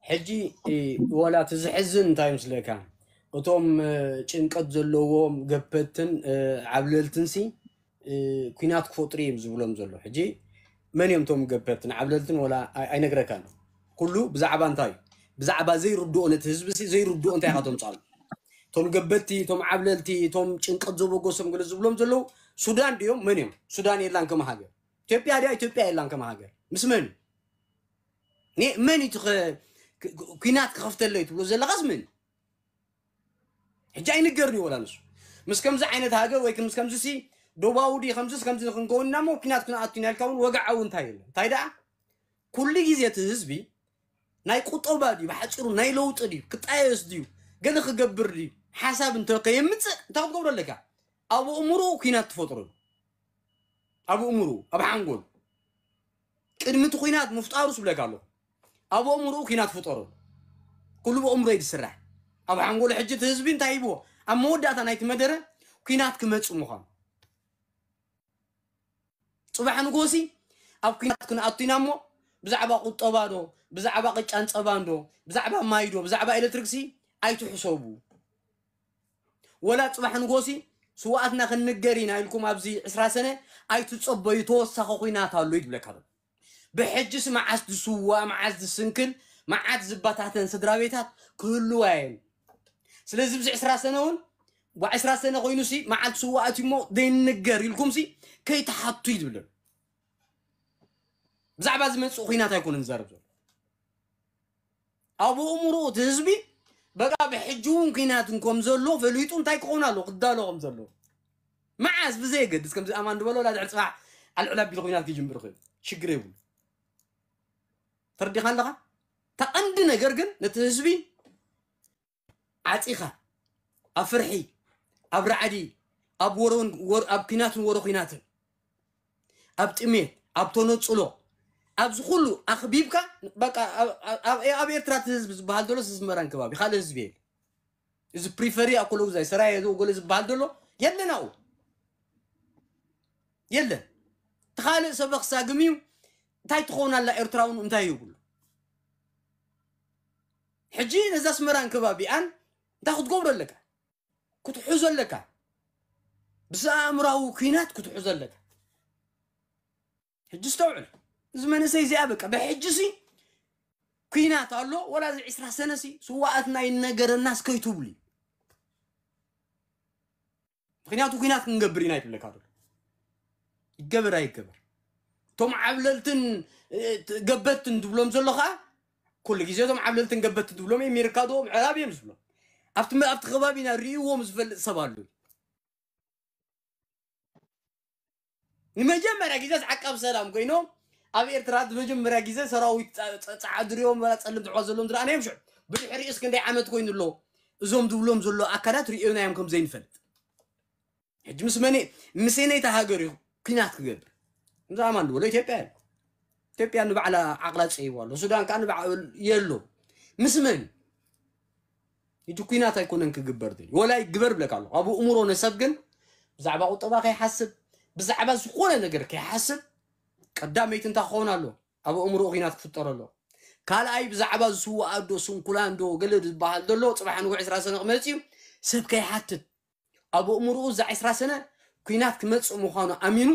ሕጂ ወላ እቲ ዝሕዝን እንታይ ምስለካ እቶም ጭንቀት ዘለዎም ገበትን ዓብለልትን ሲ ኩናት ክፈጥሩ እዮም ዝብሎም ዘሎ ሕጂ መን እዮም እቶም ገበትን ዓብለልትን ወላ ኣይነግረካን ኩሉ ብዛዕባ እንታይ ብዛዕባ ዘይርድኦ ነቲ ህዝቢ ሲ ዘይርድኦ እንታይ ኢኻ ተምፃሉ እቶም ገበቲ እቶም ዓብለልቲ እቶም ጭንቀት ዘበገሶም ገለ ዝብሎም ዘለዉ ሱዳን ድዮም መን እዮም ሱዳን የላን ከም ሃገር ኢትዮጵያ ድያ ኢትዮጵያ የላን ከም ሃገር ምስ መን እዩ መን እዩ ኩናት ክኸፍተለይ ትብሎ ዘለኻስ መን ሕጂ ኣይንገርን እዩ ወላ ንሱ ምስ ከምዚ ዓይነት ሃገር ወይ ምስ ከምዚ ሲ ዶባዊ ድዩ ከምዚስ ከምዚ ክንከውን ኢና እሞ ኩናት ክንኣቱ ኢና ኢልካ እውን ወግዓዊ እንታይ የለን እንታይ ደኣ ኩሉ ግዜ እቲ ህዝቢ ናይ ቁጠባ ድዩ ብሓፂሩ ናይ ለውጢ ድዩ ክጣየስ ድዩ ገለ ክገብር ድዩ ሓሳብ እንተ ከየምፅእ እንታይ ክትገብሮ ኣለካ ኣብ ኣእምሮኡ ኩናት ትፈጥረሉ ኣብ ኣእምሮኡ ኣብ ሓንጎሉ ቅድሚ እቲ ኩናት ምፍጣሩ ስብለካ ኣለኹ ኣብ ኣእምሮኡ ኩናት ፍጠረሉ ኩሉ ብኣእምሮ እዩ ዝስራሕ ኣብ ሓንጎሉ ሕጂ እቲ ህዝቢ እንታይ ሂብዎ ኣብ መወዳእታ ናይቲ መደረ ኩናት ክመፅእ ምዃኑ ፅባሕ ንጎሲ ኣብ ኩናት ክንኣቱ ኢና እሞ ብዛዕባ ቁጠባ ዶ፣ ብዛዕባ ቅጫን ጸባን ዶ፣ ብዛዕባ ማይ ዶ፣ ብዛዕባ ኤሌክትሪክሲ ኣይትሕሰቡ። ወላ ጽባሕ ንጎሲ ስዋኣትና ክንንገር ኢና ኢልኩም ኣብዚ ዕስራ ሰነ ኣይትጸበዩ፣ ተወሳኺ ኩናት ኣሎ እዩ ዝብለካ ዘሎ። ብሕጅስ መዓስ ዝስዋእ፣ መዓስ ዝስንክል፣ መዓት ዝባታተን ስድራ ቤታት ክህልዋ እየን። ስለዚ ብዚ ዕስራ ሰነ እውን ዋ ዕስራ ሰነ ኮይኑሲ መዓልቲ ስዋኣት እሞ ዘይንገር ኢልኩምሲ ከይትሓቱ እዩ ዝብለሉ። ብዛዕባ ዝመፅእ ኩናት ኣይኮነን ዝዛረብ ዘሎ። ኣብ ኣእምሮ እቲ ህዝቢ በቃ ብሕጂ እውን ኩናት ከም ዘሎ ፈሊጡ እንታይ ክኸውን ኣሎ ክዳሎ ከም ዘሎ መዓስ ብዘየገድስ ከምዚ ኣማን ዝበሎ ላ ድሕሪ ፅባሕ ኣልዕል ኣቢሉ ኩናት ክጅምር ይኽእል ሽግር የብሉ። ተረዲኻ ኣለኻ? እታ ቀንዲ ነገር ግን ነቲ ህዝቢ ዓፂኻ ኣብ ፍርሒ፣ ኣብ ራዕዲ፣ ኣብ ወሮን ወር ኣብ ኩናትን ወሮ ኩናትን፣ ኣብ ጥሜት፣ ኣብ ተነፅሎ፣ ኣብዚ ኩሉ ኣኽቢብካ በቃ ኣብ- ኣብ ኣብ- ኣብ ኤርትራ እቲ ህዝቢ ዝበሃል ዘሎ ኣስመራን ከባቢ ካልእ ህዝቢ የለ። እዚ ፕሪፈሪ ኣኮሎጉዛይ ሰራየ ገለ ዝበሃል ዘሎ የለን ኣብኡ የለን። እቲ ካልእ ሰበኽ ሳግም እዩ። እንታይ ትኸውን ኣላ ኤርትራውን እንታይ ይብሉ? ሕጂ ነዛ ኣስመራን ከባቢኣን እንታይ ክትገብሮ ኣለካ? ክትሕዞ ኣለካ። ብስኣእምራዊ ኩናት ክትሕዞ ኣለካ። ሕጂ ስተውዕል። እዚ መንእሰይ እዚኣ በቃ ብሕጂ ሲ ኩናት ኣሎ ወላ እዚ ዕስራ ሰነ ሲ ስዋኣትና ይነገረናስ ከይትብሉ እዩ። ምክንያቱ ኩናት ክንገብር ኢና ይብለካ ዘሎ። ይገበር ኣይገበር እቶም ዓብለልትን እ፣ ገበትን ትብሎም ዘሎ ከዓ ኩሉ ግዜ እቶም ዓብለልትን ገበትን ትብሎም ኣሜሪካ ዶ ምዕራብ እዮም ዝብሎም ኣብቲ መ- ኣብቲ ከባቢና ርእይዎም ዝፈልጥ ሰብ ኣሎ። ንመጀመርያ ግዜ ዓቃብ ሰላም ኮይኖም ኣብ ኤርትራ ንመጀመርያ ግዜ ሰራዊት ጸ- ጸ- ጸዓዱ ሪኦም ወላ ጸልም ትሕዋ ዘለዎም ዝረኣናዮም ሽዑ ብድሕሪኡስ ክንደይ ዓመት ኮይኑ ኣሎ እዞም ዝብሎም ዘሎ ኣካላት ርእዮናዮም ከም ዘይንፈልጥ ሕጂ ምስ መን ምስነይታ ሃገር እዩ ኩናት ክገብር እዛ ኣማን ዝበሎ ኢትዮጵያ እዩ ኢትዮጵያ ንባዕላ ዓቕላ ፀይዋ ኣሎ ሱዳን ከዓ ንባዕ የሎ ምስ መን ሕጂ ኩናት ኣይኮነን ክግበር ድል ወላ ይግበር ብለካ ኣሎ ኣብ እምሮ ነሰብ ግን ብዛዕባ ቁጠባ ከይሓስብ ብዛዕባ ዝኾነ ነገር ከይሓስብ ቀዳመይቲ እንታይ ክኸውን ኣሎ ኣብ እምሮ ኩናት ክፍጠር ኣሎ ካልኣይ ብዛዕባ ዝስዋእ ኣዶ ስንኩላን ዶ ገለ ዝበሃል ዘሎ ፅባሕ ንጉዕ ዕስራ ሰነ ክመፅእ እዩ ሰብ ከይሓትት ኣብ ኣእምርኡ እዛ ዕስራ ሰነ ኩናት ክመፅእ ምዃኑ ኣሚኑ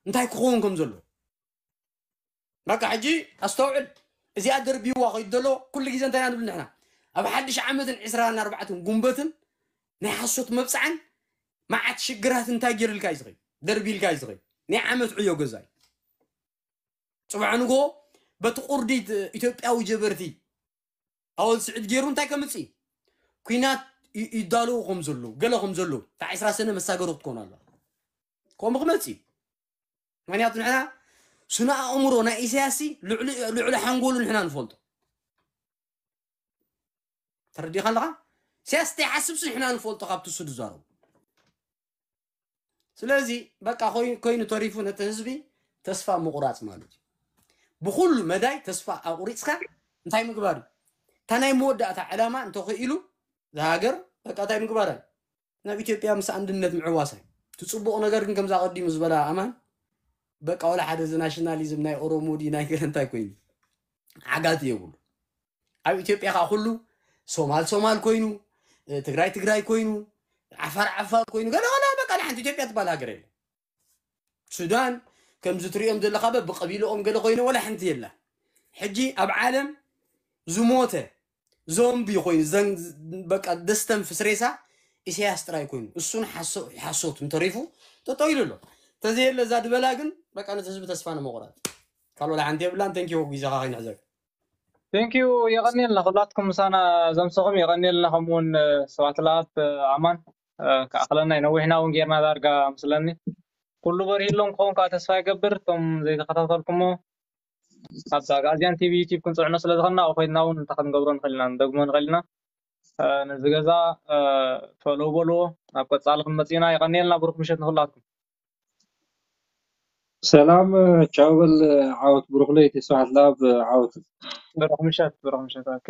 እንታይ ክኸውን ከም ዘሎ በቃ ሕጂ ኣስተውዕል እዚኣ ደርቢዋ ከይዱ ዘሎ ኩሉ ግዜ እንታይ ኢና ንብል ንሕና ኣብ ሓድሽ ዓመትን ዕስራን ኣርባዕተን ጉንበትን ናይ ሓሶት መብፅዓን መዓት ሽግራት እንታይ ገይርልካ እዩ ዝኸይ ደርቢልካ እዩ ዝኸይ ናይ ዓመት ዕዮ ገዛ እዩ ፅባሕ ንጎ በቲ ቁርዲት ኢትዮጵያዊ ጀበርቲ ኣወል ስዒድ ገይሩ እንታይ ከምፅእ ኩናት ይዳለዉ ከም ዘለዉ ገለ ከም ዘለዉ እታ ዕስራ ሰነ መሳገሩ ክትኮኑ ኣለዋ ከምኡ ክመፅእ እዩ ምክንያቱ ንሕና ስነ ኣእምሮ ናይ ኢሳያስ ልዕሊ ሓንጎሉ ንሕና ንፈልጦ ተረዲኻ ኣለኻ ኢሳያስ እንታይ ሓስብሲ ንሕና ንፈልጦ ካብቲ እሱ ዝዛረቡ ስለዚ በቃ ኮይኑ ተሪፉ ነቲ ህዝቢ ተስፋ ምቑራፅ ማለት እዩ ብኩሉ መዳይ ተስፋ ኣቁሪፅካ እንታይ ምግባር እዩ እታ ናይ መወዳእታ ዕላማ እንተኽኢሉ ዝሃገር በቃ እንታይ ምግባር እዩ ናብ ኢትዮጵያ ምስ ኣንድነት ምዕዋስ እዩ እቲ ፅቡቕ ነገር ግን ከምዛ ቀዲሙ ዝበላ ኣማን በቃ ወላ ሓደ እዚ ናሽናሊዝም ናይ ኦሮሞ ድዩ ናይ ገለ እንታይ ኮይኑ ዓጋቲ የብሉ ኣብ ኢትዮጵያ ከዓ ኩሉ ሶማል ሶማል ኮይኑ ትግራይ ትግራይ ኮይኑ ዓፋር ዓፋር ኮይኑ ገለ ገለ በቃ ንሓንቲ ኢትዮጵያ ትበሃል ሃገር የለ ሱዳን ከምዚ ትሪኦም ዘለካ በብቀቢልኦም ገለ ኮይኖም ወላ ሓንቲ የላ ሕጂ ኣብ ዓለም ዝሞተ ዞምቢ ኮይኑ በቃ ደስተንፍስ ሬሳ ኢሳያስ ጥራይ ኮይኑ እሱን ሓሶት እንተሪፉ ጠጠው ኢሉ ኣሎ ተዘየለ እዛ ድበላ ግን በቃ ነቲ ህዝቢ ተስፋ ንምቑራጥ ካልኦ ሓንቲ የብላን ተንኪ ግዜኻ ከይንሕዘግ ቴንኪዩ የቐንየልና ኩላትኩም ምሳና ዘምሰኹም የቐንየልና ከምኡውን ሰባት ለኣብ ኣማን ክኣኽለና እዩ ነዊሕና እውን ጌርና ዳርጋ ምስለኒ ኩሉ በሪህሎም ክኸውን ከዓ ተስፋ ይገብር እቶም ዘይተኸታተልኩሞ ኣብዛ ጋዚያን ቲቪ ዩቲብ ክንፅዕኖ ስለ ዝኸና ኣብኡ ኮይድና እውን እንታይ ክንገብሮ ንኽእል ኢና ንደግሞ ንኽእል ኢና ነዚ ገዛ ፈለው በልዎ ናብ ቀፃሊ ክንመፅ ኢና የቐንየልና ብሩክ ምሸት ንክላትኩም ሰላም ቻው በል ዓወት ብሩክ ለይቲ ስብሓት ለኣብ ዓወት ብሩክ ምሸት ብሩክ ምሸት ኦኬ